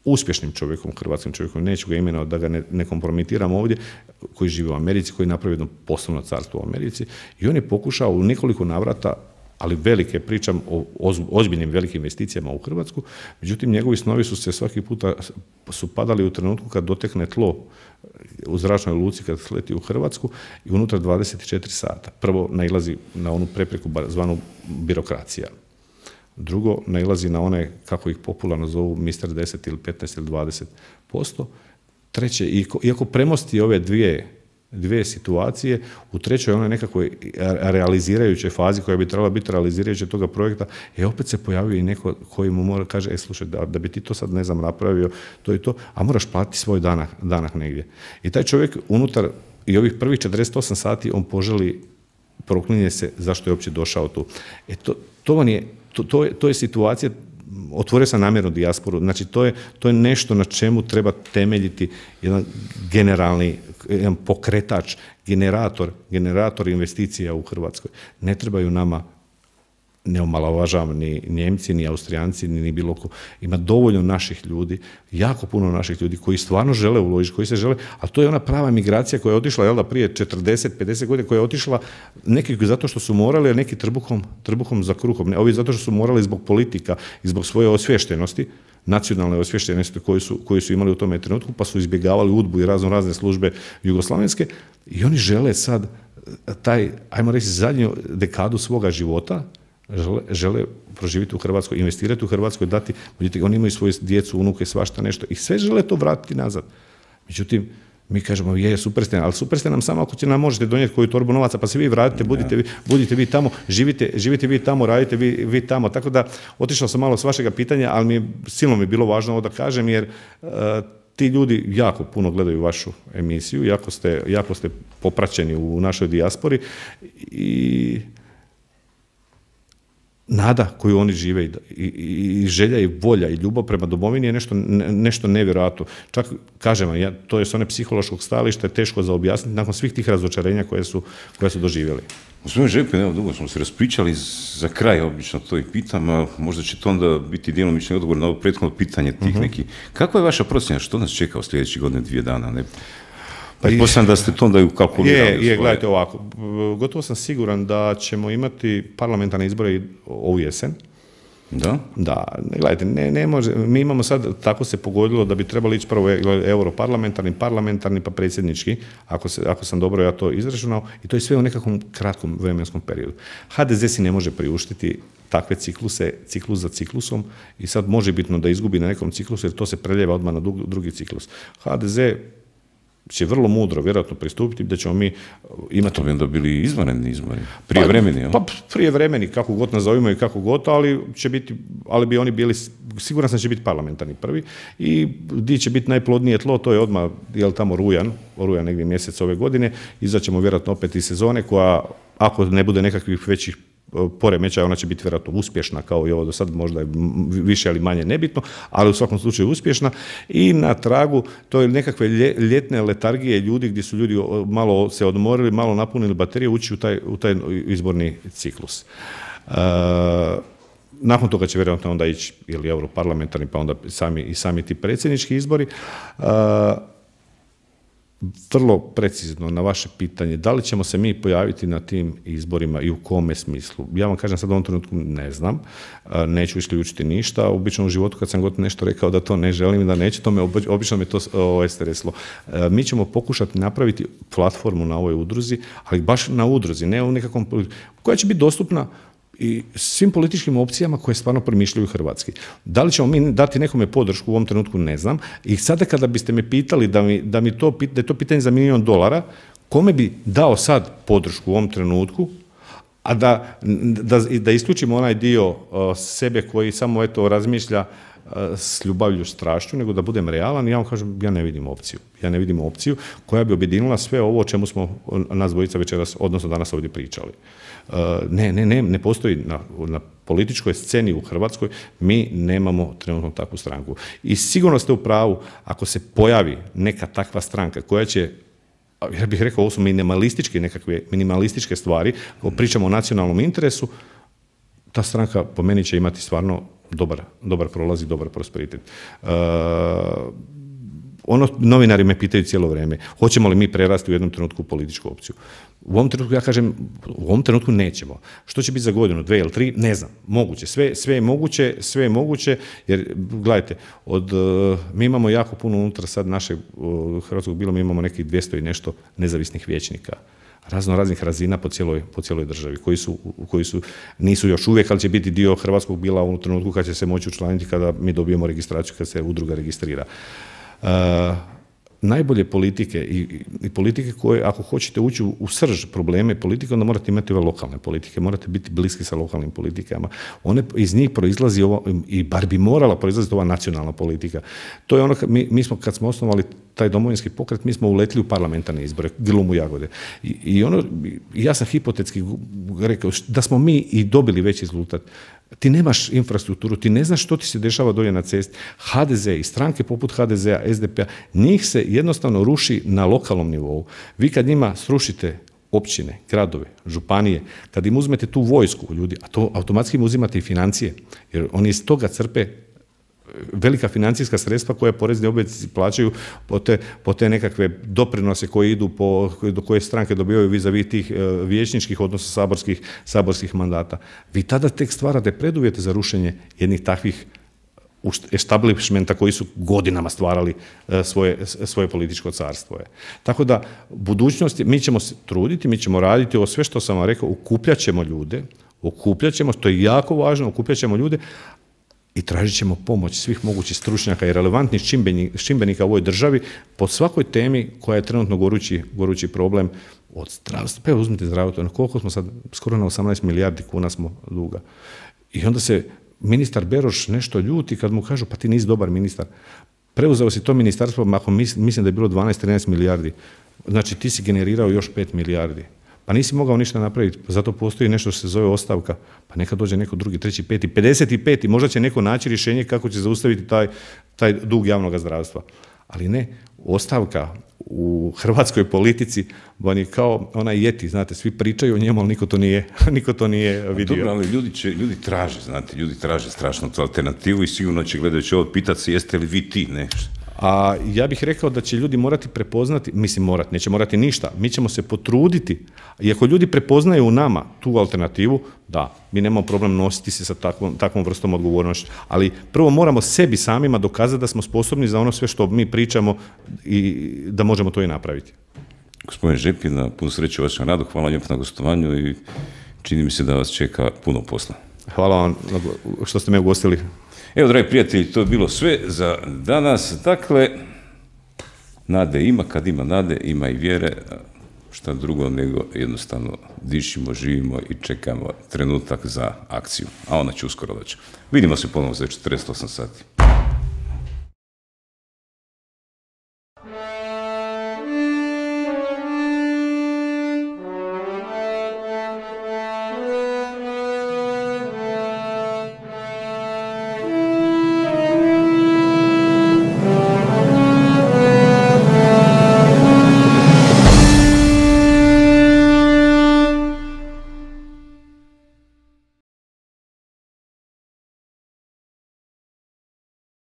uspješnim čovjekom, hrvatskim čovjekom, neću ga imenovati da ga ne kompromitiram ovdje, koji živi u Americi, koji je napravio jedno poslovno carstvo u Americi i on je pokušao u nekoliko navrata, ali velike, pričam o ozbiljnim velikim investicijama u Hrvatsku, međutim njegovi snovi su se svaki puta padali u trenutku kad dotekne tlo u zračnoj luci, kad sleti u Hrvatsku i unutar 24 sata. Prvo nailazi na onu prepreku zvanu birokracija. Drugo, nailazi na one, kako ih popularno zovu, mister 10 ili 15 ili 20%. Treće, iako premosti ove dvije situacije, u trećoj onoj nekakvoj realizirajućoj fazi koja bi trebala biti realizirajuća toga projekta, opet se pojavio i neko koji mu mora kaže, slušaj, da bi ti to sad, ne znam, napravio, to i to, a moraš platiti svoj danak negdje. I taj čovjek unutar i ovih prvih 48 sati on poželi, proklinje se zašto je uopće došao tu. To je situacija, otvorio sam namjerno dijasporu, znači to je nešto na čemu treba temeljiti jedan generalni, jedan pokretač, generator investicija u Hrvatskoj. Ne trebaju nama, ne omalovažavam ni Njemci, ni Austrijanci, ni bilo ko. Ima dovoljno naših ljudi, jako puno naših ljudi koji stvarno žele uložiti, koji se žele, a to je ona prava migracija koja je otišla prije 40-50 godina, koja je otišla neki zato što su morali, a neki trbuhom za kruhom. Ovi zato što su morali zbog politika i zbog svoje osviještenosti, nacionalne osviještenosti koju su imali u tome trenutku, pa su izbjegavali UDBU i razne službe jugoslavenske i oni žele sad ajmo reći, zadnju dekadu svoga života žele proživjeti u Hrvatskoj, investirati u Hrvatskoj, dati, vidite, oni imaju svoju djecu, unuke, svašta nešto i sve žele to vratiti nazad. Međutim, mi kažemo, super ste, ali super ste nam samo ako nam možete donijeti koju torbu novaca, pa se vi vratite, budite vi tamo, živite vi tamo, radite vi tamo. Tako da, otišao sam malo s vašega pitanja, ali silno mi je bilo važno ovo da kažem, jer ti ljudi jako puno gledaju vašu emisiju, jako ste popraćeni u našoj dijaspori i nada koju oni žive i želja i volja i ljubav prema domovini je nešto nevjerojatno. Čak, kažem vam, to je s one psihološkog stajališta, je teško za objasniti nakon svih tih razočarenja koje su doživjeli. Gospodin Žepin, evo dugo smo se raspričali, za kraj obično to i pitam, a možda će to onda biti djelomični odgovor na ovo prethodno pitanje tih nekih. Kakva je vaša procjena, što nas čeka u sljedećih godine, 2 dana? Pretpostavljam da ste to onda ukalkulirali. Gledajte ovako, gotovo sam siguran da ćemo imati parlamentarne izbore ovu jesen. Da? Da, gledajte, ne može, mi imamo sad, tako se pogodilo da bi trebali ići prvo europarlamentarni, pa predsjednički, ako sam dobro ja to izračunao, i to je sve u nekakvom kratkom vremenskom periodu. HDZ si ne može priuštiti takve cikluse, ciklus za ciklusom, i sad može bitno da izgubi na nekom ciklusu, jer to se preljeva odmah na drugi ciklus. HDZ će vrlo mudro vjerojatno pristupiti da ćemo mi imati... To bi onda bili izvanredni izbori, prijevremeni, jel? Pa prijevremeni, kako god nazovimo i kako god, ali bi oni bili, siguran sam da će biti parlamentarni prvi, i gdje će biti najplodnije tlo, to je odmah, tamo rujan negdje mjesec ove godine, izaćemo vjerojatno opet iz sezone koja, ako ne bude nekakvih većih poremećaja, ona će biti vjerojatno uspješna kao i ovo do sad, možda je više ali manje nebitno, ali u svakom slučaju uspješna, i na tragu to je nekakve ljetne letargije ljudi gdje su ljudi malo se odmorili, malo napunili baterije, ući u taj izborni ciklus. Nakon toga će vjerojatno onda ići ili europarlamentarni, pa onda sami ti predsjednički izbori. vrlo precizno na vaše pitanje, da li ćemo se mi pojaviti na tim izborima i u kome smislu. Ja vam kažem sad u ovom trenutku ne znam, neću isključiti ništa. Obično u životu kad sam god nešto rekao da to ne želim i da neće, obično me to streslo. Mi ćemo pokušati napraviti platformu na ovoj udruzi, ali baš na udruzi, ne u nekakvom, koja će biti dostupna i svim političkim opcijama koje stvarno promišljaju hrvatski. Da li ćemo mi dati nekome podršku u ovom trenutku, ne znam. I sada kada biste me pitali da je to pitanje za $1 milion, kome bi dao sad podršku u ovom trenutku, a da isključimo onaj dio sebe koji samo razmišlja s ljubavlju, strašću, nego da budem realan, ja vam kažem, ja ne vidim opciju koja bi objedinila sve ovo o čemu smo nas dvojica večeras, odnosno danas ovdje pričali. Ne postoji na političkoj sceni u Hrvatskoj, mi nemamo trenutno takvu stranku. I sigurno ste u pravu, ako se pojavi neka takva stranka koja će, ja bih rekao, ovo su minimalističke stvari, ako pričamo o nacionalnom interesu, ta stranka po meni će imati stvarno dobar prolaz i dobar prosperitet. Novinari me pitaju cijelo vrijeme, hoćemo li mi prerasti u jednom trenutku u političku opciju. U ovom trenutku ja kažem, u ovom trenutku nećemo. Što će biti za godinu, 2 ili 3, ne znam. Moguće, sve je moguće, jer gledajte, mi imamo jako puno unutar sad našeg hrvatskog bila, mi imamo nekih 200 i nešto nezavisnih vijećnika, raznih razina po cijeloj državi, koji nisu još uvijek, ali će biti dio hrvatskog bila u trenutku kad će se moći učlaniti kada mi dobijemo registraciju, kad se udruga registrira. Najbolje politike i politike koje, ako hoćete ući u srž probleme politike, onda morate imati ove lokalne politike, morate biti bliski sa lokalnim politikama. Iz njih proizlazi ovo, i bar bi morala proizlaziti ova nacionalna politika. To je ono, mi smo, kad smo osnovali taj Domovinski pokret, mi smo uletili u parlamentarne izbore, grlom u jagode. Ja sam hipotetski rekao da smo mi i dobili veći rezultat. Ti nemaš infrastrukturu, ti ne znaš što ti se dešava dolje na cesti. HDZ i stranke poput HDZ-a, SDP-a, njih se jednostavno ruši na lokalnom nivou. Vi kad njima srušite općine, gradove, županije, kad im uzmete tu vojsku ljudi, a to automatski im uzimate i financije, jer oni iz toga crpe velika financijska sredstva koja porezni obveznici plaćaju po te nekakve doprinose koji idu do koje stranke dobivaju vis-a-vis tih vijećničkih, odnosno saborskih mandata. Vi tada tek stvarate preduvjete za rušenje jednih takvih establishmenta koji su godinama stvarali svoje političko carstvo. Tako da, budućnosti, mi ćemo se truditi, mi ćemo raditi ovo sve što sam vam rekao, okupljat ćemo ljude, to je jako važno, okupljat ćemo ljude, i tražit ćemo pomoć svih mogućih stručnjaka i relevantnih čimbenika u ovoj državi po svakoj temi koja je trenutno gorući problem od zdravstva. Pa evo uzmite zdravstvo, koliko smo sad, skoro na 18 milijardi kuna smo duga. I onda se ministar Beroš nešto ljuti kad mu kažu pa ti nisi dobar ministar. Preuzeo si to ministarstvo, ako mislim da je bilo 12-13 milijardi, znači ti si generirao još 5 milijardi. Pa nisi mogao ništa napraviti, zato postoji nešto što se zove ostavka, pa neka dođe neko drugi, treći, peti, 55. Možda će neko naći rješenje kako će zaustaviti taj dug javnog zdravstva. Ali ne, ostavka u hrvatskoj politici on je kao onaj Yeti, znate, svi pričaju o njemu, ali niko to nije vidio. Dobro, ali ljudi traže strašno tu alternativu i sigurno će gledajući ovo pitati se jeste li vi ti, ne? A ja bih rekao da će ljudi morati prepoznati, neće morati ništa, mi ćemo se potruditi, i ako ljudi prepoznaju u nama tu alternativu, da, mi nemamo problem nositi se sa takvom vrstom odgovornošću, ali prvo moramo sebi samima dokazati da smo sposobni za ono sve što mi pričamo i da možemo to i napraviti. Gospodin Žepin, na puno sreće u vašem radu, hvala lijepo na gostovanju i čini mi se da vas čeka puno posla. Hvala vam što ste me ugostili. Evo, dragi prijatelji, to je bilo sve za danas. Dakle, nade ima, kad ima nade, ima i vjere. Šta drugo nego jednostavno dišimo, živimo i čekamo trenutak za akciju. A ona će uskoro doći. Vidimo se ponovno za 48 sati.